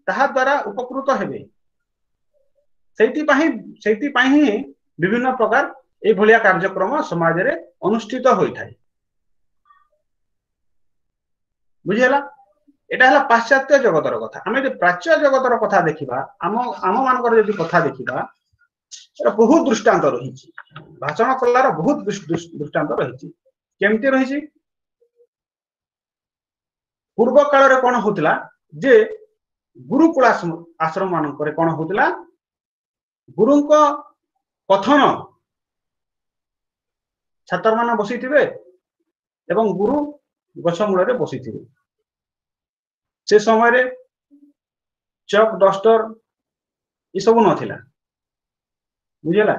B: ତାହା ଦ୍ୱାରା ଉପକୃତ ହେବେ। ସେଇଥିପାଇଁ ସେଇଥିପାଇଁ ହିଁ ବିଭିନ୍ନ ପ୍ରକାର ଏଇଭଳିଆ କାର୍ଯ୍ୟକ୍ରମ ସମାଜରେ ଅନୁଷ୍ଠିତ ହୋଇଥାଏ। ବୁଝିହେଲା? ଏଇଟା ହେଲା ପାଶ୍ଚାତ୍ୟ ଜଗତର କଥା। ଆମେ ଯଦି ପ୍ରାଚ୍ୟ ଜଗତର କଥା ଦେଖିବା, ଆମ ଆମ ମାନଙ୍କର ଯଦି କଥା ଦେଖିବା, ଏଟା ବହୁତ ଦୃଷ୍ଟାନ୍ତ ରହିଛି। ଭାଷଣ କଲାର ବହୁତ ଦୃଷ୍ଟାନ୍ତ ରହିଛି। କେମିତି ରହିଛି? ପୂର୍ବ କାଳରେ କଣ ହଉଥିଲା ଯେ ଗୁରୁକୁଳ ଆଶ୍ରମ ମାନଙ୍କରେ କଣ ହଉଥିଲା, ଗୁରୁଙ୍କ କଥନ ଛାତ୍ରମାନେ ବସିଥିବେ ଏବଂ ଗୁରୁ ଗଛ ମୂଳରେ ବସିଥିବେ। ସେ ସମୟରେ ଚକ୍, ଡଷ୍ଟର ଏସବୁ ନଥିଲା। ବୁଝିହେଲା?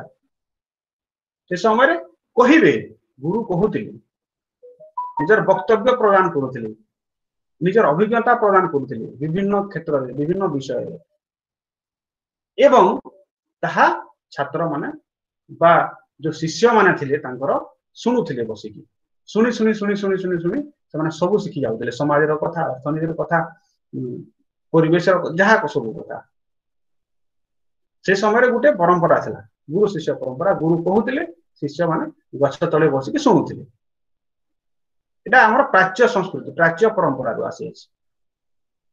B: ସେ ସମୟରେ କହିବେ, ଗୁରୁ କହୁଥିଲେ, ନିଜର ବକ୍ତବ୍ୟ ପ୍ରଦାନ କରୁଥିଲେ, ନିଜର ଅଭିଜ୍ଞତା ପ୍ରଦାନ କରୁଥିଲେ ବିଭିନ୍ନ କ୍ଷେତ୍ରରେ, ବିଭିନ୍ନ ବିଷୟରେ, ଏବଂ ତାହା ଛାତ୍ରମାନେ ବା ଯୋଉ ଶିଷ୍ୟମାନେ ଥିଲେ ତାଙ୍କର ଶୁଣୁଥିଲେ ବସିକି। ଶୁଣି ଶୁଣି ଶୁଣି ଶୁଣି ଶୁଣି ଶୁଣି ସେମାନେ ସବୁ ଶିଖି ଯାଉଥିଲେ, ସମାଜର କଥା, ଅର୍ଥନୀତିର କଥା, ପରିବେଶର ଯାହା ସବୁ କଥା। ସେ ସମୟରେ ଗୋଟେ ପରମ୍ପରା ଥିଲା, ଗୁରୁ ଶିଷ୍ୟ ପରମ୍ପରା। ଗୁରୁ କହୁଥିଲେ, ଶିଷ୍ୟମାନେ ଗଛ ତଳେ ବସିକି ଶୁଣୁଥିଲେ। ଏଇଟା ଆମର ପ୍ରାଚ୍ୟ ସଂସ୍କୃତି, ପ୍ରାଚ୍ୟ ପରମ୍ପରାରୁ ଆସିଅଛି।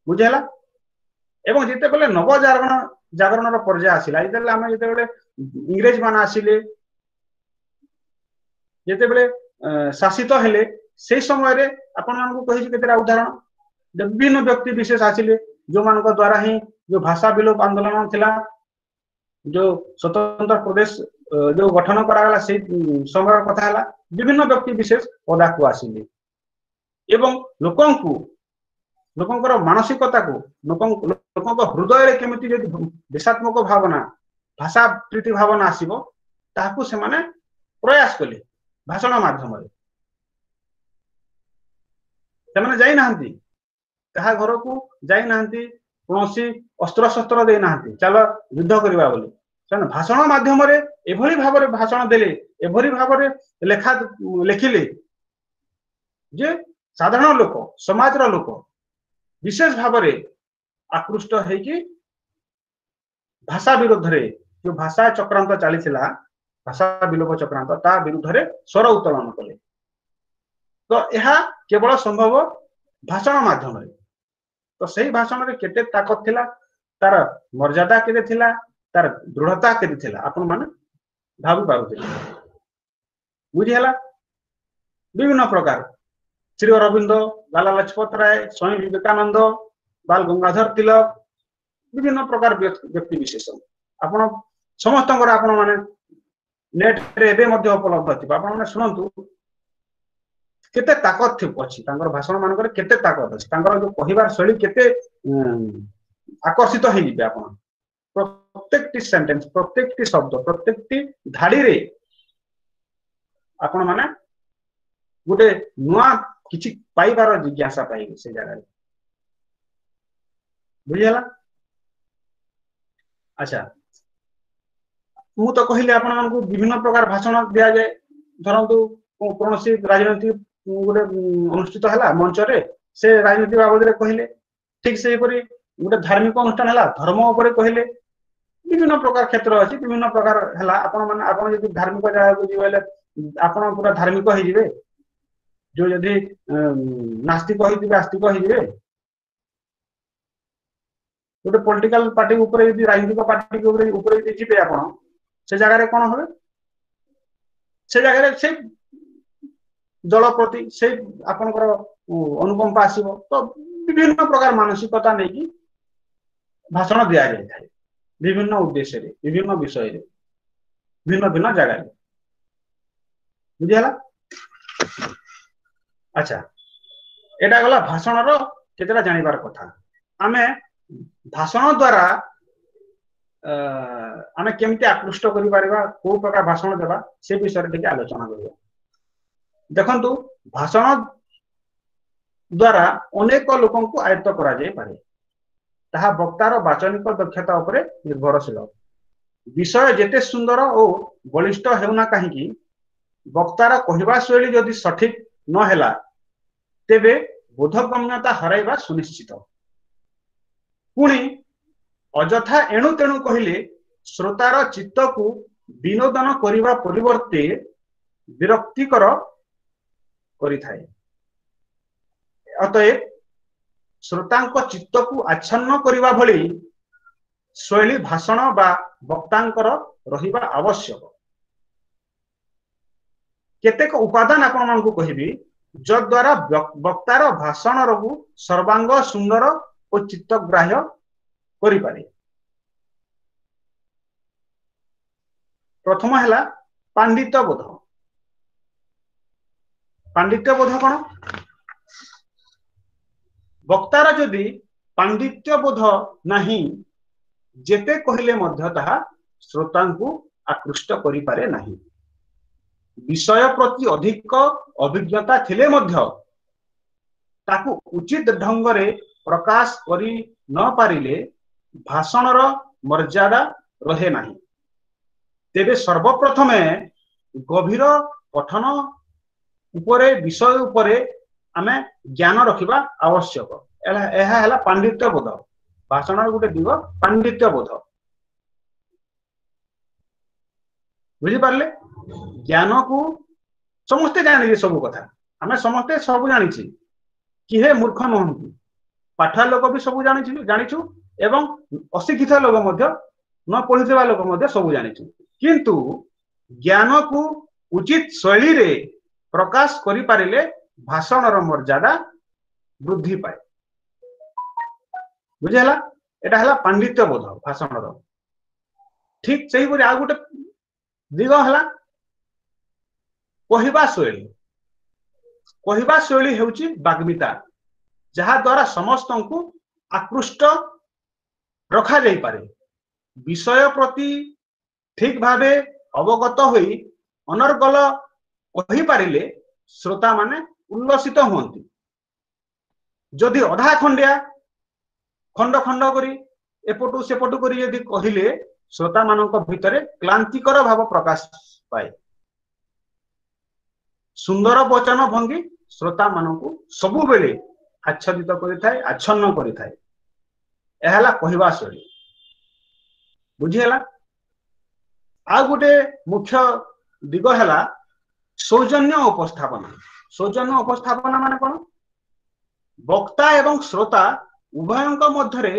B: ବୁଝିହେଲା? ଏବଂ ଯେତେବେଳେ ନବଜାଗରଣ ଜାଗରଣର ପର୍ଯ୍ୟାୟ ଆସିଲା, ଯେତେବେଳେ ଆମେ ଯେତେବେଳେ ଇଂରେଜ ମାନେ ଆସିଲେ, ଯେତେବେଳେ ଶାସିତ ହେଲେ, ସେଇ ସମୟରେ ଆପଣମାନଙ୍କୁ କହିଛି କେତେଟା ଉଦାହରଣ। ବିଭିନ୍ନ ବ୍ୟକ୍ତି ବିଶେଷ ଆସିଲେ ଯୋଉମାନଙ୍କ ଦ୍ଵାରା ହିଁ ଯୋଉ ଭାଷା ବିଲୋପ ଆନ୍ଦୋଳନ ଥିଲା, ଯୋଉ ସ୍ୱତନ୍ତ୍ର ପ୍ରଦେଶ ଯୋଉ ଗଠନ କରାଗଲା, ସେଇ ସମୟର କଥା ହେଲା। ବିଭିନ୍ନ ବ୍ୟକ୍ତି ବିଶେଷ ପଦାକୁ ଆସିଲେ ଏବଂ ଲୋକଙ୍କୁ, ଲୋକଙ୍କର ମାନସିକତାକୁ, ଲୋକଙ୍କ ହୃଦୟରେ କେମିତି ଯଦି ଦେଶାତ୍ମକ ଭାବନା, ଭାଷା ପ୍ରୀତି ଭାବନା ଆସିବ, ତାହାକୁ ସେମାନେ ପ୍ରୟାସ କଲେ ଭାଷଣ ମାଧ୍ୟମରେ। ସେମାନେ ଯାଇନାହାନ୍ତି କାହା ଘରକୁ, ଯାଇନାହାନ୍ତି, କୌଣସି ଅସ୍ତ୍ରଶସ୍ତ୍ର ଦେଇନାହାନ୍ତି ଚାଲ ଯୁଦ୍ଧ କରିବା ବୋଲି। ସେମାନେ ଭାଷଣ ମାଧ୍ୟମରେ ଏଭଳି ଭାବରେ ଭାଷଣ ଦେଲେ, ଏଭଳି ଭାବରେ ଲେଖା ଲେଖିଲେ ଯେ ସାଧାରଣ ଲୋକ, ସମାଜର ଲୋକ ବିଶେଷ ଭାବରେ ଆକୃଷ୍ଟ ହେଇକି ଭାଷା ବିରୁଦ୍ଧରେ ଯୋଉ ଭାଷା ଚକ୍ରାନ୍ତ ଚାଲିଥିଲା, ଭାଷା ବିଲୋପ ଚକ୍ରାନ୍ତ, ତା ବିରୁଦ୍ଧରେ ସ୍ୱର ଉତ୍ତୋଳନ କଲେ। ତ ଏହା କେବଳ ସମ୍ଭବ ଭାଷଣ ମାଧ୍ୟମରେ। ତ ସେଇ ଭାଷଣରେ କେତେ ତାକତ ଥିଲା, ତାର ମର୍ଯ୍ୟାଦା କେତେ ଥିଲା, ତାର ଦୃଢତା କେତେ ଥିଲା, ଆପଣ ମାନେ ଭାବି ପାରୁଥିଲେ। ବୁଝିହେଲା? ବିଭିନ୍ନ ପ୍ରକାର ଶ୍ରୀ ଅରବିନ୍ଦ, ଲାଲା ଲଜପତ ରାୟ, ସ୍ୱାମୀ ବିବେକାନନ୍ଦ, ବାଲ ଗଙ୍ଗାଧର ତିଲକ, ବିଭିନ୍ନ ପ୍ରକାର ବ୍ୟକ୍ତି ବିଶେଷ ଆପଣ ସମସ୍ତଙ୍କର ଆପଣ ମାନେ ନେଟରେ ଏବେ ମଧ୍ୟ ଉପଲବ୍ଧ ଥିବ। ଆପଣ ମାନେ ଶୁଣନ୍ତୁ କେତେ ତାକତ ଅଛି ତାଙ୍କର ଭାଷଣ ମାନଙ୍କରେ, କେତେ ତାକତ ଅଛି ତାଙ୍କର ଯୋଉ କହିବାର ଶୈଳୀ, କେତେ ଆକର୍ଷିତ ହେଇଯିବେ ଆପଣ। ପ୍ରତ୍ୟେକଟି ସେଣ୍ଟେନ୍ସ, ପ୍ରତ୍ୟେକଟି ଶବ୍ଦ, ପ୍ରତ୍ୟେକଟି ଧାଡିରେ ଆପଣ ମାନେ ଗୋଟେ ନୂଆ କିଛି ପାଇବାର ଜିଜ୍ଞାସା ପାଇବେ ସେ ଜାଗାରେ। ବୁଝିହେଲା? ଆଚ୍ଛା, ମୁଁ ତ କହିଲି ଆପଣମାନଙ୍କୁ ବିଭିନ୍ନ ପ୍ରକାର ଭାଷଣ ଦିଆଯାଏ। ଧରନ୍ତୁ କୌଣସି ରାଜନୀତି ଗୋଟେ ଅନୁଷ୍ଠିତ ହେଲା ମଞ୍ଚରେ, ସେ ରାଜନୀତି ବାବଦରେ କହିଲେ। ଠିକ ସେହିପରି ଗୋଟେ ଧାର୍ମିକ ଅନୁଷ୍ଠାନ ହେଲା, ଧର୍ମ ଉପରେ କହିଲେ। ବିଭିନ୍ନ ପ୍ରକାର କ୍ଷେତ୍ର ଅଛି, ବିଭିନ୍ନ ପ୍ରକାର ହେଲା। ଆପଣ ମାନେ ଆପଣ ଯଦି ଧାର୍ମିକ ଜାଗାକୁ ଯିବେ ହେଲେ ଆପଣ ପୁରା ଧାର୍ମିକ ହେଇଯିବେ, ଯୋଉ ଯଦି ନାସ୍ତିକ ହେଇଥିବେ ଆସ୍ତିକ ହେଇଯିବେ। ଗୋଟେ ପଲିଟିକାଲ ପାର୍ଟି ଉପରେ ଯଦି, ରାଜନୈତିକ ପାର୍ଟି ଉପରେ ଉପରେ ଯଦି ଯିବେ ଆପଣ, ସେ ଜାଗାରେ କଣ হবে? ସେ ଜାଗାରେ ସେ ଦଳ ପ୍ରତି ସେ ଆପଣଙ୍କର ଅନୁକମ୍ପା ଆସିବ। ତ ବିଭିନ୍ନ ପ୍ରକାର ମାନସିକତା ନେଇକି ଭାଷଣ ଦିଆଯାଇଥାଏ, ବିଭିନ୍ନ ଉଦ୍ଦେଶ୍ୟରେ, ବିଭିନ୍ନ ବିଷୟରେ, ଭିନ୍ନ ଭିନ୍ନ ଜାଗାରେ। ବୁଝିହେଲା? ଆଚ୍ଛା, ଏଇଟା ଗଲା ଭାଷଣର କେତେଟା ଜାଣିବାର କଥା। ଆମେ ଭାଷଣ ଦ୍ଵାରା ଆମେ କେମିତି ଆକୃଷ୍ଟ କରିପାରିବା, କୋଉ ପ୍ରକାର ଭାଷଣ ଦେବା, ସେ ବିଷୟରେ ଟିକେ ଆଲୋଚନା କରିବା। ଦେଖନ୍ତୁ, ଭାଷଣ ଦ୍ଵାରା ଅନେକ ଲୋକଙ୍କୁ ଆୟତ୍ତ କରାଯାଇପାରେ। ତାହା ବକ୍ତାର ବାଚନିକ ଦକ୍ଷତା ଉପରେ ନିର୍ଭରଶୀଳ। ବିଷୟ ଯେତେ ସୁନ୍ଦର ଓ ବଳିଷ୍ଠ ହେଉନା କାହିଁକି, ବକ୍ତାର କହିବା ଶୈଳୀ ଯଦି ସଠିକ ନହେଲା ତେବେ ବୋଧଗମ୍ୟତା ହରାଇବା ସୁନିଶ୍ଚିତ। ପୁଣି ଅଯଥା ଏଣୁ ତେଣୁ କହିଲେ ଶ୍ରୋତାର ଚିତ୍ତକୁ ବିନୋଦନ କରିବା ପରିବର୍ତ୍ତେ ବିରକ୍ତିକର କରିଥାଏ। ଅତଏବ ଶ୍ରୋତାଙ୍କ ଚିତ୍ତକୁ ଆଚ୍ଛନ୍ନ କରିବା ଭଳି ଶୈଳୀ ଭାଷଣ ବା ବକ୍ତାଙ୍କର ରହିବା ଆବଶ୍ୟକ। କେତେକ ଉପାଦାନ ଆପଣମାନଙ୍କୁ କହିବି, ଯଦ୍ୱାରା ବକ୍ତାର ଭାଷଣରକୁ ସର୍ବାଙ୍ଗ ସୁନ୍ଦର ଓ ଚିତ୍ତଗ୍ରାହ୍ୟ କରିପାରେ। ପ୍ରଥମ ହେଲା ପାଣ୍ଡିତ୍ୟ ବୋଧ। ପାଣ୍ଡିତ୍ୟ ବୋଧ କଣ? ବକ୍ତାର ଯଦି ପାଣ୍ଡିତ୍ୟ ବୋଧ ନାହିଁ, ଯେତେ କହିଲେ ମଧ୍ୟ ତାହା ଶ୍ରୋତାଙ୍କୁ ଆକୃଷ୍ଟ କରିପାରେ ନାହିଁ। ବିଷୟ ପ୍ରତି ଅଧିକ ଅଭିଜ୍ଞତା ଥିଲେ ମଧ୍ୟ ତାକୁ ଉଚିତ ଢଙ୍ଗରେ ପ୍ରକାଶ କରି ନ ପାରିଲେ ଭାଷଣର ମର୍ଯ୍ୟାଦା ରହେ ନାହିଁ। ତେବେ ସର୍ବପ୍ରଥମେ ଗଭୀର ପଠନ ଉପରେ, ବିଷୟ ଉପରେ ଆମେ ଜ୍ଞାନ ରଖିବା ଆବଶ୍ୟକ। ଏହା ହେଲା ପାଣ୍ଡିତ୍ୟ ବୋଧ। ଭାଷଣର ଗୋଟେ ଦିଗ ପାଣ୍ଡିତ୍ୟ ବୋଧ। ବୁଝିପାରିଲେ? ଜ୍ଞାନକୁ ସମସ୍ତେ ଜାଣିଛେ, ସବୁ କଥା ଆମେ ସମସ୍ତେ ସବୁ ଜାଣିଛେ, କିଏ ମୂର୍ଖ ନୁହନ୍ତି। ପାଠୁଆ ଲୋକ ବି ସବୁ ଜାଣିଛୁ ଜାଣିଛୁ ଏବଂ ଅଶିକ୍ଷିତ ଲୋକ ମଧ୍ୟ, ନ ପଢିଥିବା ଲୋକ ମଧ୍ୟ ସବୁ ଜାଣିଛୁ। କିନ୍ତୁ ଜ୍ଞାନକୁ ଉଚିତ ଶୈଳୀରେ ପ୍ରକାଶ କରିପାରିଲେ ଭାଷଣର ମର୍ଯ୍ୟାଦା ବୃଦ୍ଧି ପାଏ। ବୁଝିହେଲା? ଏଟା ହେଲା ପାଣ୍ଡିତ୍ୟ ବୋଧ ଭାଷଣର। ଠିକ ସେହିପରି ଆଉ ଗୋଟେ ଦିଗ ହେଲା କହିବା ଶୈଳୀ। କହିବା ଶୈଳୀ ହେଉଛି ବାଗ୍ମିତା, ଯାହା ଦ୍ୱାରା ସମସ୍ତଙ୍କୁ ଆକୃଷ୍ଟ ରଖାଯାଇପାରେ। ବିଷୟ ପ୍ରତି ଠିକ ଭାବେ ଅବଗତ ହୋଇ ଅନର୍ଗଳ କହିପାରିଲେ ଶ୍ରୋତାମାନେ ଉଲ୍ଲସିତ ହୁଅନ୍ତି। ଯଦି ଅଧା ଖଣ୍ଡିଆ ଖଣ୍ଡ ଖଣ୍ଡ କରି ଏପଟୁ ସେପଟୁ କରି ଯଦି କହିଲେ, ଶ୍ରୋତାମାନଙ୍କ ଭିତରେ କ୍ଳାନ୍ତିକର ଭାବ ପ୍ରକାଶ ପାଏ। ସୁନ୍ଦର ବଚନ ଭଙ୍ଗୀ ଶ୍ରୋତାମାନଙ୍କୁ ସବୁବେଳେ ଆଚ୍ଛାଦିତ କରିଥାଏ, ଆଚ୍ଛନ୍ନ କରିଥାଏ। ଏହା ହେଲା କହିବା ଶୈଳୀ। ବୁଝିହେଲା? ଆଉ ଗୋଟେ ମୁଖ୍ୟ ଦିଗ ହେଲା ସୌଜନ୍ୟ ଉପସ୍ଥାପନା। ସୌଜନ୍ୟ ଉପସ୍ଥାପନା ମାନେ କଣ? ବକ୍ତା ଏବଂ ଶ୍ରୋତା ଉଭୟଙ୍କ ମଧ୍ୟରେ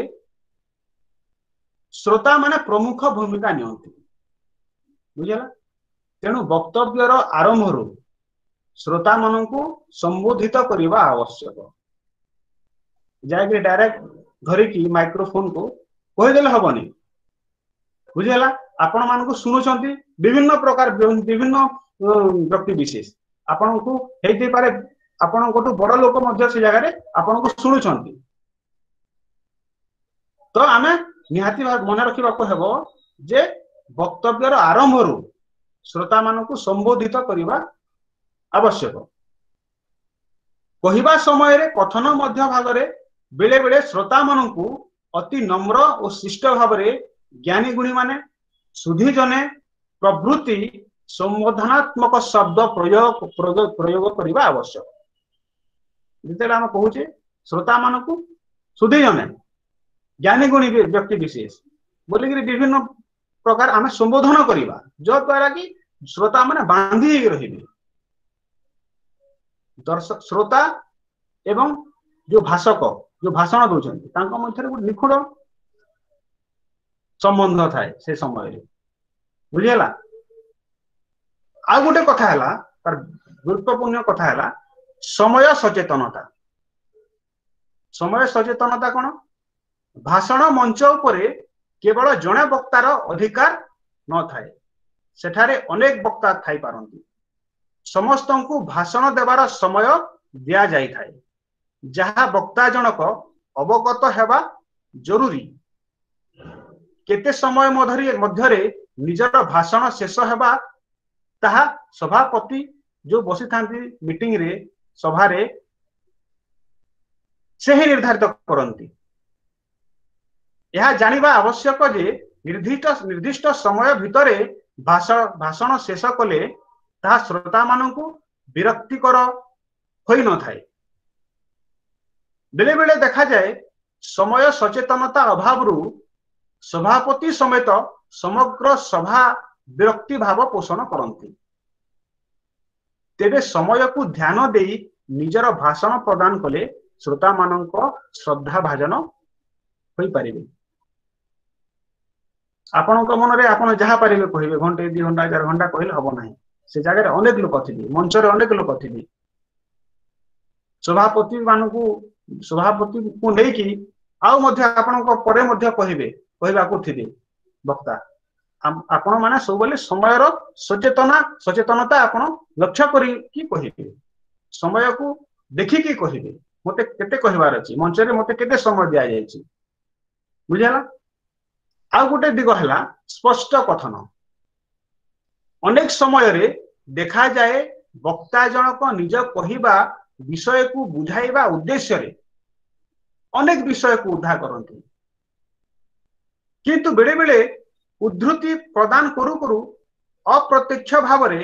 B: ଶ୍ରୋତା ମାନେ ପ୍ରମୁଖ ଭୂମିକା ନିଅନ୍ତି। ବୁଝିହେଲା? ତେଣୁ ବକ୍ତବ୍ୟର ଆରମ୍ଭରୁ ଶ୍ରୋତା ମାନଙ୍କୁ ସମ୍ବୋଧିତ କରିବା ଆବଶ୍ୟକ। ଯାଇକି ଡାଇରେକ୍ଟ ଧରିକି ମାଇକ୍ରୋଫୋନକୁ କହିଦେଲେ ହବନି। ବୁଝିହେଲା? ଆପଣ ମାନଙ୍କୁ ଶୁଣୁଛନ୍ତି ବିଭିନ୍ନ ପ୍ରକାର ବିଭିନ୍ନ ବ୍ୟକ୍ତି ବିଶେଷ, ଆପଣଙ୍କୁ ହେଇଥାଇପାରେ ଆପଣଙ୍କଠୁ ବଡ ଲୋକ ମଧ୍ୟ ସେ ଜାଗାରେ ଆପଣଙ୍କୁ ଶୁଣୁଛନ୍ତି। ତ ଆମେ ନିହାତି ଭାବେ ମନେ ରଖିବାକୁ ହେବ ଯେ ବକ୍ତବ୍ୟର ଆରମ୍ଭରୁ ଶ୍ରୋତା ମାନଙ୍କୁ ସମ୍ବୋଧିତ କରିବା ଆବଶ୍ୟକ। କହିବା ସମୟରେ କଥନ ମଧ୍ୟ ଭାଗରେ ବେଳେ ବେଳେ ଶ୍ରୋତା ମାନଙ୍କୁ ଅତି ନମ୍ର ଓ ଶିଷ୍ଟ ଭାବରେ ଜ୍ଞାନୀ ଗୁଣୀ ମାନେ, ସୁଧୀଜନେ ପ୍ରଭୃତି ସମ୍ବୋଧନାତ୍ମକ ଶବ୍ଦ ପ୍ରୟୋଗ ପ୍ରୟୋଗ କରିବା ଆବଶ୍ୟକ। ଯେତେବେଳେ ଆମେ କହୁଛେ ଶ୍ରୋତା ମାନଙ୍କୁ ସୁଧୀଜନେ, ଜ୍ଞାନୀ ଗୁଣୀ ବ୍ୟକ୍ତି ବିଶେଷ ବୋଲିକିରି ବିଭିନ୍ନ ପ୍ରକାର ଆମେ ସମ୍ବୋଧନ କରିବା, ଯଦ୍ୱାରା କି ଶ୍ରୋତା ମାନେ ବାନ୍ଧି ହେଇକି ରହିବେ। ଦର୍ଶକ ଶ୍ରୋତା ଏବଂ ଯୋଉ ଭାଷକ ଯୋଉ ଭାଷଣ ଦଉଛନ୍ତି ତାଙ୍କ ମଧ୍ୟରେ ଗୋଟେ ନିଖୁଣ ସମ୍ବନ୍ଧ ଥାଏ ସେ ସମୟରେ। ବୁଝିହେଲା? ଆଉ ଗୋଟେ କଥା ହେଲା, ତାର ଗୁରୁତ୍ୱପୂର୍ଣ୍ଣ କଥା ହେଲା ସମୟ ସଚେତନତା। ସମୟ ସଚେତନତା କଣ? ଭାଷଣ ମଞ୍ଚ ଉପରେ କେବଳ ଜଣେ ବକ୍ତାର ଅଧିକାର ନଥାଏ, ସେଠାରେ ଅନେକ ବକ୍ତା ଥାଇପାରନ୍ତି। ସମସ୍ତଙ୍କୁ ଭାଷଣ ଦେବାର ସମୟ ଦିଆଯାଇଥାଏ, ଯାହା ବକ୍ତା ଜଣକ ଅବଗତ ହେବା ଜରୁରୀ। କେତେ ସମୟ ମଧ୍ୟରେ ନିଜର ଭାଷଣ ଶେଷ ହେବା ତାହା ସଭାପତି ଯୋଉ ବସିଥାନ୍ତି ମିଟିଂରେ, ସଭାରେ, ସେ ହିଁ ନିର୍ଦ୍ଧାରିତ କରନ୍ତି। ଏହା ଜାଣିବା ଆବଶ୍ୟକ ଯେ ନିର୍ଦ୍ଦିଷ୍ଟ ନିର୍ଦ୍ଦିଷ୍ଟ ସମୟ ଭିତରେ ଭାଷଣ ଶେଷ କଲେ ତାହା ଶ୍ରୋତାମାନଙ୍କୁ ବିରକ୍ତିକର ହୋଇନଥାଏ। ବେଳେ ବେଳେ ଦେଖାଯାଏ ସମୟ ସଚେତନତା ଅଭାବରୁ ସଭାପତି ସମେତ ସମଗ୍ର ସଭା ବିରକ୍ତି ଭାବ ପୋଷଣ କରନ୍ତି। ତେବେ ସମୟକୁ ଧ୍ୟାନ ଦେଇ ନିଜର ଭାଷଣ ପ୍ରଦାନ କଲେ ଶ୍ରୋତାମାନଙ୍କ ଶ୍ରଦ୍ଧା ଭାଜନ ହୋଇପାରିବେ। ଆପଣଙ୍କ ମନରେ ଆପଣ ଯାହା ପାରିବେ କହିବେ, ଘଣ୍ଟେ ଦି ଘଣ୍ଟା ଚାରି ଘଣ୍ଟା କହିଲେ ହବ ନାହିଁ। ସେ ଜାଗାରେ ଅନେକ ଲୋକ ଥିବେ, ମଞ୍ଚରେ ଅନେକ ଲୋକ ଥିବେ। ସଭାପତି ମାନଙ୍କୁ ସଭାପତିଙ୍କୁ ନେଇକି ଆଉ ମଧ୍ୟ ଆପଣଙ୍କ ପରେ ମଧ୍ୟ କହିବେ, କହିବାକୁ ଥିବେ ବକ୍ତା। ଆପଣ ମାନେ ସବୁବେଳେ ସମୟର ସଚେତନା ସଚେତନତା ଆପଣ ଲକ୍ଷ୍ୟ କରିକି କହିବେ, ସମୟକୁ ଦେଖିକି କହିବେ, ମତେ କେତେ କହିବାର ଅଛି, ମଞ୍ଚରେ ମତେ କେତେ ସମୟ ଦିଆଯାଇଛି। ବୁଝିହେଲା? ଆଉ ଗୋଟେ ଦିଗ ହେଲା ସ୍ପଷ୍ଟ କଥନ। ଅନେକ ସମୟରେ ଦେଖାଯାଏ ବକ୍ତା ଜଣକ ନିଜ କହିବା ବିଷୟକୁ ବୁଝାଇବା ଉଦ୍ଦେଶ୍ୟରେ ଅନେକ ବିଷୟକୁ ଉଦ୍ଧାର କରନ୍ତି, କିନ୍ତୁ ବେଳେ ବେଳେ ଉଦ୍ଧୃତି ପ୍ରଦାନ କରୁ କରୁ ଅପ୍ରତ୍ୟକ୍ଷ ଭାବରେ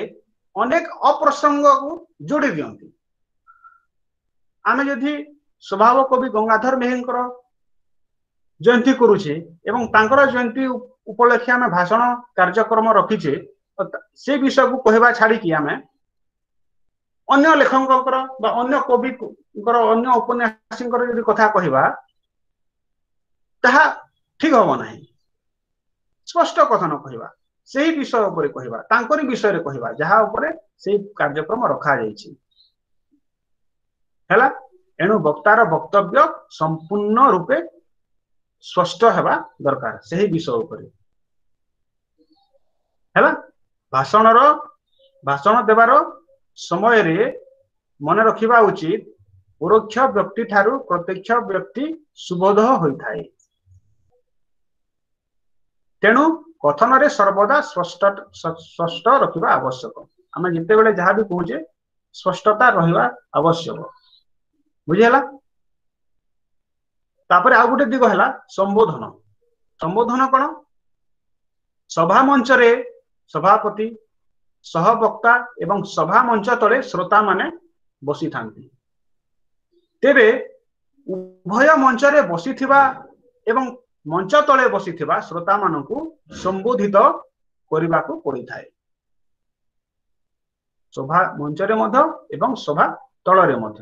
B: ଅନେକ ଅପ୍ରସଙ୍ଗକୁ ଯୋଡ଼ି ଦିଅନ୍ତି। ଆମେ ଯଦି ସ୍ୱଭାବ କବି ଗଙ୍ଗାଧର ମେହେରଙ୍କର ଜୟନ୍ତୀ କରୁଛେ ଏବଂ ତାଙ୍କର ଜୟନ୍ତୀ ଉପଲକ୍ଷେ ଆମେ ଭାଷଣ କାର୍ଯ୍ୟକ୍ରମ ରଖିଛେ, ସେ ବିଷୟକୁ କହିବା ଛାଡ଼ିକି ଆମେ ଅନ୍ୟ ଲେଖକଙ୍କର ବା ଅନ୍ୟ କବିଙ୍କର ଅନ୍ୟ ଉପନ୍ୟାସୀଙ୍କର ଯଦି କଥା କହିବା ତାହା ଠିକ ହବ ନାହିଁ। ସ୍ପଷ୍ଟ କଥନ କହିବା, ସେହି ବିଷୟ ଉପରେ କହିବା, ତାଙ୍କରି ବିଷୟରେ କହିବା ଯାହା ଉପରେ ସେଇ କାର୍ଯ୍ୟକ୍ରମ ରଖାଯାଇଛି। ହେଲା? ଏଣୁ ବକ୍ତାର ବକ୍ତବ୍ୟ ସମ୍ପୂର୍ଣ୍ଣ ରୂପେ ସ୍ପଷ୍ଟ ହେବା ଦରକାର ସେହି ବିଷୟ ଉପରେ। ହେଲା? ଭାଷଣର ଭାଷଣ ଦେବାର ସମୟରେ ମନେ ରଖିବା ଉଚିତ ପରୋକ୍ଷ ବ୍ୟକ୍ତି ଠାରୁ ପ୍ରତ୍ୟକ୍ଷ ବ୍ୟକ୍ତି ସୁବୋଧ ହୋଇଥାଏ। ତେଣୁ କଥନରେ ସର୍ବଦା ସ୍ପଷ୍ଟ ସ୍ପଷ୍ଟ ରଖିବା ଆବଶ୍ୟକ। ଆମେ ଯେତେବେଳେ ଯାହା ବି କହୁଛେ ସ୍ପଷ୍ଟତା ରହିବା ଆବଶ୍ୟକ। ବୁଝିହେଲା? ତାପରେ ଆଉ ଗୋଟେ ଦିଗ ହେଲା ସମ୍ବୋଧନ। ସମ୍ବୋଧନ କଣ? ସଭା ମଞ୍ଚରେ ସଭାପତି, ସହବକ୍ତା ଏବଂ ସଭା ମଞ୍ଚ ତଳେ ଶ୍ରୋତା ମାନେ ବସିଥାନ୍ତି। ତେବେ ଉଭୟ ମଞ୍ଚରେ ବସିଥିବା ଏବଂ ମଞ୍ଚ ତଳେ ବସିଥିବା ଶ୍ରୋତା ମାନଙ୍କୁ ସମ୍ବୋଧିତ କରିବାକୁ ପଡିଥାଏ। ସଭା ମଞ୍ଚରେ ମଧ୍ୟ ଏବଂ ସଭା ତଳରେ ମଧ୍ୟ।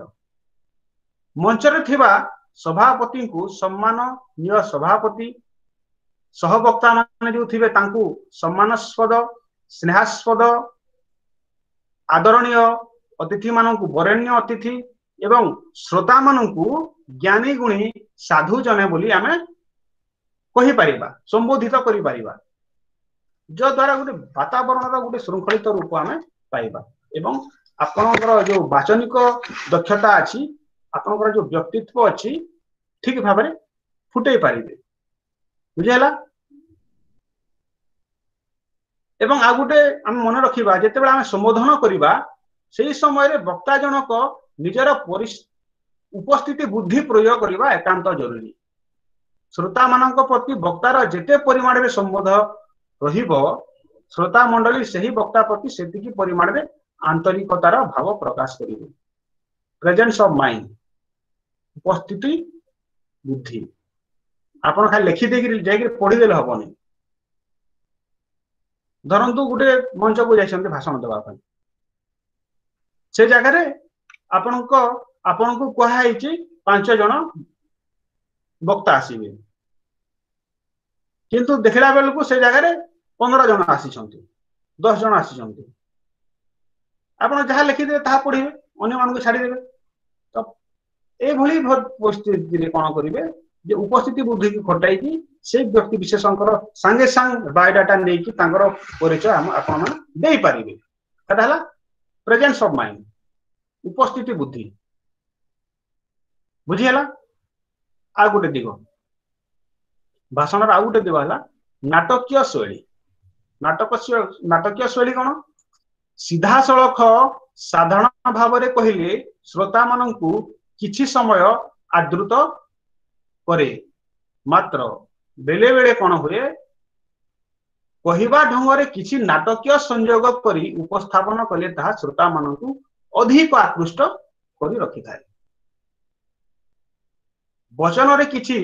B: ମଞ୍ଚରେ ଥିବା ସଭାପତିଙ୍କୁ ସମ୍ମାନନୀୟ ସଭାପତି, ସହବକ୍ତା ମାନେ ଯୋଉ ଥିବେ ତାଙ୍କୁ ସମ୍ମାନାସ୍ପଦ, ସ୍ନେହାସ୍ପଦ, ଆଦରଣୀୟ ଅତିଥି ମାନଙ୍କୁ ବରେଣ୍ୟ ଅତିଥି ଏବଂ ଶ୍ରୋତା ମାନଙ୍କୁ ଜ୍ଞାନୀ ଗୁଣୀ ସାଧୁ ଜଣେ ବୋଲି ଆମେ କହିପାରିବା, ସମ୍ବୋଧିତ କରିପାରିବା, ଯଦ୍ୱାରା ଗୋଟେ ବାତାବରଣର ଗୋଟେ ଶୃଙ୍ଖଳିତ ରୂପ ଆମେ ପାଇବା ଏବଂ ଆପଣଙ୍କର ଯୋଉ ବାଚନିକ ଦକ୍ଷତା ଅଛି, ଆପଣଙ୍କର ଯୋଉ ବ୍ୟକ୍ତିତ୍ୱ ଅଛି, ଠିକ ଭାବରେ ଫୁଟେଇ ପାରିବେ। ବୁଝିହେଲା? ଏବଂ ଆଉ ଗୋଟେ ଆମେ ମନେ ରଖିବା, ଯେତେବେଳେ ଆମେ ସମ୍ବୋଧନ କରିବା ସେଇ ସମୟରେ ବକ୍ତା ଜଣକ ନିଜର ଉପସ୍ଥିତି ବୁଦ୍ଧି ପ୍ରୟୋଗ କରିବା ଏକାନ୍ତ ଜରୁରୀ। ଶ୍ରୋତା ମାନଙ୍କ ପ୍ରତି ବକ୍ତାର ଯେତେ ପରିମାଣରେ ସମ୍ବୋଧ ରହିବ, ଶ୍ରୋତା ମଣ୍ଡଳୀ ସେହି ବକ୍ତା ପ୍ରତି ସେତିକି ପରିମାଣରେ ଆନ୍ତରିକତାର ଭାବ ପ୍ରକାଶ କରିବେ। ପ୍ରେଜେନ୍ସ ଅଫ ମାଇଣ୍ଡ, ଉପସ୍ଥିତି ବୁଦ୍ଧି। ଆପଣ ଖାଲି ଲେଖିଦେଇକିରି ଯାଇକିରି ପଢିଦେଲେ ହବନି। ଧରନ୍ତୁ ଗୋଟେ ମଞ୍ଚକୁ ଯାଇଛନ୍ତି ଭାଷଣ ଦେବା ପାଇଁ, ସେ ଜାଗାରେ ଆପଣଙ୍କ ଆପଣଙ୍କୁ କୁହାହେଇଛି ପାଞ୍ଚ ଜଣ ବକ୍ତା ଆସିବେ, କିନ୍ତୁ ଦେଖିଲା ବେଳକୁ ସେ ଜାଗାରେ ପନ୍ଦର ଜଣ ଆସିଛନ୍ତି, ଦଶ ଜଣ ଆସିଛନ୍ତି। ଆପଣ ଯାହା ଲେଖିଦେବେ ତାହା ପଢିବେ, ଅନ୍ୟମାନଙ୍କୁ ଛାଡିଦେବେ। ତ ଏଇଭଳି ପରିସ୍ଥିତିରେ କଣ କରିବେ ଯେ ଉପସ୍ଥିତି ବୁଦ୍ଧିକୁ ଖଟାଇକି ସେଇ ବ୍ୟକ୍ତି ବିଶେଷଙ୍କର ସାଙ୍ଗେ ସାଙ୍ଗେ ବାୟୋଡାଟା ନେଇକି ତାଙ୍କର ପରିଚୟ ଆମ ଆପଣମାନେ ଦେଇପାରିବେ। ସେଟା ହେଲା ପ୍ରେଜେନ୍ସ ଅଫ ମାଇଣ୍ଡ, ଉପସ୍ଥିତି ବୁଦ୍ଧି। ବୁଝିହେଲା? ଆଉ ଗୋଟେ ଦିଗ ଭାଷଣର ଆଉ ଗୋଟେ ଦିଗ ହେଲା ନାଟକୀୟ ଶୈଳୀ। ନାଟକ ନାଟକୀୟ ଶୈଳୀ କଣ? ସିଧାସଳଖ ସାଧାରଣ ଭାବରେ କହିଲେ ଶ୍ରୋତା ମାନଙ୍କୁ କିଛି ସମୟ ଆଦୃତ କରେ, ମାତ୍ର ବେଳେ ବେଳେ କଣ ହୁଏ, କହିବା ଢଙ୍ଗରେ କିଛି ନାଟକୀୟ ସଂଯୋଗ କରି ଉପସ୍ଥାପନ କଲେ ତାହା ଶ୍ରୋତା ମାନଙ୍କୁ ଅଧିକ ଆକୃଷ୍ଟ କରି ରଖିଥାଏ। ବଚନରେ କିଛି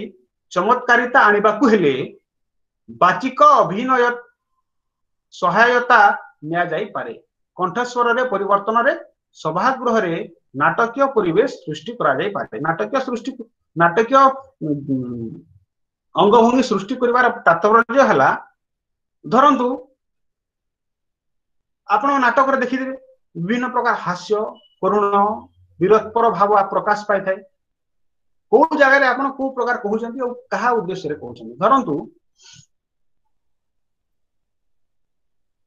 B: ଚମତ୍କାରିତା ଆଣିବାକୁ ହେଲେ ବାଚିକ ଅଭିନୟ ସହାୟତା ନିଆଯାଇପାରେ। କଣ୍ଠସ୍ୱରରେ ପରିବର୍ତ୍ତନରେ ସଭାଗୃହରେ ନାଟକୀୟ ପରିବେଶ ସୃଷ୍ଟି କରାଯାଇପାରେ। ନାଟକୀୟ ସୃଷ୍ଟି ନାଟକୀୟ ଅଙ୍ଗଭଙ୍ଗୀ ସୃଷ୍ଟି କରିବାର ତାତ୍ପର୍ଯ୍ୟ ହେଲା, ଧରନ୍ତୁ ଆପଣ ନାଟକରେ ଦେଖିଥିବେ ବିଭିନ୍ନ ପ୍ରକାର ହାସ୍ୟ, କରୁଣ, ବୀରତ୍ୱର ଭାବ ପ୍ରକାଶ ପାଇଥାଏ। କୋଉ ଜାଗାରେ ଆପଣ କୋଉ ପ୍ରକାର କହୁଛନ୍ତି ଆଉ କାହା ଉଦ୍ଦେଶ୍ୟରେ କହୁଛନ୍ତି। ଧରନ୍ତୁ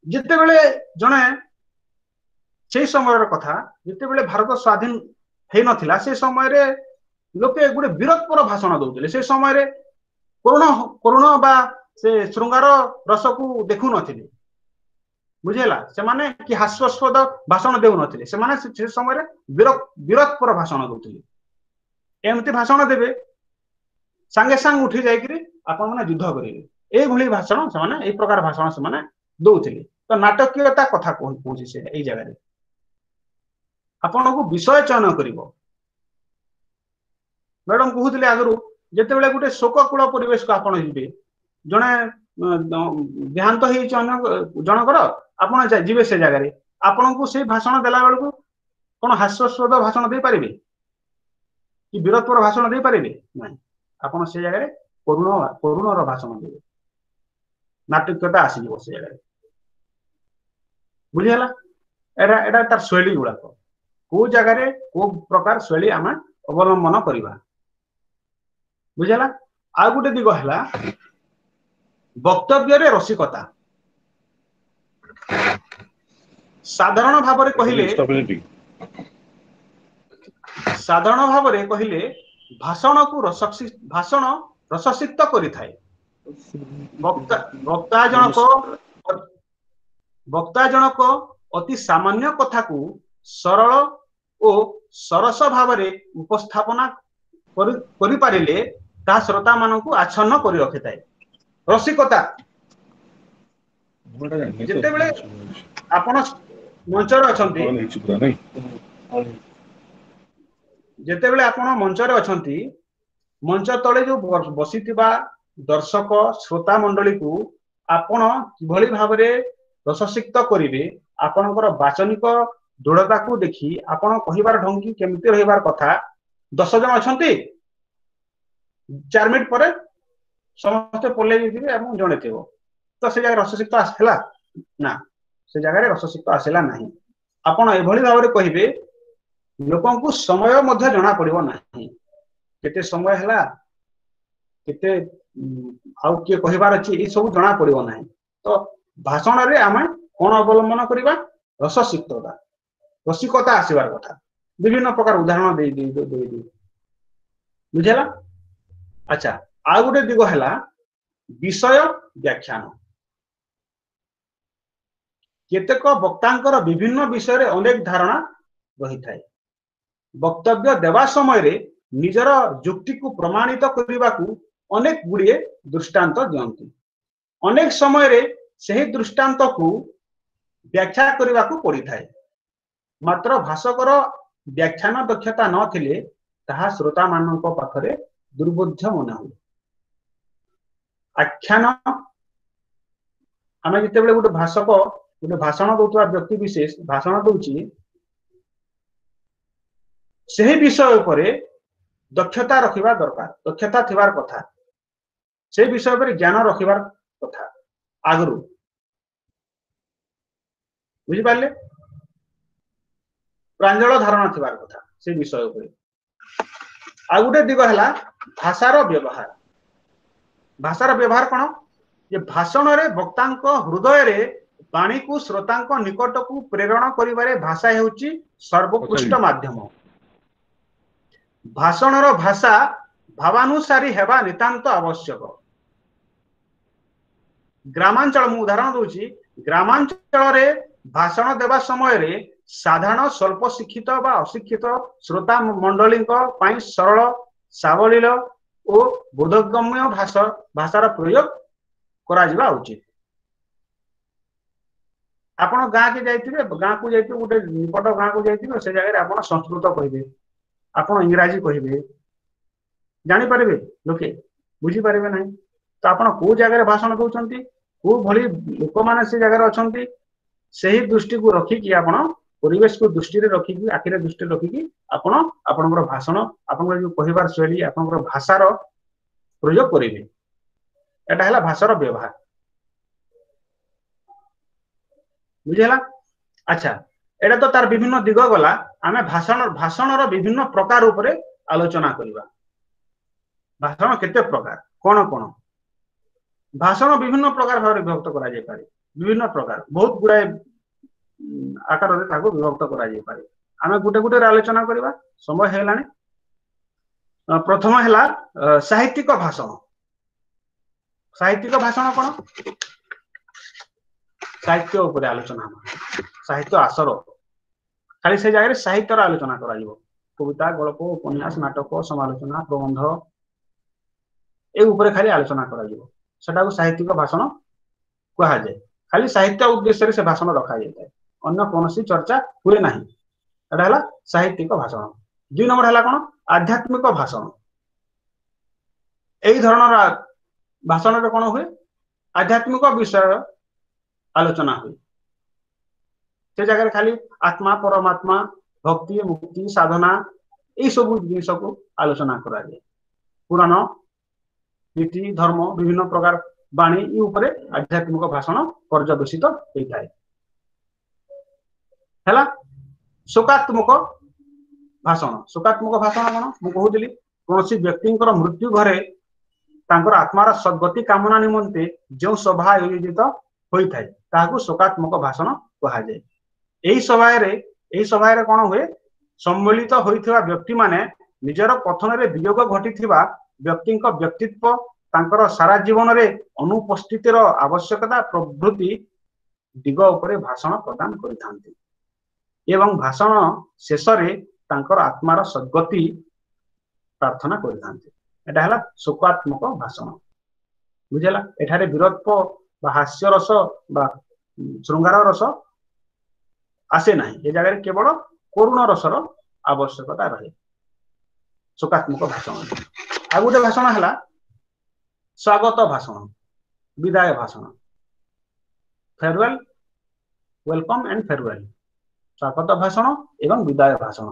B: ଯେତେବେଳେ ଜଣେ ସେଇ ସମୟର କଥା, ଯେତେବେଳେ ଭାରତ ସ୍ୱାଧୀନ ହେଇନଥିଲା, ସେ ସମୟରେ ଲୋକେ ଗୋଟେ ବୀରତ୍ୱର ଭାଷଣ ଦଉଥିଲେ। ସେ ସମୟରେ କରୁଣ କରୁଣ ବା ସେ ଶୃଙ୍ଗାର ରସକୁ ଦେଖୁନଥିଲେ, ବୁଝିହେଲା? ସେମାନେ କି ହାସ୍ୟାସ୍ପଦ ଭାଷଣ ଦେଉନଥିଲେ, ସେମାନେ ସେ ସମୟରେ ବୀର ବୀରତ୍ୱର ଭାଷଣ ଦଉଥିଲେ। ଏମିତି ଭାଷଣ ଦେବେ ସାଙ୍ଗେ ସାଙ୍ଗେ ଉଠି ଯାଇକିରି ଆପଣମାନେ ଯୁଦ୍ଧ କରିବେ, ଏଇଭଳି ଭାଷଣ ସେମାନେ, ଏଇ ପ୍ରକାର ଭାଷଣ ସେମାନେ ଦଉଥିଲେ। ତ ନାଟକୀୟତା କଥା କହୁଛି ସେ ଏଇ ଜାଗାରେ। ଆପଣଙ୍କୁ ବିଷୟ ଚୟନ କରିବ। ମ୍ୟାଡମ କହୁଥିଲେ ଆଗରୁ, ଯେତେବେଳେ ଗୋଟେ ଶୋକକୂଳ ପରିବେଶକୁ ଆପଣ ଯିବେ, ଜଣେ ଦେହାନ୍ତ ହେଇଛି ଅନ୍ୟ ଜଣଙ୍କର, ଆପଣ ଯିବେ ସେ ଜାଗାରେ, ଆପଣଙ୍କୁ ସେଇ ଭାଷଣ ଦେଲା ବେଳକୁ କଣ ହାସ୍ୟାସ୍ପଦ ଭାଷଣ ଦେଇପାରିବେ କି ବୀରତ୍ୱର ଭାଷଣ ଦେଇପାରିବେ? ନାଇଁ, ଆପଣ ସେ ଜାଗାରେ କରୁଣ କରୁଣର ଭାଷଣ ଦେବେ, ନାଟକୀୟତା ଆସିଯିବ ସେ ଜାଗାରେ। ବୁଝିହେଲା? ଏଟା ଏଟା ତାର ଶୈଳୀ ଗୁଡାକ, କୋଉ ଜାଗାରେ କୋଉ ପ୍ରକାର ଶୈଳୀ ଆମେ ଅବଲମ୍ବନ କରିବା। ବୁଝିହେଲା? ଆଉ ଗୋଟେ ଦିଗ ହେଲା ବକ୍ତବ୍ୟରେ ରସିକତା। ସାଧାରଣ ଭାବରେ କହିଲେ ସାଧାରଣ ଭାବରେ କହିଲେ ଭାଷଣକୁ ରସ ଭାଷଣ ରସସିକ୍ତ କରିଥାଏ। ବକ୍ତା ବକ୍ତା ଜଣକ ବକ୍ତା ଜଣକ ଅତି ସାମାନ୍ୟ କଥାକୁ ସରଳ ଓ ସରସ ଭାବରେ ଉପସ୍ଥାପନା କରିପାରିଲେ ତାହା ଶ୍ରୋତା ମାନଙ୍କୁ ଆଚ୍ଛନ୍ନ କରି ରଖିଥାଏ। ରସିକତା, ଯେତେବେଳେ ଆପଣ ମଞ୍ଚରେ ଅଛନ୍ତି, ଯେତେବେଳେ ଆପଣ ମଞ୍ଚରେ ଅଛନ୍ତି, ମଞ୍ଚ ତଳେ ଯୋଉ ବସିଥିବା ଦର୍ଶକ ଶ୍ରୋତା ମଣ୍ଡଳୀକୁ ଆପଣ କିଭଳି ଭାବରେ ରସସିକ୍ତ କରିବେ, ଆପଣଙ୍କର ବାଚନିକ ଦୃଢ଼ତାକୁ ଦେଖି ଆପଣ କହିବାର ଢଙ୍ଗି କେମିତି ରହିବାର କଥା। ଦଶ ଜଣ ଅଛନ୍ତି, ଚାରି ମିନିଟ ପରେ ସମସ୍ତେ ପଲେଇ ଯାଇଥିବେ ଏବଂ ଜଣେ ଥିବ, ତ ସେ ଜାଗାରେ ରସସିକ୍ତ ଆସିଲା ନା? ସେ ଜାଗାରେ ରସସିକ୍ତ ଆସିଲା ନାହିଁ। ଆପଣ ଏଭଳି ଭାବରେ କହିବେ ଲୋକଙ୍କୁ ସମୟ ମଧ୍ୟ ଜଣା ପଡିବ ନାହିଁ। କେତେ ସମୟ ହେଲା, କେତେ ଆଉ କିଏ କହିବାର ଅଛି, ଏଇ ସବୁ ଜଣା ପଡିବ ନାହିଁ। ତ ଭାଷଣରେ ଆମେ କଣ ଅବଲମ୍ବନ କରିବା? ରସସିକ୍ତତା, ରସିକତା ଆସିବାର କଥା। ବିଭିନ୍ନ ପ୍ରକାର ଉଦାହରଣ ଦେଇ ଦେଇ ଦେଇ ଦେଇ ବୁଝିହେଲା? ଆଚ୍ଛା, ଆଉ ଗୋଟେ ଦିଗ ହେଲା ବିଷୟ ବ୍ୟାଖ୍ୟାନ। କେତେକ ବକ୍ତାଙ୍କର ବିଭିନ୍ନ ବିଷୟରେ ଅନେକ ଧାରଣା ରହିଥାଏ। ବକ୍ତବ୍ୟ ଦେବା ସମୟରେ ନିଜର ଯୁକ୍ତିକୁ ପ୍ରମାଣିତ କରିବାକୁ ଅନେକ ଗୁଡ଼ିଏ ଦୃଷ୍ଟାନ୍ତ ଦିଅନ୍ତି। ଅନେକ ସମୟରେ ସେହି ଦୃଷ୍ଟାନ୍ତକୁ ବ୍ୟାଖ୍ୟା କରିବାକୁ ପଡିଥାଏ। ମାତ୍ର ଭାଷକର ବ୍ୟାଖ୍ୟାନ ଦକ୍ଷତା ନଥିଲେ ତାହା ଶ୍ରୋତାମାନଙ୍କ ପାଖରେ ଦୁର୍ବୋଧ୍ୟ ମନେ ହୁଏ। ଆଖ୍ୟାନ, ଆମେ ଯେତେବେଳେ ଗୋଟେ ଭାଷକ, ଗୋଟେ ଭାଷଣ ଦଉଥିବା ବ୍ୟକ୍ତି ବିଶେଷ ଭାଷଣ ଦଉଛି, ସେହି ବିଷୟ ଉପରେ ଦକ୍ଷତା ରଖିବା ଦରକାର, ଦକ୍ଷତା ଥିବାର କଥା, ସେ ବିଷୟ ଉପରେ ଜ୍ଞାନ ରଖିବାର କଥା ଆଗରୁ। ବୁଝିପାରିଲେ? ପ୍ରାଞ୍ଜଳ ଧାରଣା ଥିବାର କଥା ସେ ବିଷୟ ଉପରେ। ଆଉ ଗୋଟେ ଦିଗ ହେଲା ଭାଷାର ବ୍ୟବହାର। ଭାଷାର ବ୍ୟବହାର କଣ? ଯେ ଭାଷଣରେ ବକ୍ତାଙ୍କ ହୃଦୟରେ ବାଣୀକୁ ଶ୍ରୋତାଙ୍କ ନିକଟକୁ ପ୍ରେରଣ କରିବାରେ ଭାଷା ହେଉଛି ସର୍ବୋତ୍କୃଷ୍ଟ ମାଧ୍ୟମ। ଭାଷଣର ଭାଷା ଭାବାନୁସାରୀ ହେବା ନିତାନ୍ତ ଆବଶ୍ୟକ। ଗ୍ରାମାଞ୍ଚଳ, ମୁଁ ଉଦାହରଣ ଦଉଛି, ଗ୍ରାମାଞ୍ଚଳରେ ଭାଷଣ ଦେବା ସମୟରେ ସାଧାରଣ ସ୍ୱଳ୍ପ ଶିକ୍ଷିତ ବା ଅଶିକ୍ଷିତ ଶ୍ରୋତା ମଣ୍ଡଳୀଙ୍କ ପାଇଁ ସରଳ, ସାବଲୀଳ ଓ ବୋଧଗମ୍ୟ ଭାଷା ଭାଷାର ପ୍ରୟୋଗ କରାଯିବା ଉଚିତ। ଆପଣ ଗାଁକୁ ଯାଇଥିବେ, ଗାଁକୁ ଯାଇଥିବେ, ଗୋଟେ ନିକଟ ଗାଁକୁ ଯାଇଥିବେ, ସେ ଜାଗାରେ ଆପଣ ସଂସ୍କୃତ କହିବେ, ଆପଣ ଇଂରାଜୀ କହିବେ, ଜାଣିପାରିବେ ଲୋକେ? ବୁଝିପାରିବେ ନାହିଁ। ତ ଆପଣ କୋଉ ଜାଗାରେ ଭାଷଣ ଦଉଛନ୍ତି, କୋଉ ଭଳି ଲୋକମାନେ ସେ ଜାଗାରେ ଅଛନ୍ତି, ସେହି ଦୃଷ୍ଟିକୁ ରଖିକି, ଆପଣ ପରିବେଶକୁ ଦୃଷ୍ଟିରେ ରଖିକି, ଆଖିରେ ଦୃଷ୍ଟିରେ ରଖିକି ଆପଣ ଆପଣଙ୍କର ଭାଷଣ, ଆପଣଙ୍କର ଯୋଉ କହିବାର ଶୈଳୀ, ଆପଣଙ୍କର ଭାଷାର ପ୍ରୟୋଗ କରିବେ। ଏଟା ହେଲା ଭାଷାର ବ୍ୟବହାର। ବୁଝିହେଲା? ଆଚ୍ଛା, ଏଇଟା ତ ତାର ବିଭିନ୍ନ ଦିଗ ଗଲା। ଆମେ ଭାଷଣ ଭାଷଣର ବିଭିନ୍ନ ପ୍ରକାର ଉପରେ ଆଲୋଚନା କରିବା। ଭାଷଣ କେତେ ପ୍ରକାର, କଣ କଣ? ଭାଷଣ ବିଭିନ୍ନ ପ୍ରକାର ଭାବରେ ବିଭକ୍ତ କରାଯାଇପାରେ। ବିଭିନ୍ନ ପ୍ରକାର, ବହୁତ ଗୁଡାଏ ଆକାରରେ ତାକୁ ବିଭକ୍ତ କରାଯାଇପାରେ। ଆମେ ଗୋଟେ ଗୋଟେ ଆଲୋଚନା କରିବା, ସମୟ ହେଇଗଲାଣି। ପ୍ରଥମ ହେଲା ସାହିତ୍ୟିକ ଭାଷଣ। ସାହିତ୍ୟିକ ଭାଷଣ କଣ? ସାହିତ୍ୟ ଉପରେ ଆଲୋଚନା ହବ, ସାହିତ୍ୟ ଆସର। ଖାଲି ସେ ଜାଗାରେ ସାହିତ୍ୟର ଆଲୋଚନା କରାଯିବ। କବିତା, ଗଳ୍ପ, ଉପନ୍ୟାସ, ନାଟକ, ସମାଲୋଚନା, ପ୍ରବନ୍ଧ, ଏ ଉପରେ ଖାଲି ଆଲୋଚନା କରାଯିବ। ସେଟାକୁ ସାହିତ୍ୟିକ ଭାଷଣ କୁହାଯାଏ। ଖାଲି ସାହିତ୍ୟ ଉଦ୍ଦେଶ୍ୟରେ ସେ ଭାଷଣ ରଖାଯାଇଥାଏ, ଅନ୍ୟ କୌଣସି ଚର୍ଚ୍ଚା ହୁଏ ନାହିଁ। ଏଟା ହେଲା ସାହିତ୍ୟିକ ଭାଷଣ। ଦୁଇ ନମ୍ବର ହେଲା କଣ? ଆଧ୍ୟାତ୍ମିକ ଭାଷଣ। ଏଇ ଧରଣର ଭାଷଣରେ କଣ ହୁଏ? ଆଧ୍ୟାତ୍ମିକ ବିଷୟ ଆଲୋଚନା ହୁଏ। ସେ ଜାଗାରେ ଖାଲି ଆତ୍ମା, ପରମାତ୍ମା, ଭକ୍ତି, ମୁକ୍ତି, ସାଧନା, ଏଇ ସବୁ ଜିନିଷକୁ ଆଲୋଚନା କରାଯାଏ। ପୁରାଣ, ନୀତି, ଧର୍ମ, ବିଭିନ୍ନ ପ୍ରକାର ବାଣୀ ଉପରେ ଆଧ୍ୟାତ୍ମିକ ଭାଷଣ ପର୍ଯ୍ୟବେସିତ ହେଇଥାଏ। ହେଲା ଶୋକାତ୍ମକ ଭାଷଣ। ଶୋକାତ୍ମକ ଭାଷଣ କଣ? ମୁଁ କହୁଥିଲି, କୌଣସି ବ୍ୟକ୍ତିଙ୍କର ମୃତ୍ୟୁ ଘରେ ତାଙ୍କର ଆତ୍ମାର ସଦ୍ଗତି କାମନା ନିମନ୍ତେ ଯେଉଁ ସଭା ଆୟୋଜିତ ହୋଇଥାଏ, ତାହାକୁ ଶୋକାତ୍ମକ ଭାଷଣ କୁହାଯାଏ। ଏହି ସଭାରେ ଏହି ସଭାରେ କଣ ହୁଏ? ସମ୍ମିଳିତ ହୋଇଥିବା ବ୍ୟକ୍ତିମାନେ ନିଜର କଥନରେ ବିୟୋଗ ଘଟିଥିବା ବ୍ୟକ୍ତିଙ୍କ ବ୍ୟକ୍ତିତ୍ୱ, ତାଙ୍କର ସାରା ଜୀବନରେ ଅନୁପସ୍ଥିତିର ଆବଶ୍ୟକତା ପ୍ରଭୃତି ଦିଗ ଉପରେ ଭାଷଣ ପ୍ରଦାନ କରିଥାନ୍ତି ଏବଂ ଭାଷଣ ଶେଷରେ ତାଙ୍କର ଆତ୍ମାର ସଦ୍ଗତି ପ୍ରାର୍ଥନା କରିଥାନ୍ତି। ଏଟା ହେଲା ଶୋକାତ୍ମକ ଭାଷଣ। ବୁଝିଲା? ଏଠାରେ ବୀରତ୍ୱ ବା ହାସ୍ୟ ରସ ବା ଶୃଙ୍ଗାର ରସ ଆସେ ନାହିଁ। ଏ ଜାଗାରେ କେବଳ କରୁଣ ରସର ଆବଶ୍ୟକତା ରହେ ଶୋକାତ୍ମକ ଭାଷଣ। ଆଉ ଗୋଟେ ଭାଷଣ ହେଲା ସ୍ୱାଗତ ଭାଷଣ, ବିଦାୟ ଭାଷଣ, ଫେରୱେଲ, welcome and farewell. ସ୍ୱାଗତ ଭାଷଣ ଏବଂ ବିଦାୟ ଭାଷଣ।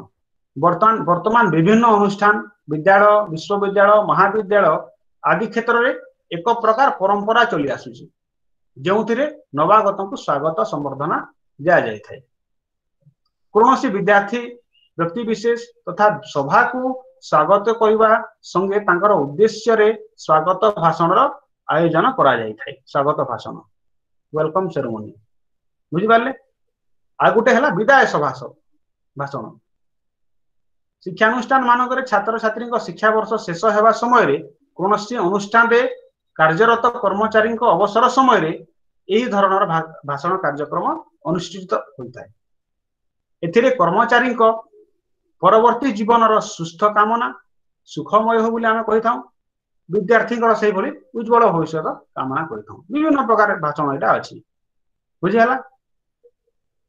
B: ବର୍ତ୍ତମାନ ବର୍ତ୍ତମାନ ବିଭିନ୍ନ ଅନୁଷ୍ଠାନ, ବିଦ୍ୟାଳୟ, ବିଶ୍ୱବିଦ୍ୟାଳୟ, ମହାବିଦ୍ୟାଳୟ ଆଦି କ୍ଷେତ୍ରରେ ଏକ ପ୍ରକାର ପରମ୍ପରା ଚଲି ଆସୁଛି, ଯେଉଁଥିରେ ନବାଗତଙ୍କୁ ସ୍ୱାଗତ ସମ୍ବର୍ଦ୍ଧନା ଦିଆଯାଇଥାଏ। କୌଣସି ବିଦ୍ୟାର୍ଥୀ, ବ୍ୟକ୍ତି ବିଶେଷ ତଥା ସଭାକୁ ସ୍ୱାଗତ କରିବା ସଙ୍ଗେ ତାଙ୍କର ଉଦ୍ଦେଶ୍ୟରେ ସ୍ୱାଗତ ଭାଷଣର ଆୟୋଜନ କରାଯାଇଥାଏ। ସ୍ୱାଗତ ଭାଷଣ, welcome ceremony, ବୁଝିପାରିଲେ? ଆଉ ଗୋଟେ ହେଲା ବିଦାୟ ସଭା ଭାଷଣ। ଶିକ୍ଷାନୁଷ୍ଠାନ ମାନଙ୍କରେ ଛାତ୍ରଛାତ୍ରୀଙ୍କ ଶିକ୍ଷାବର୍ଷ ଶେଷ ହେବା ସମୟରେ, କୌଣସି ଅନୁଷ୍ଠାନରେ କାର୍ଯ୍ୟରତ କର୍ମଚାରୀଙ୍କ ଅବସର ସମୟରେ ଏହି ଧରଣର ଭାଷଣ କାର୍ଯ୍ୟକ୍ରମ ଅନୁଷ୍ଠିତ ହୋଇଥାଏ। ଏଥିରେ କର୍ମଚାରୀଙ୍କ ପରବର୍ତ୍ତୀ ଜୀବନର ସୁସ୍ଥ କାମନା, ସୁଖମୟ ହଉ ବୋଲି ଆମେ କହିଥାଉ। ବିଦ୍ୟାର୍ଥୀଙ୍କର ସେଇଭଳି ଉଜ୍ଜଳ ଭବିଷ୍ୟତ କାମନା କରିଥାଉ। ବିଭିନ୍ନ ପ୍ରକାର ଭାଷଣ ଏଇଟା ଅଛି, ବୁଝିହେଲା?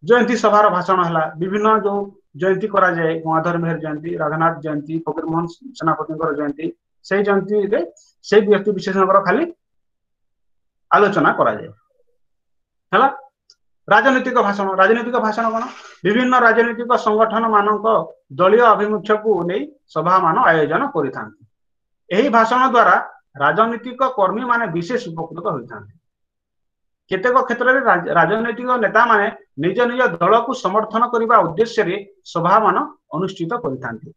B: ଜୟନ୍ତୀ ସଭାର ଭାଷଣ ହେଲା, ବିଭିନ୍ନ ଯୋଉ ଜୟନ୍ତୀ କରାଯାଏ, ଗଙ୍ଗାଧର ମେହେର ଜୟନ୍ତୀ, ରାଧାନାଥ ଜୟନ୍ତୀ, ଫକୀରମୋହନ ସେନାପତିଙ୍କର ଜୟନ୍ତୀ, ସେଇ ଜୟନ୍ତୀରେ ସେଇ ବ୍ୟକ୍ତି ବିଶେଷଙ୍କର ଖାଲି ଆଲୋଚନା କରାଯାଏ। ହେଲା ରାଜନୈତିକ ଭାଷଣ। ରାଜନୈତିକ ଭାଷଣ କଣ? ବିଭିନ୍ନ ରାଜନୈତିକ ସଂଗଠନ ମାନଙ୍କ ଦଳୀୟ ଆଭିମୁଖ୍ୟକୁ ନେଇ ସଭାମାନ ଆୟୋଜନ କରିଥାନ୍ତି। ଏହି ଭାଷଣ ଦ୍ଵାରା ରାଜନୈତିକ କର୍ମୀ ମାନେ ବିଶେଷ ଉପକୃତ ହୋଇଥାନ୍ତି। କେତେକ କ୍ଷେତ୍ରରେ ରାଜନୈତିକ ନେତାମାନେ ନିଜ ନିଜ ଦଳକୁ ସମର୍ଥନ କରିବା ଉଦ୍ଦେଶ୍ୟରେ ସଭାମାନ ଅନୁଷ୍ଠିତ କରିଥାନ୍ତି।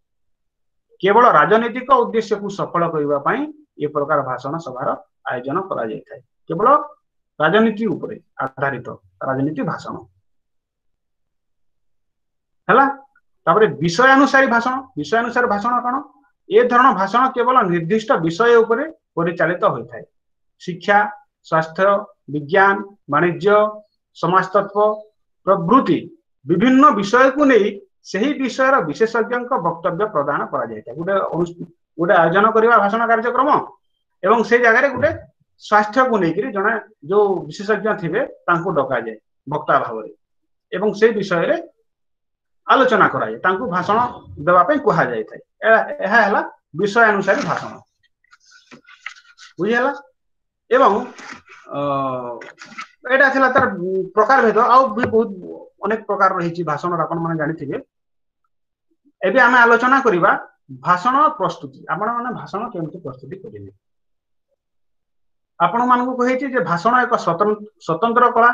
B: କେବଳ ରାଜନୈତିକ ଉଦ୍ଦେଶ୍ୟକୁ ସଫଳ କରିବା ପାଇଁ ଏ ପ୍ରକାର ଭାଷଣ ସଭାର ଆୟୋଜନ କରାଯାଇଥାଏ। କେବଳ ରାଜନୀତି ଉପରେ ଆଧାରିତ ରାଜନୀତି ଭାଷଣ ହେଲା। ତାପରେ ବିଷୟାନୁସାରୀ ଭାଷଣ। ବିଷୟାନୁସାରୀ ଭାଷଣ କଣ? ଏ ଧରଣ ଭାଷଣ କେବଳ ନିର୍ଦ୍ଦିଷ୍ଟ ବିଷୟ ଉପରେ ପରିଚାଳିତ ହୋଇଥାଏ। ଶିକ୍ଷା, ସ୍ୱାସ୍ଥ୍ୟ, ବିଜ୍ଞାନ, ବାଣିଜ୍ୟ, ସମାଜତତ୍ତ୍ୱ ପ୍ରଭୃତି ବିଭିନ୍ନ ବିଷୟକୁ ନେଇ ସେହି ବିଷୟର ବିଶେଷଜ୍ଞଙ୍କ ବକ୍ତବ୍ୟ ପ୍ରଦାନ କରାଯାଇଥାଏ। ଗୋଟେ ଗୋଟେ ଆୟୋଜନ କରିବା ଭାଷଣ କାର୍ଯ୍ୟକ୍ରମ ଏବଂ ସେଇ ଜାଗାରେ ଗୋଟେ ସ୍ୱାସ୍ଥ୍ୟକୁ ନେଇକିରି ଜଣେ ଯୋଉ ବିଶେଷଜ୍ଞ ଥିବେ ତାଙ୍କୁ ଡକାଯାଏ ବକ୍ତା ଭାବରେ ଏବଂ ସେଇ ବିଷୟରେ ଆଲୋଚନା କରାଯାଏ, ତାଙ୍କୁ ଭାଷଣ ଦେବା ପାଇଁ କୁହାଯାଇଥାଏ। ଏହା ହେଲା ବିଷୟାନୁସାରୀ ଭାଷଣ, ବୁଝିହେଲା? ଏବଂ ଏଇଟା ଥିଲା ତାର ପ୍ରକାର ଭେଦ। ଆଉ ବି ବହୁତ ଅନେକ ପ୍ରକାର ରହିଛି ଭାଷଣର, ଆପଣ ମାନେ ଜାଣିଥିବେ। ଏବେ ଆମେ ଆଲୋଚନା କରିବା ଭାଷଣ ପ୍ରସ୍ତୁତି। ଆପଣ ମାନେ ଭାଷଣ କେମିତି ପ୍ରସ୍ତୁତି କରିବେ? ଆପଣ ମାନଙ୍କୁ କହିଛି ଯେ ଭାଷଣ ଏକ ସ୍ୱତନ୍ତ୍ର କଳା।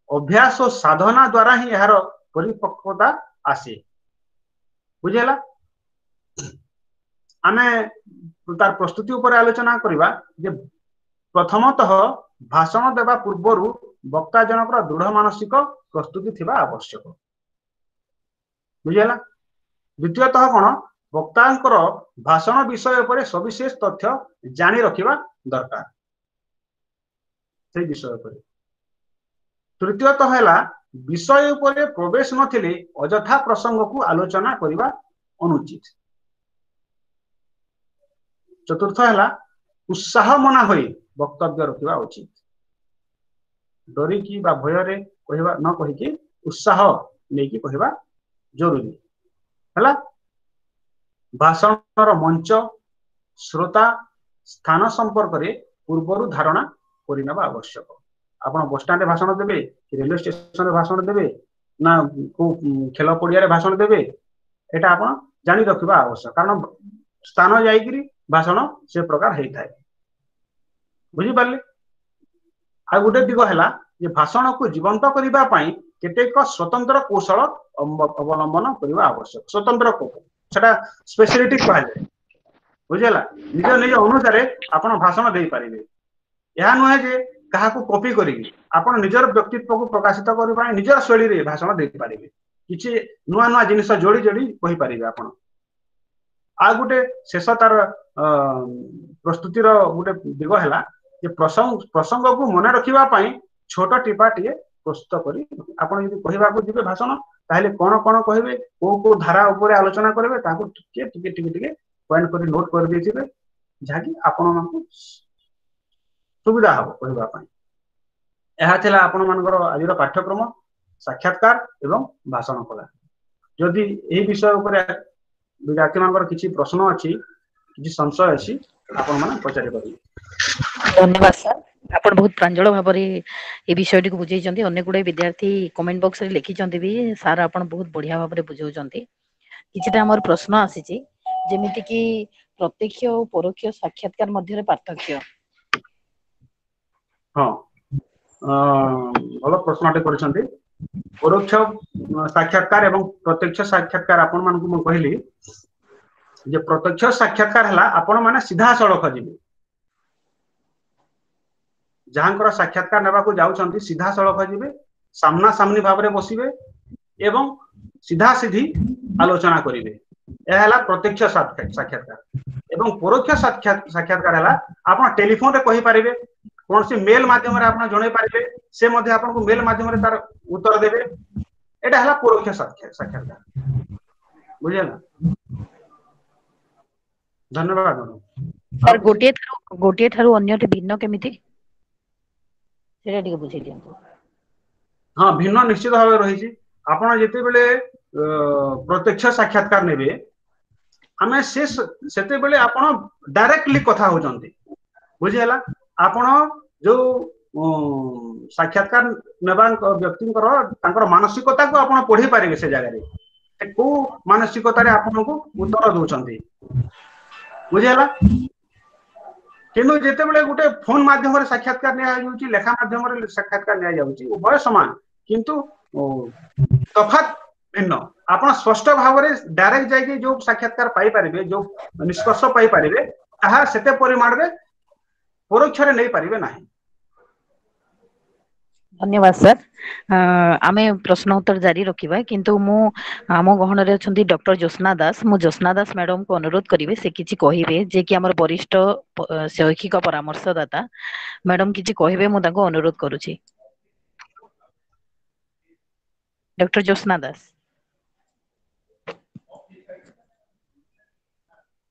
B: ଅଭ୍ୟାସ ଓ ସାଧନା ଦ୍ଵାରା ହିଁ ଏହାର ପରିପକ୍ୱତା ଆସେ, ବୁଝିହେଲା? ଆମେ ତାର ପ୍ରସ୍ତୁତି ଉପରେ ଆଲୋଚନା କରିବା ଯେ ପ୍ରଥମତଃ ଭାଷଣ ଦେବା ପୂର୍ବରୁ ବକ୍ତା ଜଣଙ୍କର ଦୃଢ ମାନସିକ ପ୍ରସ୍ତୁତି ଥିବା ଆବଶ୍ୟକ, ବୁଝିହେଲା? ଦ୍ୱିତୀୟତଃ କଣ? ବକ୍ତାଙ୍କର ଭାଷଣ ବିଷୟ ଉପରେ ସବିଶେଷ ତଥ୍ୟ ଜାଣି ରଖିବା ଦରକାର ସେଇ ବିଷୟ ଉପରେ। ତୃତୀୟତଃ ହେଲା ବିଷୟ ଉପରେ ପ୍ରବେଶ ନଥିଲେ ଅଯଥା ପ୍ରସଙ୍ଗକୁ ଆଲୋଚନା କରିବା ଅନୁଚିତ। ଚତୁର୍ଥ ହେଲା ଉତ୍ସାହ ମନା ହୋଇ ବକ୍ତବ୍ୟ ରଖିବା ଉଚିତ। ଡରିକି ବା ଭୟରେ କହିବା ନ କହିକି ଉତ୍ସାହ ନେଇକି କହିବା ଜରୁରୀ। ହେଲା ଭାଷଣର ମଞ୍ଚ, ଶ୍ରୋତା, ସ୍ଥାନ ସମ୍ପର୍କରେ ପୂର୍ବରୁ ଧାରଣା କରିନେବା ଆବଶ୍ୟକ। ଆପଣ ବସଷ୍ଟାଣ୍ଡରେ ଭାଷଣ ଦେବେ କି ରେଲୱେ ଷ୍ଟେସନରେ ଭାଷଣ ଦେବେ ନା କୋଉ ଖେଳ ପଡିଆରେ ଭାଷଣ ଦେବେ, ଏଇଟା ଆପଣ ଜାଣି ରଖିବା ଆବଶ୍ୟକ। କାରଣ ସ୍ଥାନ ଯାଇକିରି ଭାଷଣ ସେ ପ୍ରକାର ହେଇଥାଏ, ବୁଝିପାରିଲେ? ଆଉ ଗୋଟେ ଦିଗ ହେଲା ଯେ ଭାଷଣକୁ ଜୀବନ୍ତ କରିବା ପାଇଁ କେତେକ ସ୍ୱତନ୍ତ୍ର କୌଶଳ ଅବଲମ୍ବନ କରିବା ଆବଶ୍ୟକ। ସ୍ୱତନ୍ତ୍ର କୌଶଳ ସେଟା ସ୍ପେସିଆଲିଟି କୁହାଯାଏ, ବୁଝିହେଲା? ନିଜ ନିଜ ଅନୁସାରେ ଆପଣ ଭାଷଣ ଦେଇପାରିବେ। ଏହା ନୁହେଁ ଯେ କାହାକୁ କପି କରିକି, ଆପଣ ନିଜର ବ୍ୟକ୍ତିତ୍ୱକୁ ପ୍ରକାଶିତ କରିବା ପାଇଁ ନିଜର ଶୈଳୀରେ ଭାଷଣ ଦେଇପାରିବେ। କିଛି ନୂଆ ନୂଆ ଜିନିଷ ଯୋଡି ଯୋଡି କହିପାରିବେ ଆପଣ। ଆଉ ଗୋଟେ ଶେଷ ତାର ଅ ପ୍ରସ୍ତୁତିର ଗୋଟେ ଦିଗ ହେଲା ଯେ ପ୍ରସଙ୍ଗ ପ୍ରସଙ୍ଗକୁ ମନେ ରଖିବା ପାଇଁ ଛୋଟ ଟିପା ଟିକେ ପ୍ରସ୍ତୁତ କରି ଆପଣ ଯଦି କହିବାକୁ ଯିବେ ଭାଷଣ, ତାହେଲେ କଣ କଣ କହିବେ, କୋଉ କୋଉ ଧାରା ଉପରେ ଆଲୋଚନା କରିବେ, ତାକୁ ଟିକେ ଟିକେ ଟିକେ ଟିକେ ପଏଣ୍ଟ କରି ନୋଟ କରିଦେଇଥିବେ, ଯାହାକି ଆପଣମାନଙ୍କୁ ସୁବିଧା ହବ କହିବା ପାଇଁ। ଏହା ଥିଲା ଆପଣମାନଙ୍କର ଆଜିର ପାଠ୍ୟକ୍ରମ ସାକ୍ଷାତକାର ଏବଂ ଭାଷଣ କଳା। ଯଦି ଏହି ବିଷୟ ଉପରେ ବିଦ୍ୟାର୍ଥୀ ମାନଙ୍କର କିଛି ପ୍ରଶ୍ନ ଅଛି, କିଛି ସଂଶୟ ଅଛି, ଆପଣ ମାନେ ପଚାରି ପାରିବେ।
A: ଧନ୍ୟବାଦ ସାର୍, ଆପଣ ବହୁତ ପ୍ରାଞ୍ଜଳ ଭାବରେ ଏ ବିଷୟଟିକୁ ବୁଝେଇଛନ୍ତି। ଅନେକ ଗୁଡେ ବିଦ୍ୟାର୍ଥୀ କମେଣ୍ଟ ବକ୍ସ ରେ ଲେଖିଛନ୍ତି ବି, ସାର୍ ଆପଣ ବହୁତ ବଢିଆ ଭାବରେ ବୁଝାଉଛନ୍ତି। କିଛିଟା ଆମର ପ୍ରଶ୍ନ ଆସିଛି, ଯେମିତି କିି ପ୍ରତ୍ୟକ୍ଷ ଓ ପରୋକ୍ଷ ସାକ୍ଷାତକାର ମଧ୍ୟରେ ପାର୍ଥକ୍ୟ।
B: ହଁ, ଭଲ ପ୍ରଶ୍ନଟେ କରିଛନ୍ତି। ପରୋକ୍ଷ ସାକ୍ଷାତକାର ଏବଂ ପ୍ରତ୍ୟକ୍ଷ ସାକ୍ଷାତକାର ଆପଣ ମାନଙ୍କୁ ମୁଁ କହିଲି। ଯେ ପ୍ରତ୍ୟକ୍ଷ ସାକ୍ଷାତକାର ହେଲା ଆପଣ ମାନେ ସିଧାସଳଖ ଯିବେ, ଯାହାଙ୍କର ସାକ୍ଷାତକାର ନେବାକୁ ଯାଉଛନ୍ତି ସିଧାସଳଖ ଯିବେ, ସାମ୍ନା ସାମ୍ନି ଭାବରେ ବସିବେ ଏବଂ ସିଧା ସିଧି ଆଲୋଚନା କରିବେ। ଏହା ହେଲା ପ୍ରତ୍ୟକ୍ଷ ସାକ୍ଷାତକାର। ଏବଂ ପରୋକ୍ଷ ସାକ୍ଷାତକାର ହେଲା ଆପଣ ଟେଲିଫୋନରେ କହିପାରିବେ, କୌଣସି ମେଲ ମାଧ୍ୟମରେ ଆପଣ ଜଣେଇ ପାରିବେ, ସେ ମଧ୍ୟ ଆପଣଙ୍କୁ ମେଲ ମାଧ୍ୟମରେ ତାର ଉତ୍ତର ଦେବେ। ଏଇଟା ହେଲା ପରୋକ୍ଷ ସାକ୍ଷାତକାର। ବୁଝିହେଲା? ଧନ୍ୟବାଦ।
A: ସାର୍, ଗୋଟିଏ ଠାରୁ ଗୋଟିଏ ଠାରୁ ଅନ୍ୟଟି ଭିନ୍ନ କେମିତି, ସେଇଟା ଟିକେ ବୁଝେଇ ଦିଅନ୍ତୁ।
B: ହଁ, ଭିନ୍ନ ନିଶ୍ଚିତ ଭାବେ ରହିଛି। ଆପଣ ଯେତେବେଳେ ପ୍ରତ୍ୟକ୍ଷ ସାକ୍ଷାତକାର ନେବେ, ଆମେ ସେ ସେତେବେଳେ ଆପଣ ଡାଇରେକ୍ଟଲି କଥା ହଉଛନ୍ତି। ବୁଝିହେଲା? ଆପଣ ଯୋଉ ସାକ୍ଷାତକାର ନେବା ବ୍ୟକ୍ତିଙ୍କର ତାଙ୍କର ମାନସିକତାକୁ ଆପଣ ପଢି ପାରିବେ, ସେ ଜାଗାରେ ସେ କୋଉ ମାନସିକତାରେ ଆପଣଙ୍କୁ ଉତ୍ତର ଦଉଛନ୍ତି। ବୁଝିହେଲା? କିନ୍ତୁ ଯେତେବେଳେ ଗୋଟେ ଫୋନ ମାଧ୍ୟମରେ ସାକ୍ଷାତକାର ନିଆଯାଉଛି, ଲେଖା ମାଧ୍ୟମରେ ସାକ୍ଷାତକାର ନିଆଯାଉଛି, ଉଭୟ ସମାନ କିନ୍ତୁ ତଫାତ ଭିନ୍ନ। ଆପଣ ସ୍ପଷ୍ଟ ଭାବରେ ଡାଇରେକ୍ଟ ଯାଇକି ଯୋଉ ସାକ୍ଷାତକାର ପାଇପାରିବେ, ଯୋଉ ନିଷ୍କର୍ଷ ପାଇପାରିବେ, ତାହା ସେତେ ପରିମାଣରେ ପରୋକ୍ଷରେ ନେଇପାରିବେ ନାହିଁ।
A: ଧନ୍ୟବାଦ ସାର୍। ଆମେ ପ୍ରଶ୍ନ ଉତ୍ତର ଜାରି ରଖିବା, କିନ୍ତୁ ମୁଁ ଆମ ଗହଣରେ ଅଛନ୍ତି ଡକ୍ଟର ଜ୍ୟୋତ୍ସ୍ନା ଦାସ। ମୁଁ ଜ୍ୟୋତ୍ସ୍ନା ଦାସ ମ୍ୟାଡମକୁ ଅନୁରୋଧ କରିବି ସେ କିଛି କହିବେ, ଯେ କି ଆମର ବରିଷ୍ଠ ଶୈକ୍ଷିକ ପରାମର୍ଶଦାତା। ମ୍ୟାଡମ କିଛି କହିବେ, ମୁଁ ତାଙ୍କୁ ଅନୁରୋଧ କରୁଛି। ଡକ୍ଟର ଜ୍ୟୋତ୍ସ୍ନା ଦାସ।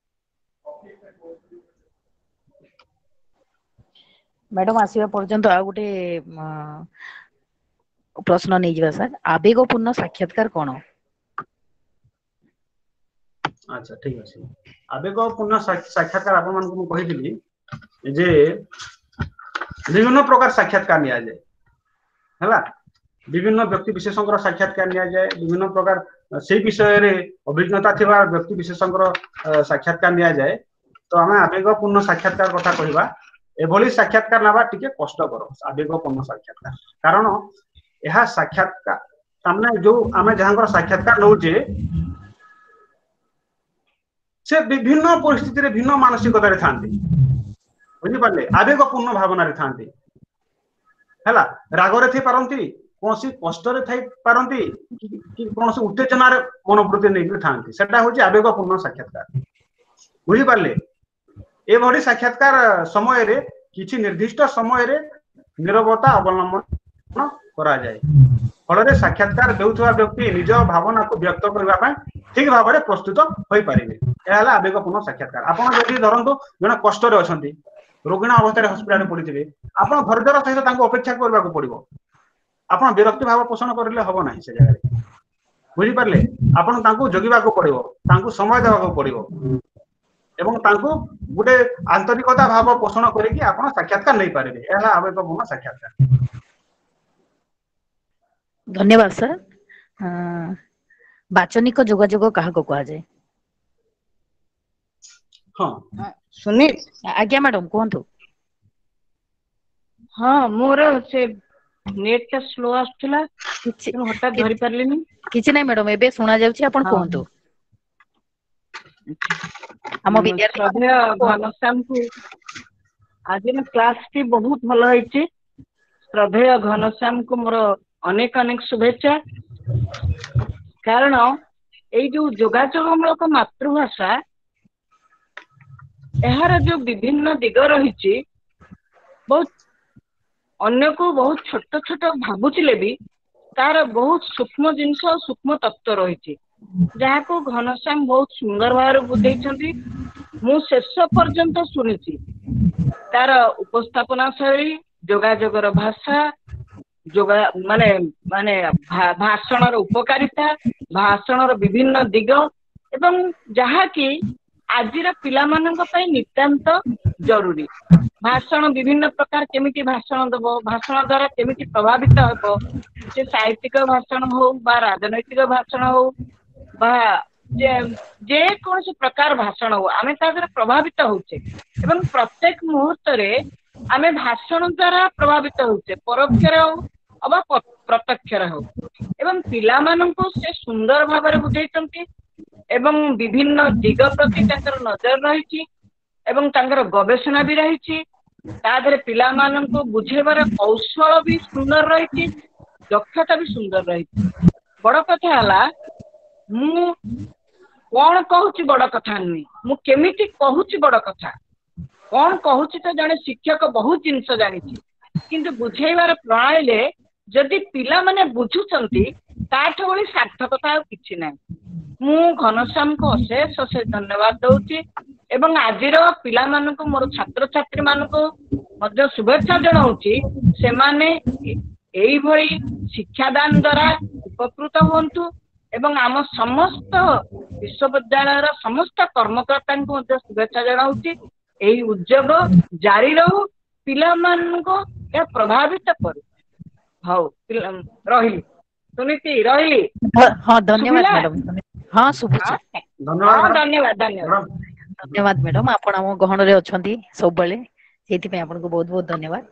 A: ମ୍ୟାଡମ ଆସିବା ପର୍ଯ୍ୟନ୍ତ ଆଉ ଗୋଟେ ପ୍ରଶ୍ନ ନେଇଯିବା ସାର୍। ଆବେଗପୂର୍ଣ୍ଣ ସାକ୍ଷାତକାର କଣ?
B: ଆଚ୍ଛା, ଠିକ ଅଛି। ଆବେଗପୂର୍ଣ୍ଣ ସାକ୍ଷାତକାର ଆପଣମାନଙ୍କୁ ମୁଁ କହିଥିଲି ଯେ ବିଭିନ୍ନ ପ୍ରକାର ସାକ୍ଷାତକାର ନିଆଯାଏ, ହେଲା। ବିଭିନ୍ନ ବ୍ୟକ୍ତି ବିଶେଷଙ୍କର ସାକ୍ଷାତକାର ନିଆଯାଏ, ବିଭିନ୍ନ ପ୍ରକାର ସେଇ ବିଷୟରେ ଅଭିଜ୍ଞତା ଥିବା ବ୍ୟକ୍ତି ବିଶେଷଙ୍କର ସାକ୍ଷାତକାର ନିଆଯାଏ। ତ ଆମେ ଆବେଗପୂର୍ଣ୍ଣ ସାକ୍ଷାତକାର କଥା କହିବା। ଏଭଳି ସାକ୍ଷାତକାର ନେବା ଟିକେ କଷ୍ଟକର, ଆବେଗପୂର୍ଣ୍ଣ ସାକ୍ଷାତକାର। କାରଣ ଏହା ସାକ୍ଷାତକାର ତାମାନେ ଯୋଉ ଆମେ ଯାହାଙ୍କର ସାକ୍ଷାତକାର ନଉଛେ, ସେ ବିଭିନ୍ନ ପରିସ୍ଥିତିରେ ଭିନ୍ନ ମାନସିକତାରେ ଥାନ୍ତି। ବୁଝିପାରିଲେ? ଆବେଗପୂର୍ଣ୍ଣ ଭାବନାରେ ଥାନ୍ତି, ହେଲା। ରାଗରେ ଥାଇପାରନ୍ତି, କୌଣସି କଷ୍ଟରେ ଥାଇପାରନ୍ତି, କି କୌଣସି ଉତ୍ତେଜନାରେ ମନୋବୃତ୍ତି ନେଇକି ଥାନ୍ତି। ସେଟା ହଉଛି ଆବେଗପୂର୍ଣ୍ଣ ସାକ୍ଷାତକାର। ବୁଝିପାରିଲେ? ଏଭଳି ସାକ୍ଷାତକାର ସମୟରେ କିଛି ନିର୍ଦ୍ଦିଷ୍ଟ ସମୟରେ ନିରବତା ଅବଲମ୍ବନ କରାଯାଏ। ଫଳରେ ସାକ୍ଷାତକାର ଦେଉଥିବା ବ୍ୟକ୍ତି ନିଜ ଭାବନାକୁ ବ୍ୟକ୍ତ କରିବା ପାଇଁ ଠିକ ଭାବରେ ପ୍ରସ୍ତୁତ ହୋଇପାରିବେ। ଏହା ହେଲା ଆବେଗପୂର୍ଣ୍ଣ ସାକ୍ଷାତକାର। ଆପଣ ଯଦି ଧରନ୍ତୁ ଜଣେ କଷ୍ଟରେ ଅଛନ୍ତି, ରୋଗୀଣା ଅବସ୍ଥାରେ ହସ୍ପିଟାଲରେ ପଡିଥିବେ, ଆପଣ ଧୈର୍ଯ୍ୟର ସହିତ ତାଙ୍କୁ ଅପେକ୍ଷା କରିବାକୁ ପଡିବ। ଆପଣ ବିରକ୍ତି ଭାବ ପୋଷଣ କରିଲେ ହବ ନାହିଁ ସେ ଜାଗାରେ। ବୁଝିପାରିଲେ? ଆପଣ ତାଙ୍କୁ ଜଗିବାକୁ ପଡିବ, ତାଙ୍କୁ ସମୟ ଦେବାକୁ ପଡିବ ଏବଂ ତାଙ୍କୁ ଗୋଟେ ଆନ୍ତରିକତା ଭାବ ପୋଷଣ କରିକି ଆପଣ ସାକ୍ଷାତକାର ନେଇପାରିବେ। ଏହା ହେଲା ଆବେଗପୂର୍ଣ୍ଣ ସାକ୍ଷାତକାର।
A: ଧନ୍ୟବାଦ ସାର୍। ବାଚନିକ ଯୋଗାଯୋଗ କାହାକୁ କୁହାଯାଏ?
B: ହଁ
C: ସୁନୀଲ।
A: ଆଜ୍ଞା ମ୍ୟାଡମ କୁହନ୍ତୁ।
C: ହଁ, ମୋର ସେ ନେଟ୍ ଟା ସ୍ଲୋ ଆସୁଥିଲା, ହଠାତ୍ ଧରି ପାରିଲିନି।
A: କିଛି ନାଇଁ ମ୍ୟାଡମ, ଏବେ ଶୁଣା ଯାଉଛି, ଆପଣ କୁହନ୍ତୁ। ଆମ ବିଦ୍ୟାର୍ଥୀ
C: ଘନଶ୍ୟାମକୁ ଆଜିର କ୍ଲାସଟି ବହୁତ ଭଲ ହେଇଛି। ଶ୍ରଦ୍ଧେୟ ଘନଶ୍ୟାମକୁ ମୋର ଅନେକ ଅନେକ ଶୁଭେଚ୍ଛା। କାରଣ ଏଇ ଯୋଉ ଯୋଗାଯୋଗମୂଳକ ମାତୃଭାଷା, ଏହାର ଯୋଉ ବିଭିନ୍ନ ଦିଗ ରହିଛି, ବହୁତ ଅନ୍ୟକୁ ବହୁତ ଛୋଟ ଛୋଟ ଭାବୁଥିଲେ ବି ତାର ବହୁତ ସୂକ୍ଷ୍ମ ଜିନିଷ, ସୂକ୍ଷ୍ମ ତତ୍ତ୍ୱ ରହିଛି, ଯାହାକୁ ଘନଶ୍ୟାମ ବହୁତ ସୁନ୍ଦର ଭାବରେ ବୁଝେଇଛନ୍ତି। ମୁଁ ଶେଷ ପର୍ଯ୍ୟନ୍ତ ଶୁଣିଛି ତାର ଉପସ୍ଥାପନା ଶୈଳୀ, ଯୋଗାଯୋଗର ଭାଷା, ଯୋଗା ମାନେ ମାନେ ଭାଷଣର ଉପକାରିତା, ଭାଷଣର ବିଭିନ୍ନ ଦିଗ, ଏବଂ ଯାହାକି ଆଜିର ପିଲାମାନଙ୍କ ପାଇଁ ନିତାନ୍ତ ଜରୁରୀ। ଭାଷଣ ବିଭିନ୍ନ ପ୍ରକାର, କେମିତି ଭାଷଣ ଦବ, ଭାଷଣ ଦ୍ଵାରା କେମିତି ପ୍ରଭାବିତ ହେବ, ସେ ସାହିତ୍ୟିକ ଭାଷଣ ହଉ ବା ରାଜନୈତିକ ଭାଷଣ ହଉ ବା ଯେକୌଣସି ପ୍ରକାର ଭାଷଣ ହଉ, ଆମେ ତା ଦ୍ୱାରା ପ୍ରଭାବିତ ହଉଛେ। ଏବଂ ପ୍ରତ୍ୟେକ ମୁହୂର୍ତ୍ତରେ ଆମେ ଭାଷଣ ଦ୍ଵାରା ପ୍ରଭାବିତ ହଉଛେ, ପରୋକ୍ଷରେ ହଉ ଅବା ପ୍ରତ୍ୟକ୍ଷରେ ହଉ। ଏବଂ ପିଲାମାନଙ୍କୁ ସେ ସୁନ୍ଦର ଭାବରେ ବୁଝେଇଛନ୍ତି ଏବଂ ବିଭିନ୍ନ ଦିଗ ପ୍ରତି ତାଙ୍କର ନଜର ରହିଛି ଏବଂ ତାଙ୍କର ଗବେଷଣା ବି ରହିଛି। ତା ଦେହରେ ପିଲାମାନଙ୍କୁ ବୁଝେଇବାର କୌଶଳ ବି ସୁନ୍ଦର ରହିଛି, ଦକ୍ଷତା ବି ସୁନ୍ଦର ରହିଛି। ବଡ କଥା ହେଲା, ମୁଁ କଣ କହୁଛି ବଡ କଥା ନୁହେଁ, ମୁଁ କେମିତି କହୁଛି ବଡ କଥା। କଣ କହୁଛି ତ ଜଣେ ଶିକ୍ଷକ ବହୁତ ଜିନିଷ ଜାଣିଛି, କିନ୍ତୁ ବୁଝେଇବାର ପ୍ରଣାଳୀରେ ଯଦି ପିଲାମାନେ ବୁଝୁଛନ୍ତି, ତାଠୁ ଭଳି ସାର୍ଥକତା ଆଉ କିଛି ନାହିଁ। ମୁଁ ଘନଶ୍ୟାମଙ୍କୁ ଅଶେଷ ଅଶେଷ ଧନ୍ୟବାଦ ଦଉଛି ଏବଂ ଆଜିର ପିଲାମାନଙ୍କୁ, ମୋର ଛାତ୍ରଛାତ୍ରୀ ମାନଙ୍କୁ ମଧ୍ୟ ଶୁଭେଚ୍ଛା ଜଣାଉଛି। ସେମାନେ ଏଇଭଳି ଶିକ୍ଷାଦାନ ଦ୍ଵାରା ଉପକୃତ ହୁଅନ୍ତୁ ଏବଂ ଆମ ସମସ୍ତ ବିଶ୍ୱବିଦ୍ୟାଳୟର ସମସ୍ତ କର୍ମକର୍ତ୍ତାଙ୍କୁ ମଧ୍ୟ ଶୁଭେଚ୍ଛା ଜଣାଉଛି। ଏଇ ଉଦ୍ୟୋଗ ଜାରି ରହୁ, ପିଲାମାନଙ୍କୁ ଏହା ପ୍ରଭାବିତ କରୁ। ହଉ, ରହିଲି ସୁନୀତି, ରହିଲି।
A: ହଁ, ଧନ୍ୟବାଦ ମ୍ୟାଡାମ। ହଁ, ଶୁଭୁଛି।
C: ହଁ, ଧନ୍ୟବାଦ, ଧନ୍ୟବାଦ,
A: ଧନ୍ୟବାଦ ମ୍ୟାଡାମ। ଆପଣ ଆମ ଗହଣରେ ଅଛନ୍ତି ସବୁବେଳେ, ସେଇଥିପାଇଁ ଆପଣଙ୍କୁ ବହୁତ ବହୁତ ଧନ୍ୟବାଦ।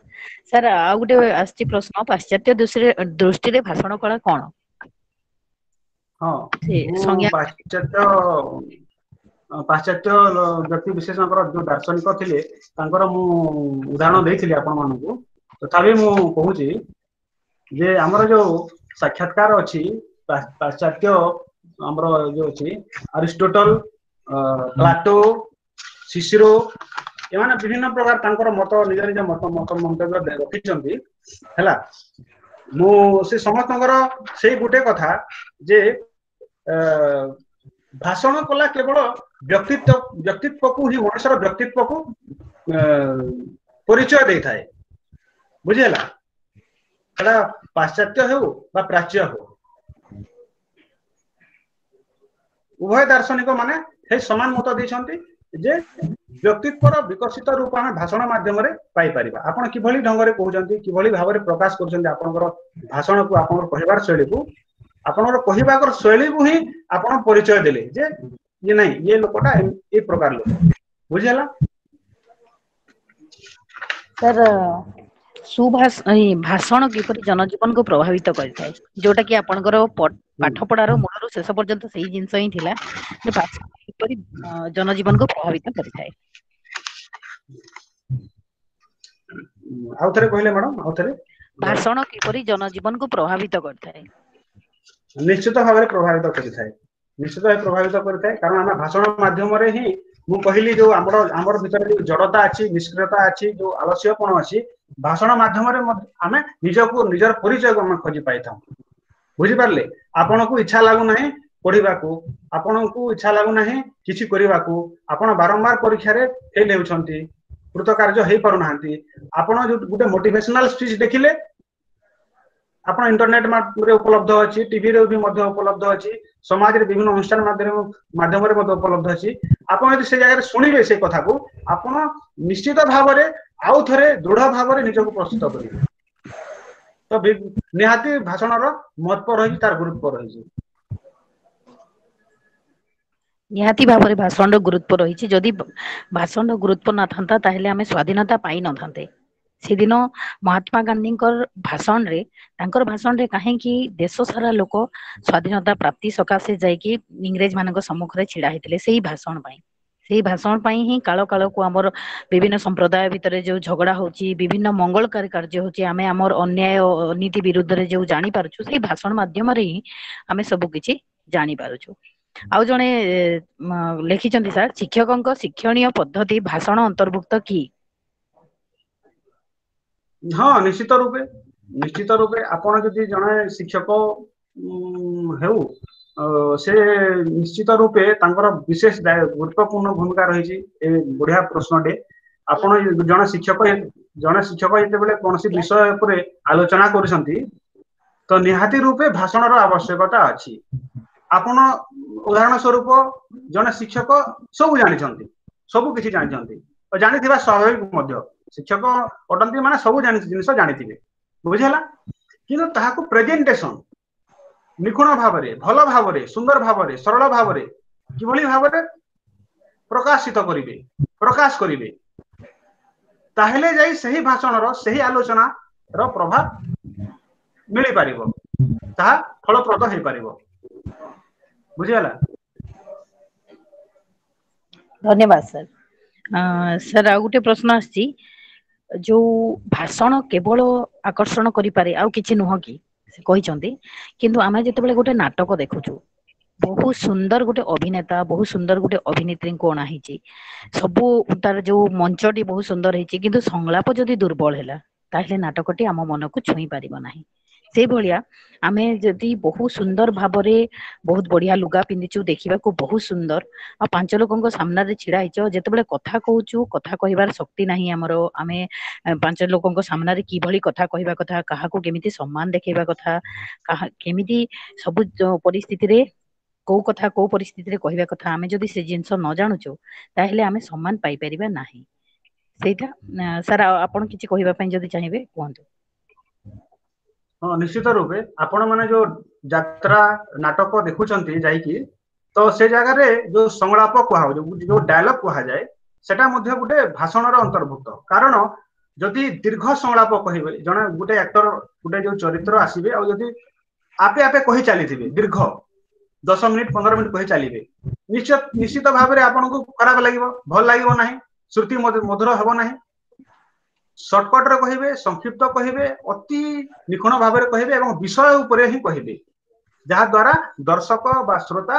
A: ସାର୍, ଆଉ ଗୋଟେ ଆସିଛି ପ୍ରଶ୍ନ, ପାଶ୍ଚାତ୍ୟ ଦୃଷ୍ଟିରେ ଦୃଷ୍ଟିରେ ଭାଷଣ କଳା କଣ?
B: ହଁ, ପାଶ୍ଚାତ୍ୟ ପାଶ୍ଚାତ୍ୟ ବ୍ୟକ୍ତି ବିଶେଷଙ୍କର ଯୋଉ ଦାର୍ଶନିକ ଥିଲେ, ତାଙ୍କର ମୁଁ ଉଦାହରଣ ଦେଇଥିଲି ଆପଣ ମାନଙ୍କୁ। ତଥାପି ମୁଁ କହୁଛି ଯେ ଆମର ଯୋଉ ସାକ୍ଷାତକାର ଅଛି, ପାଶ୍ଚାତ୍ୟ ଆମର ଯୋଉ ଅଛି, ଆରିଷ୍ଟୋଟଲ, ପ୍ଲାଟୋ, ସିସିରୋ, ଏମାନେ ବିଭିନ୍ନ ପ୍ରକାର ତାଙ୍କର ମତ, ନିଜ ନିଜ ମତ ମତ ମନ୍ତବ୍ୟ ରଖିଛନ୍ତି। ହେଲା, ମୁଁ ସେ ସମସ୍ତଙ୍କର ସେଇ ଗୋଟେ କଥା ଯେ ଭାଷଣ କଲା କେବଳ ବ୍ୟକ୍ତିତ୍ୱ ବ୍ୟକ୍ତିତ୍ୱକୁ ହିଁ, ମଣିଷର ବ୍ୟକ୍ତିତ୍ୱକୁ ପରିଚୟ ଦେଇଥାଏ। ବୁଝିହେଲା? ସେଟା ପାଶ୍ଚାତ୍ୟ ହେଉ ବା ପ୍ରାଚ୍ୟ ହେଉ, ଉଭୟ ଦାର୍ଶନିକ ମାନେ ସେଇ ସମାନ ମତ ଦେଇଛନ୍ତି ଯେ ବ୍ୟକ୍ତିତ୍ୱର ବିକଶିତ ରୂପ ଆମେ ଭାଷଣ ମାଧ୍ୟମରେ ପାଇପାରିବା। ଆପଣ କିଭଳି ଢଙ୍ଗରେ କହୁଛନ୍ତି, କିଭଳି ଭାବରେ ପ୍ରକାଶ କରୁଛନ୍ତି ଆପଣଙ୍କର ଭାଷଣକୁ, ଆପଣଙ୍କର କହିବାର ଶୈଳୀକୁ, ଆପଣଙ୍କର କହିବାର ଶୈଳୀକୁ ହିଁ ଆପଣ ପରିଚୟ ଦେଲେ ଯେ ଇଏ ନାଇଁ, ଇଏ ଲୋକଟା ଏଇ ପ୍ରକାର ଲୋକ। ବୁଝିହେଲା?
A: ସାର୍, ସୁଭାଷ ଭାଷଣ କିପରି ଜନଜୀବନକୁ ପ୍ରଭାବିତ କରିଥାଏ, ଯୋଉଟା କି ଆପଣଙ୍କର ପାଠ ପଢାର ମୂଳରୁ ଶେଷ ପର୍ଯ୍ୟନ୍ତ ସେଇ ଜିନିଷ ହିଁ ଥିଲା ଯେ ଭାଷଣ କିପରି ଜନଜୀବନକୁ ପ୍ରଭାବିତ କରିଥାଏ।
B: ଆଉ ଥରେ କହିଲେ ମ୍ୟାଡାମ, ଆଉ ଥରେ।
A: ଭାଷଣ କିପରି ଜନଜୀବନକୁ ପ୍ରଭାବିତ କରିଥାଏ?
B: ନିଶ୍ଚିତ ଭାବରେ ପ୍ରଭାବିତ କରିଥାଏ, ନିଶ୍ଚିତ ଭାବେ ପ୍ରଭାବିତ କରିଥାଏ। କାରଣ ଆମେ ଭାଷଣ ମାଧ୍ୟମରେ ହିଁ, ମୁଁ କହିଲି ଯୋଉ ଆମର ଆମର ଭିତରେ ଯୋଉ ଜଡତା ଅଛି, ନିଷ୍କ୍ରିୟତା ଅଛି, ଯୋଉ ଆଳସ୍ୟପଣ ଅଛି, ଭାଷଣ ମାଧ୍ୟମରେ ଆମେ ନିଜକୁ, ନିଜର ପରିଚୟକୁ ଆମେ ଖୋଜି ପାଇଥାଉ। ବୁଝିପାରିଲେ? ଆପଣଙ୍କୁ ଇଚ୍ଛା ଲାଗୁନାହିଁ ପଢିବାକୁ, ଆପଣଙ୍କୁ ଇଚ୍ଛା ଲାଗୁନାହିଁ କିଛି କରିବାକୁ, ଆପଣ ବାରମ୍ବାର ପରୀକ୍ଷାରେ ଫେଲ ହେଉଛନ୍ତି, କୃତକାର୍ଯ୍ୟ ହେଇପାରୁନାହାନ୍ତି, ଆପଣ ଯୋଉ ଗୋଟେ ମୋଟିଭେସନାଲ ସ୍ପିଚ ଦେଖିଲେ, ଆପଣ ଇଣ୍ଟରନେଟ ରେ ଉପଲବ୍ଧ ଅଛି, ଟିଭିରେ ବି ମଧ୍ୟ ଉପଲବ୍ଧ ଅଛି, ସମାଜରେ ବିଭିନ୍ନ ଅନୁଷ୍ଠାନ ମାଧ୍ୟମରେ ମଧ୍ୟ ଉପଲବ୍ଧ ଅଛି, ଆପଣ ଯଦି ସେ ଜାଗାରେ ଶୁଣିବେ ସେ କଥାକୁ, ଆପଣ ନିଶ୍ଚିତ ଭାବରେ ଆଉ ଥରେ ଦୃଢ ଭାବରେ ନିଜକୁ ପ୍ରସ୍ତୁତ କରିବେ। ତ ନିହାତି ଭାଷଣର ମହତ୍ଵ ରହିଛି, ତାର ଗୁରୁତ୍ୱ ରହିଛି।
A: ନିହାତି ଭାବରେ ଭାଷଣର ଗୁରୁତ୍ୱ ରହିଛି। ଯଦି ଭାଷଣର ଗୁରୁତ୍ୱ ନଥାନ୍ତା, ତାହେଲେ ଆମେ ସ୍ଵାଧୀନତା ପାଇନଥାନ୍ତେ। ସେଦିନ ମହାତ୍ମା ଗାନ୍ଧୀଙ୍କର ଭାଷଣରେ, ତାଙ୍କର ଭାଷଣରେ କାହିଁକି ଦେଶ ସାରା ଲୋକ ସ୍ଵାଧୀନତା ପ୍ରାପ୍ତି ସକାଶେ ଯାଇକି ଇଂରେଜ ମାନଙ୍କ ସମ୍ମୁଖରେ ଛିଡା ହେଇଥିଲେ? ସେଇ ଭାଷଣ ପାଇଁ। ସେଇ ଭାଷଣ ପାଇଁ ହିଁ କାଳ କାଳକୁ ଆମର ବିଭିନ୍ନ ସମ୍ପ୍ରଦାୟ ଭିତରେ ଯୋଉ ଝଗଡା ହଉଛି, ବିଭିନ୍ନ ମଙ୍ଗଳକାରୀ କାର୍ଯ୍ୟ ହଉଛି, ଆମେ ଆମର ଅନ୍ୟାୟ ଅନୀତି ବିରୁଦ୍ଧରେ ଯୋଉ ଜାଣିପାରୁଛୁ, ସେଇ ଭାଷଣ ମାଧ୍ୟମରେ ହିଁ ଆମେ ସବୁ କିଛି ଜାଣିପାରୁଛୁ। ଆଉ ଜଣେ ଲେଖିଛନ୍ତି, ସାର୍, ଶିକ୍ଷକଙ୍କ ଶିକ୍ଷଣୀୟ ପଦ୍ଧତି ଭାଷଣ ଅନ୍ତର୍ଭୁକ୍ତ କି?
B: ହଁ, ନିଶ୍ଚିତ ରୂପେ, ନିଶ୍ଚିତ ରୂପେ। ଆପଣ ଯଦି ଜଣେ ଶିକ୍ଷକ ହେଉ, ସେ ନିଶ୍ଚିତ ରୂପେ ତାଙ୍କର ବିଶେଷ ଗୁରୁତ୍ୱପୂର୍ଣ୍ଣ ଭୂମିକା ରହିଛି। ଏ ବଢିଆ ପ୍ରଶ୍ନଟେ। ଆପଣ ଜଣେ ଶିକ୍ଷକ ଜଣେ ଶିକ୍ଷକ ଯେତେବେଳେ କୌଣସି ବିଷୟ ଉପରେ ଆଲୋଚନା କରୁଛନ୍ତି, ତ ନିହାତି ରୂପେ ଭାଷଣର ଆବଶ୍ୟକତା ଅଛି। ଆପଣ ଉଦାହରଣ ସ୍ୱରୂପ, ଜଣେ ଶିକ୍ଷକ ସବୁ ଜାଣିଛନ୍ତି, ସବୁ କିଛି ଜାଣିଛନ୍ତି, ଜାଣିଥିବା ସ୍ୱାଭାବିକ ମଧ୍ୟ, ଶିକ୍ଷକ ଅଟନ୍ତି ମାନେ ସବୁ ଜିନିଷ ଜାଣିଥିବେ, ବୁଝିହେଲା? କିନ୍ତୁ ତାହାକୁ ପ୍ରେଜେଣ୍ଟେସନ ନିଖୁଣ ଭାବରେ, ଭଲ ଭାବରେ, ସୁନ୍ଦର ଭାବରେ, ସରଳ ଭାବରେ କିଭଳି ଭାବରେ ପ୍ରକାଶିତ କରିବେ, ପ୍ରକାଶ କରିବେ, ତାହେଲେ ଯାଇ ସେହି ଭାଷଣର, ସେହି ଆଲୋଚନାର ପ୍ରଭାବ ମିଳିପାରିବ, ତାହା ଫଳପ୍ରଦ ହେଇପାରିବ। ବୁଝିହେଲା?
A: ଧନ୍ୟବାଦ ସାର୍। ସାର୍, ଆଉ ଗୋଟେ ପ୍ରଶ୍ନ ଆସିଛି, ଯୋଉ ଭାଷଣ କେବଳ ଆକର୍ଷଣ କରିପାରେ ଆଉ କିଛି ନୁହଁ କି, ସେ କହିଛନ୍ତି। କିନ୍ତୁ ଆମେ ଯେତେବେଳେ ଗୋଟେ ନାଟକ ଦେଖୁଛୁ, ବହୁତ ସୁନ୍ଦର ଗୋଟେ ଅଭିନେତା, ବହୁତ ସୁନ୍ଦର ଗୋଟେ ଅଭିନେତ୍ରୀଙ୍କୁ ଅଣା ହେଇଛି, ସବୁ ତାର ଯୋଉ ମଞ୍ଚଟି ବହୁତ ସୁନ୍ଦର ହେଇଛି, କିନ୍ତୁ ସଂଳାପ ଯଦି ଦୁର୍ବଳ ହେଲା ତାହେଲେ ନାଟକଟି ଆମ ମନକୁ ଛୁଇଁ ପାରିବ ନାହିଁ। ସେଇଭଳିଆ ଆମେ ଯଦି ବହୁତ ସୁନ୍ଦର ଭାବରେ ବହୁତ ବଢିଆ ଲୁଗା ପିନ୍ଧିଛୁ, ଦେଖିବାକୁ ବହୁତ ସୁନ୍ଦର, ଆଉ ପାଞ୍ଚ ଲୋକଙ୍କ ସାମ୍ନାରେ ଛିଡା ହେଇଛ, ଯେତେବେଳେ କଥା କହୁଛୁ କଥା କହିବାର ଶକ୍ତି ନାହିଁ ଆମର, ଆମେ ପାଞ୍ଚ ଲୋକଙ୍କ ସାମ୍ନାରେ କିଭଳି କଥା କହିବା କଥା, କାହାକୁ କେମିତି ସମ୍ମାନ ଦେଖେଇବା କଥା, କାହା କେମିତି ସବୁ ପରିସ୍ଥିତିରେ କୋଉ କଥା କୋଉ ପରିସ୍ଥିତିରେ କହିବା କଥା, ଆମେ ଯଦି ସେ ଜିନିଷ ନ ଜାଣୁଛୁ ତାହେଲେ ଆମେ ସମ୍ମାନ ପାଇପାରିବା ନାହିଁ। ସେଇଟା ସାର୍, ଆପଣ କିଛି କହିବା ପାଇଁ ଯଦି ଚାହିଁବେ କୁହନ୍ତୁ।
B: ହଁ, ନିଶ୍ଚିତ ରୂପେ ଆପଣ ମାନେ ଯୋଉ ଯାତ୍ରା ନାଟକ ଦେଖୁଛନ୍ତି ଯାଇକି, ତ ସେ ଜାଗାରେ ଯୋଉ ସଂଳାପ କୁହାଯାଉଛି, ଯୋଉ ଡାୟଲଗ କୁହାଯାଏ, ସେଟା ମଧ୍ୟ ଗୋଟେ ଭାଷଣର ଅନ୍ତର୍ଭୁକ୍ତ। କାରଣ ଯଦି ଦୀର୍ଘ ସଂଳାପ କହିବେ, ଜଣେ ଗୋଟେ ଆକ୍ଟର ଗୋଟେ ଯୋଉ ଚରିତ୍ର ଆସିବେ ଆଉ ଯଦି ଆପେ ଆପେ କହି ଚାଲିଥିବେ, ଦୀର୍ଘ ଦଶ ମିନିଟ ପନ୍ଦର ମିନିଟ କହି ଚାଲିବେ, ନିଶ୍ଚିତ ନିଶ୍ଚିତ ଭାବରେ ଆପଣଙ୍କୁ ଖରାପ ଲାଗିବ, ଭଲ ଲାଗିବ ନାହିଁ, ଶ୍ରୁତି ମଧୁର ହେବ ନାହିଁ। ସର୍ଟକଟରେ କହିବେ, ସଂକ୍ଷିପ୍ତ କହିବେ, ଅତି ନିଖୁଣ ଭାବରେ କହିବେ ଏବଂ ବିଷୟ ଉପରେ ହିଁ କହିବେ, ଯାହା ଦ୍ୱାରା ଦର୍ଶକ ବା ଶ୍ରୋତା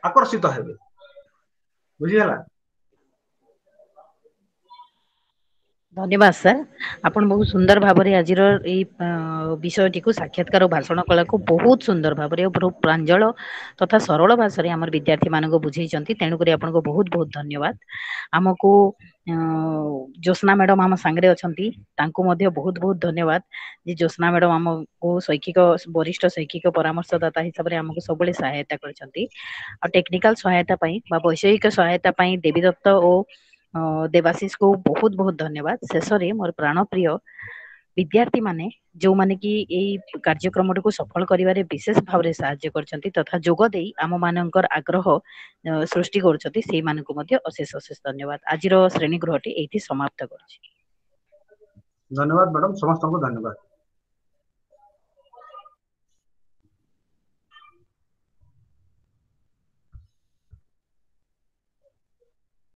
B: ଆକର୍ଷିତ ହେବେ। ବୁଝିହେଲା?
A: ଧନ୍ୟବାଦ ସାର୍, ଆପଣ ବହୁତ ସୁନ୍ଦର ଭାବରେ ଆଜିର ଏଇ ବିଷୟଟିକୁ ସାକ୍ଷାତକାର ଭାଷଣ କଳାକୁ ବହୁତ ସୁନ୍ଦର ଭାବରେ ବହୁତ ପ୍ରାଞ୍ଜଳ ତଥା ସରଳ ଭାଷାରେ ଆମର ବିଦ୍ୟାର୍ଥୀ ମାନଙ୍କୁ ବୁଝେଇଛନ୍ତି। ତେଣୁକରି ଆପଣଙ୍କୁ ବହୁତ ବହୁତ ଧନ୍ୟବାଦ। ଆମକୁ ଜ୍ୟୋତ୍ସ୍ନା ମ୍ୟାଡମ ଆମ ସାଙ୍ଗରେ ଅଛନ୍ତି, ତାଙ୍କୁ ମଧ୍ୟ ବହୁତ ବହୁତ ଧନ୍ୟବାଦ ଯେ ଜ୍ୟୋତ୍ସ୍ନା ମ୍ୟାଡମ ଆମକୁ ଶୈକ୍ଷିକ ବରିଷ୍ଠ ଶୈକ୍ଷିକ ପରାମର୍ଶଦାତା ହିସାବରେ ଆମକୁ ସବୁବେଳେ ସହାୟତା କରିଛନ୍ତି। ଆଉ ଟେକ୍ନିକାଲ ସହାୟତା ପାଇଁ ବା ବୈଷୟିକ ସହାୟତା ପାଇଁ ଦେବୀଦତ୍ତ ଓ ଦେବାଶିଷକୁ ବହୁତ ବହୁତ ଧନ୍ୟବାଦ। ଶେଷରେ ମୋର ପ୍ରାଣପ୍ରିୟ ବିଦ୍ୟାର୍ଥୀ ମାନେ ଯୋଉମାନେ କି ଏଇ କାର୍ଯ୍ୟକ୍ରମଟିକୁ ସଫଳ କରିବାରେ ବିଶେଷ ଭାବରେ ସାହାଯ୍ୟ କରିଛନ୍ତି ତଥା ଯୋଗ ଦେଇ ଆମ ମାନଙ୍କର ଆଗ୍ରହ ସୃଷ୍ଟି କରୁଛନ୍ତି, ସେଇମାନଙ୍କୁ ମଧ୍ୟ ଅଶେଷ ଅଶେଷ ଧନ୍ୟବାଦ। ଆଜିର ଶ୍ରେଣୀ ଗୃହଟି ଏଇଠି ସମାପ୍ତ କରୁଛି।
B: ଧନ୍ୟବାଦ ମ୍ୟାଡମ, ସମସ୍ତଙ୍କୁ ଧନ୍ୟବାଦ।